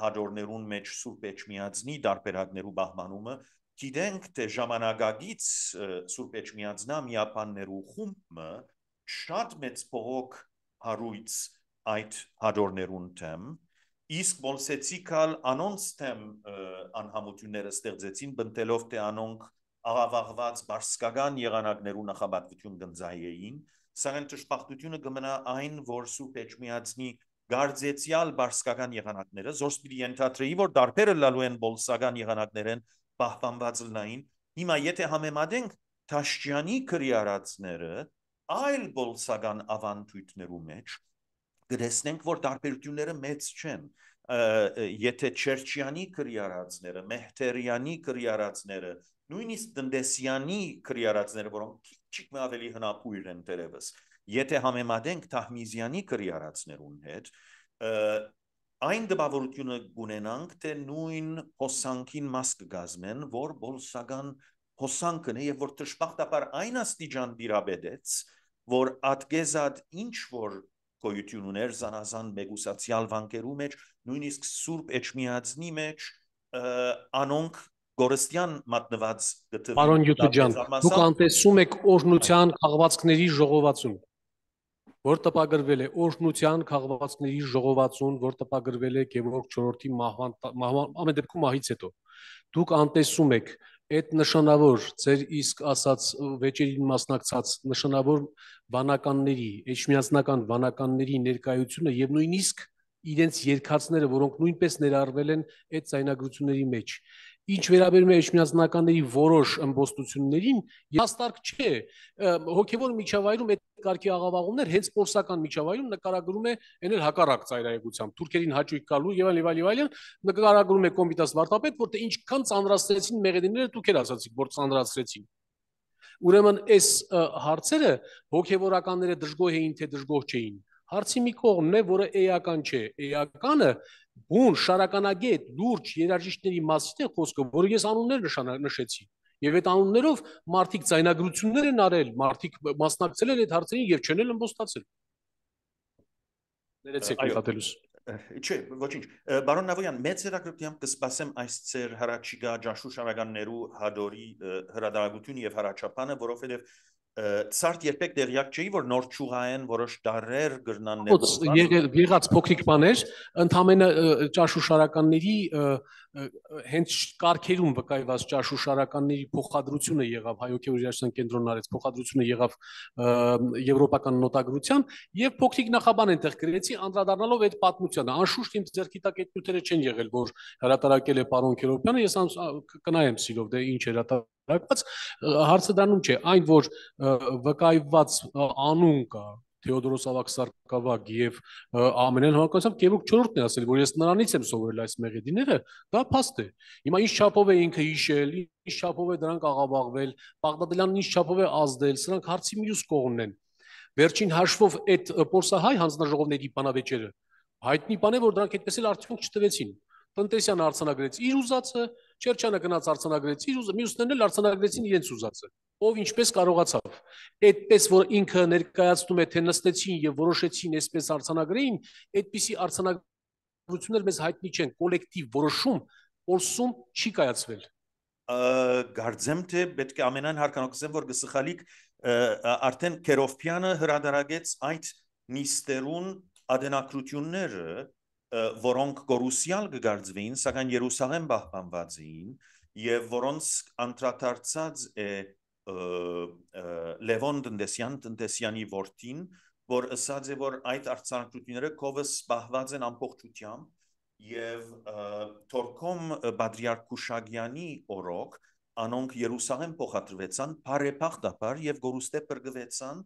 հաջորներուն մեջ Սուրբ Էջմիածնի դարբերակներու բահմանումը գիտենք թե ժամանակագից Սուրբ Էջմիածնա միապաններու խումբը շատ մեծ փողոք հարույց այդ հաջորներուն թեմ իսկ բոլսեցիկալ անոնց թեմ անհամությունները ստեղծեցին բնտելով թե անոնք աղավաղված բարսկական եղանակներու նախաբատվություն գնձայեին, սակայն ճշմարտությունը կմնա այն, որ Սուրբ Էջմիածնի գարձեցյալ բարսկական եղանակները, զորս պիտի ենթադրեի, որ դարբերը լալու են բոլսական եղանակներեն պահպանված լնային, հիմա եթե համեմատենք Թաշջյանի քրիարածները այլ բոլսական ավանդույթներու մեջ, կտեսնենք, որ դարբերությունները մեծ չեն, եթե Չերչյանի քրիարածները, Մեհտերյանի քրիարածները նույնիսկ Տնտեսյանի քրիարածները, որոնք քիչ ավելի հնապույր են դերևս, եթե համեմատենք Թահմիզյանի քրիարածներուն հետ, այն դպավորությունը կունենանք, թե նույն հոսանքին մաս կգազմեն, որ բոլսական հոսանքն է եւ որ ճշմարտաբար այն աստիճան դիրաբեդեց, որ ատգեզած ինչ որ գոյություն ուներ զանազան մեգուսացիալ վանկերու մեջ, նույնիսկ Սուրբ Էջմիածնի մեջ անոնք Գորստյան մատնված գտվի Պարոն Յուտուջան, դուք անտեսում եք օրհնության քաղվածքների ժողովածուն, որ տպագրվել է օրհնության քաղվածքների ժողովածուն, որ տպագրվել է Գևորգ 4-ի մահվան ամեն դեպքում մահից հետո։ Դուք անտեսում եք այդ նշանավոր ձեր իսկ ասած վեճերին մասնակցած նշանավոր վանականների, էջմիածնական վանականների ներկայությունը եւ նույնիսկ իրենց երկացները, որոնք նույնպես ներառվել են այդ ցայնագրությունների մեջ։ Ինչ վերաբերում է էջմիածնականների որոշ ըմբոստություններին, հաստարկ չէ, հոգևոր միջավայրում այդ կարգի աղավաղումներ հենց պոլսական միջավայրում նկարագրում է ենել հակառակ ծայրահեղությամբ, թուրքերին հաճույք գալու եւ այլն, նկարագրում է Կոմիտաս վարդապետ, որտեղ ինչքան ծանրացրեցին մեղեդիները դուք եք ասացիք, որ ծանրացրեցին։ Ուրեմն այս հարցերը հոգևորականները դժգոհ էին, թե դժգոհ չէին։ Հարցի մի կողմն է, որը էական չէ, էականը բուն շարականագետ լուրջ երաժիշտների մասին է խոսքը, որը ես անուններ նշեցի, եւ այդ անուններով մարդիկ ցայնագրություններ են արել, մարդիկ մասնակցել են այդ հարցերին եւ չեն էլ ըմբոստացել։ Ներեցեք նկատելուս։ Չէ, ոչինչ։ Բարոն Նավոյան, մեծ հետաքրքրությամբ կսպասեմ այս ծեր հրաչիգա ջաշուշարականներու հադորի հրադարագություն եւ հրաչապանը, որովհետեւ Ցարտ երբեք դերյակ չէի, որ նոր ճուղային որոշ դարեր գրնաններ եղած փոքրիկ բաներ, ընդամենը ճաշուշարականների հենց կարգերում վկայված ճաշուշարականների փոխադրությունը եղավ հայօքեոր երաժշտության կենտրոնն արեց, փոխադրությունը եղավ եվրոպական նոտագրության եւ փոքրիկ նախաբան այնտեղ գրեցի, անդրադառնալով այդ պատմությանը։ Անշուշտ իմ ձեռքի տակ այդ նյութերը չեն եղել, որ հրատարակել է պարոն Քերոբյանը, ես կնայեմ սիրով, դե ինչ հրատարակված, հարցը դառնում չէ, այն որ վկայված անուն կա Թեոդորոս Ավագ-Սարգսակյան եւ ամենայն հավանականությամբ Գևորգ 4-ն է ասել, որ ես նրանից եմ սովորել այս մեղեդիները, դա փաստ է։ Հիմա ինչ չափով է ինքը հիշել, ինչ չափով է դրանք աղավաղվել, Բաղդադյանն ինչ չափով է ազդել, սրանք հարցի մյուս կողմն են։ Վերջին հաշվով այդ պորսահայ հանձնաժողովների բանավեճերը հայտնի բան է, որ դրանք այդպես էլ արդյունք չտվեցին։ Տնտեսյանը արձանագրեց իր ուզածը, Չերչյանը գնաց արձանագրեց իր ուզածը, մյուսներն էլ արձանագրեցին իրենց ուզածը։ Ով ինչպես կարողացավ։ Այդպես որ ինքը ներկայացնում է, թե նստեցին եւ որոշեցին այսպես արձանագրեին, այդպիսի արձանագրություններ մեզ հայտնի չեն, կոլեկտիվ որոշում Պոլսում չի կայացվել։ Գարձեմ թե պետք է ամենայն հարկանոքսեմ, որ գսխալիք արդեն Քերովփյանը հրադարագեց այդ նիստերուն ադենակրությունները, որոնք գորուսյալ կգարձվեին, սակայն Երուսաղեմ պահպանված էին եւ որոնց անդրադարձած է Լևոն Տնտեսյանի որդին, որ ասած է, որ այդ արձանագրությունները կովս պահված են ամբողջությամբ եւ Թորքոմ Բադրիարք Քուշագյանի օրոք անոնք Երուսաղեմ փոխադրվեցան բարեփոխտաբար եւ գորուստե բրգվեցան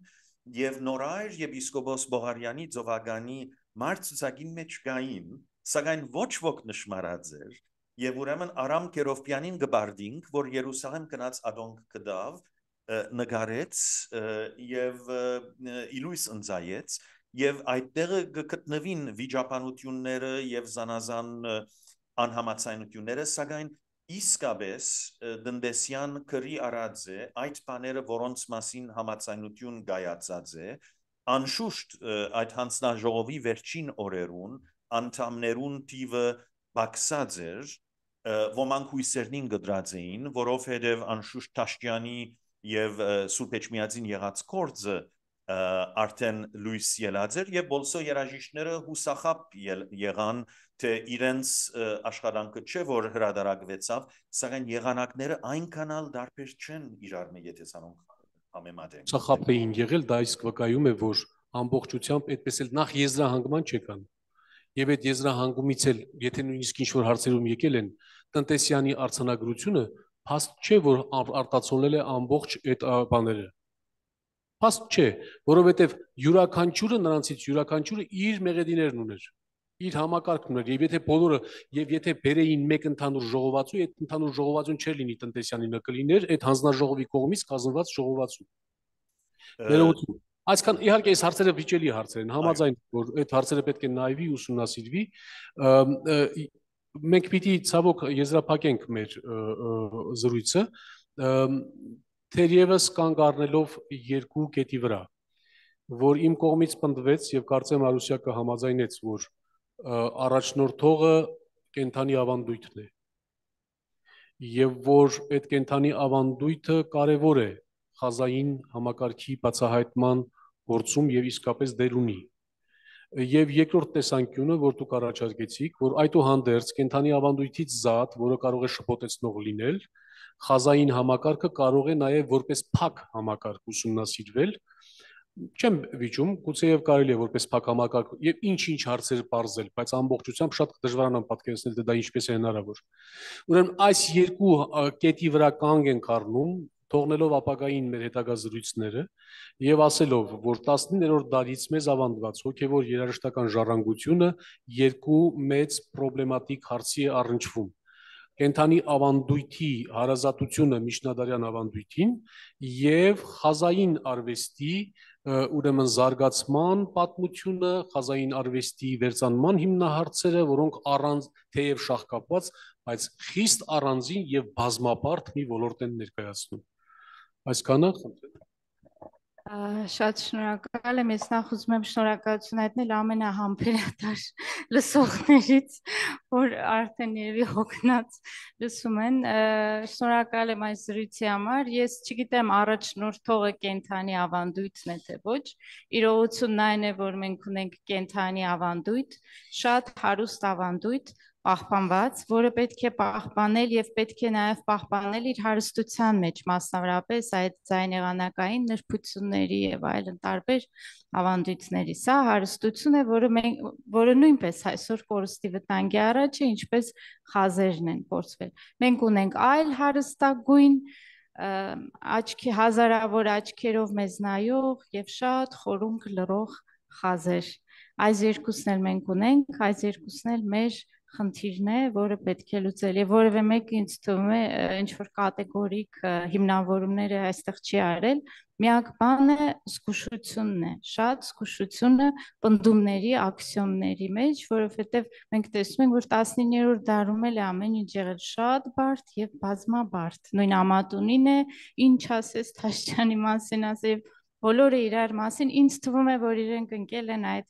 եւ նորայր եպիսկոպոս Բողարյանի Ձովագանի մարցուցակին մեջ գային, սակայն ոչ ոք նշմարած էր եւ ուրեմն Արամ Քերովփյանին գբարդինք, որ Երուսաղեմ գնաց ադոնք կդավ նգարեց եւ իլույս ընծայեց եւ այդտեղ գտնվին վիճապանությունները եւ զանազան անհամացայնությունները, սակայն իսկապես դնդեսյան քրի արած է այդ բաները որոնց մասին համաձայնություն գայացած է անշուշտ այդ հանձնաժողովի վերջին օրերուն անդամներուն թիվը բացած էր ոմանք հույսերնին գդրած էին որովհետև անշուշտ Թաշկյանի եւ Սուրբ Էջմիածին եղած կորձը արդեն լույս ելած էր եւ բոլսո երաժիշտները հուսախապ եղան թե իրենց աշխատանքը չէ որ հրադարակվեցավ սակայն եղանակները այնքանալ դարբեր չեն իրար մեջ եթե սրանք համեմատենք Սախապ էին եղել դա իսկ վկայում է որ ամբողջությամբ այդպես էլ նախ եզրահանգման չեկան եւ այդ եզրահանգումից էլ եթե նույնիսկ ինչ որ հարցերում եկել են տնտեսյանի արցանագրությունը փաստ չէ որ արտացոլել է ամբողջ այդ բաները փաստ չէ որովհետեւ յուրաքանչյուրը նրանցից յուրաքանչյուրը իր մեղեդիներն ուներ իր համակարգն ուներ եւ եթե բոլորը եւ եթե բերեին մեկ ընդհանուր ժողովածու այդ ընդհանուր ժողովածուն չէր լինի տնտեսյանի նկլիներ այդ հանձնաժողովի կողմից կազմված ժողովածու ներողություն այսքան իհարկե այս հարցերը վիճելի հարցեր են համաձայն որ այդ հարցերը պետք է նայվի ուսումնասիրվի մենք պիտի ցավոք եզրափակենք մեր զրույցը թերևս կանգ առնելով երկու կետի վրա որ իմ կողմից պնդվեց եւ կարծեմ Արուսյակը համաձայնեց որ առաջնորդողը կենթանի ավանդույթն է եւ որ այդ կենթանի ավանդույթը կարեւոր է խազային համակարգի բացահայտման գործում եւ իսկապես դեր ունի եւ երկրորդ տեսանկյունը որ դուք առաջարկեցիք որ այդուհանդերձ կենթանի ավանդույթից զատ որը կարող է շփոթեցնող լինել խազային համակարգը կարող է նաեւ որպես փակ համակարգ ուսումնասիրվել չեմ վիճում գուցեև կարելի է որպես փակ համակարգ եւ ինչ հարցեր բարձել բայց ամբողջությամբ շատ դժվարանամ պատկերացնել թե դա ինչպես է հնարավոր ուրեմն այս երկու կետի վրա կանգ ենք առնում թողնելով ապագային մեր հետագա զրույցները եւ ասելով որ 19-րդ դարից մեզ ավանդված հոգեվոր երաժշտական ժառանգությունը երկու մեծ պրոբլեմատիկ հարցի է առնչվում կենթանի ավանդույթի հարազատությունը միջնադարյան ավանդույթին եւ խազային արվեստի ուրեմն զարգացման պատմությունը խազային արվեստի վերծանման հիմնահարցերը որոնք առանց թեև շահկապված բայց խիստ առանձին եւ բազմապարտ մի ոլորտ են ներկայացնում այսքանը Շատ շնորհակալ եմ ես նախ ուզում եմ շնորհակալություն հայտնել ամենահամբերատար լսողներից որ արդեն երևի հոգնած լսում են շնորհակալ եմ այս զրույցի համար ես չգիտեմ առաջնորդողը կենթանի ավանդույթն է թե ոչ իրողությունն այն է որ մենք ունենք կենթանի ավանդույթ շատ հարուստ ավանդույթ պահպանված, որը պետք է պահպանել եւ պետք է նաեւ պահպանել իր հարստության մեջ, մասնավորապես այդ ձայնեղանակային նրբությունների եւ այլն տարբեր ավանդույթների։ Սա հարստություն է, որը նույնպես այսօր կորստի վտանգի առաջ է, ինչպես խազերն են փորձվել։ Մենք ունենք այլ հարստագույն աչքի հազարավոր աչքերով մեզ նայող եւ շատ խորունկ լռող խազեր։ Այս երկուսն էլ մենք ունենք, այս երկուսն էլ մեր խնդիրն է, որը պետք է լուծել եւ որևէ մեկը ինձ թվում է ինչ որ կատեգորիկ հիմնավորումները այստեղ չի արել, միակ բանը զգուշությունն է, շատ զգուշությունը պնդումների, աքսիոմների մեջ, որովհետեւ մենք տեսնում ենք, որ 19-րդ դարում էլ ամեն ինչ եղել շատ բարդ եւ բազմաբարդ։ Նույն Ամատունին է, ինչ ասես Թաշկյանի մասին ասել բոլորը իրար մասին ինձ թվում է որ իրենք ընկել են այդ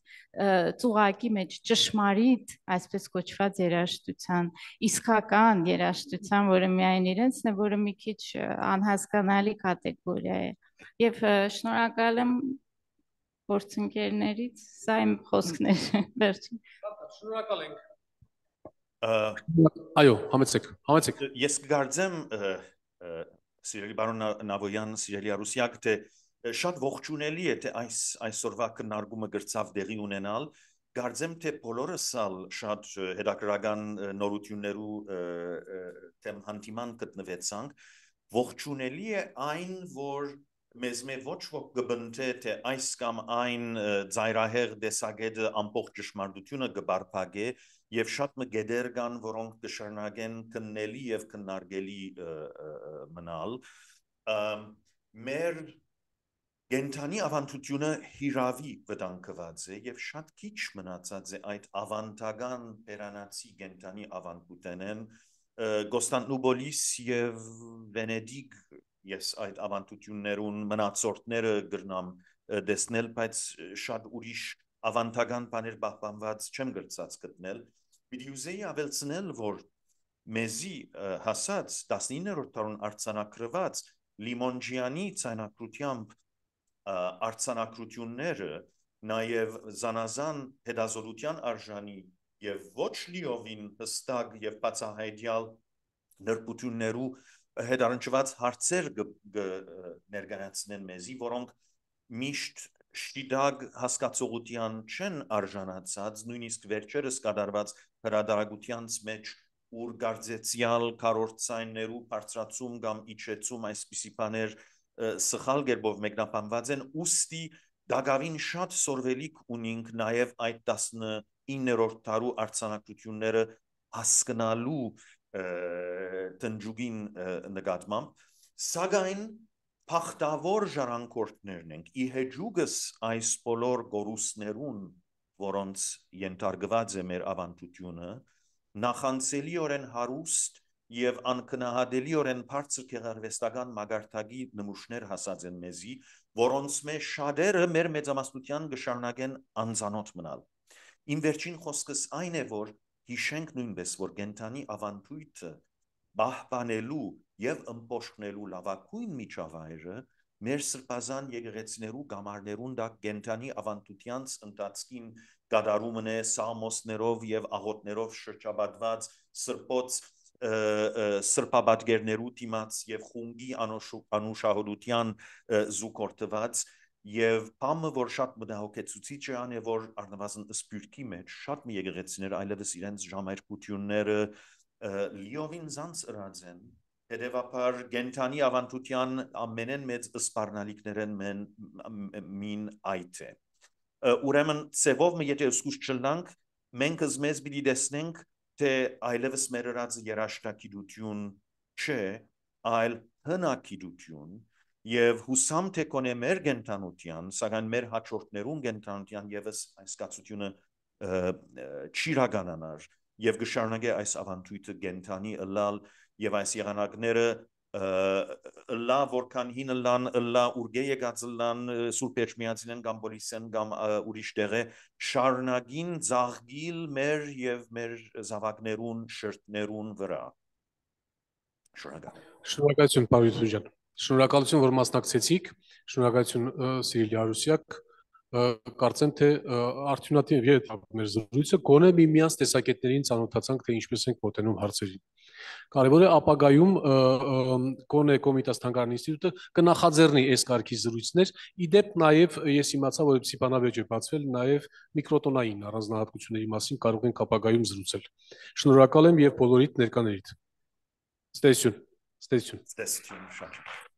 ծուղակի մեջ ճշմարիտ այսպես կոչված երաժշտության իսկական երաժշտության որը միայն իրենցն է որը մի քիչ անհասկանալի կատեգորիա է եւ շնորհակալ եմ գործընկերներից սա իմ խոսքները վերջին շնորհակալ ենք այո համեցեք ես կգարձեմ սիրելի բարոն Նավոյան սիրելի Արուսյակ թե շատ ողջունելի է թե այսօրվա քննարկումը գրծավ դեղի ունենալ Գարձեմ թե բոլորս ալ շատ հետաքրական նորություններու թեմ հանդիման գտնվեցանք ողջունելի է այն որ մեզ ոչ ոք կբնթե թե այս կամ այն ծայրահեղ դեսագետը ամբողջ ճշմարտությունը կբարփակե եւ շատ մգեդեր կան որոնք կշարունակեն քննելի եւ քննարկելի մնալ մեր Գենթանի ավանդությունը հիրավի վտանգված է եւ շատ քիչ մնացած է այդ ավանդական բերանացի գենթանի ավանդութենեն Կոստանդնուպոլիս եւ Վենեդիգ ես այդ ավանդություններուն մնացորդները գրնամ դեսնել, բայց շատ ուրիշ ավանդական բաներ պահպանված չեմ գրծած գտնել։ Պիտի ուզեի ավելցնել, որ մեզի հասած 19-րդ դարուն արձանագրված Լիմոնջյանի ցայնակրությամբ արձանագրությունները նաև զանազան հետազոտության արժանի եւ ոչ լիովին հստակ եւ բացահայտյալ նրբություններու հետարանչված հարցեր ներկայացնեն մեզի, որոնք միշտ շիդագ հասկացողության չեն արժանացած, նույնիսկ վերջերս կատարված հրադարագությանց մեջ, ուր գարձեցյալ քառորդցայններու բարձրացում կամ իջեցում այսպիսի բաներ սխալ կերպով մեկնաբանված են, ուստի դակավին շատ սորվելիք ունենք նաև այդ 19-րդ դարու արձանագրությունները հասկանալու տնջուկին նկատմամբ, սակայն փախտավոր ժառանգորդներն ենք, ի հեջուկս այս բոլոր գորուսներուն, որոնց ենթարկված է մեր ավանդությունը, նախանցելիորեն հարուստ եւ անկնահատելիորեն բարձր գեղարվեստական մագարտակի նմուշներ հասած են մեզի, որոնց մեջ շատերը մեր մեծամասնության կշարունակեն անծանոթ մնալ։ Իմ վերջին խոսքս այն է, որ հիշենք նույնպես, որ կենդանի ավանդույթը պահպանելու եւ ըմբոշխնելու լավագույն միջավայրը մեր սրբազան եկեղեցիներու գամարներուն դա կենդանի ավանդությանց ընթացքին կատարումն է սամոսներով եւ աղոթներով շրջապատված սրբոց սրբաբատկերներու դիմաց եւ խունգի անուշահոտության զուգորդված եւ բամը որ շատ մտահոգեցուցիչ է ան է որ առնվազն սպյուրքի մեջ շատ մի եկեղեցիներ այլևս իրենց ժամերկությունները լիովին զանց ըրած են հետեւաբար կենդանի ավանդության ամենեն մեծ սպառնալիքներն մին այդ է ուրեմն ծևով մի եթե ուսկուս չլնանք մենք մեզ պիտի տեսնենք թե այլևս մեր ըրած երաշտագիտություն չէ այլ հնագիտություն եւ հուսամ թե կոնե մեր կենթանության սակայն մեր հաջորդներուն կենթանության եւս այս կացությունը չիրականանար եւ կշարունակե այս ավանդույթը կենթանի ըլալ եւ այս եղանակները լա որքան հին լան լա ուրգե եկած լան Սուրբ Էջմիածին կամ Պոլիսեն կամ ուրիշ տեղը շարունակին զաղգիլ մեր եւ մեր զավակներուն շրթներուն վրա Շնորհակալություն Պարույր ջան շնորհակալություն որ մասնակցեցիք շնորհակալություն Սիրիլ Արուսյակ կարծեմ թե արդյունատիպ է մեր զրույցը գոնե միմյանց տեսակետներին ծանոթացանք թե ինչպես ենք մոտենում հարցերին Կարևոր է ապագայում Կոնե Կոմիտաս Թանգարան ինստիտուտը կնախաձեռնի այս կարգի զրույցներ իդեպ նաև ես իմացա որպեսզի բանավեճ է բացվել նաև միկրոտոնային առանձնահատկությունների մասին կարող ենք ապագայում զրուցել Շնորհակալ եմ եւ բոլորիդ ներկաներիդ Ստեսյուն Ստեսյուն շատ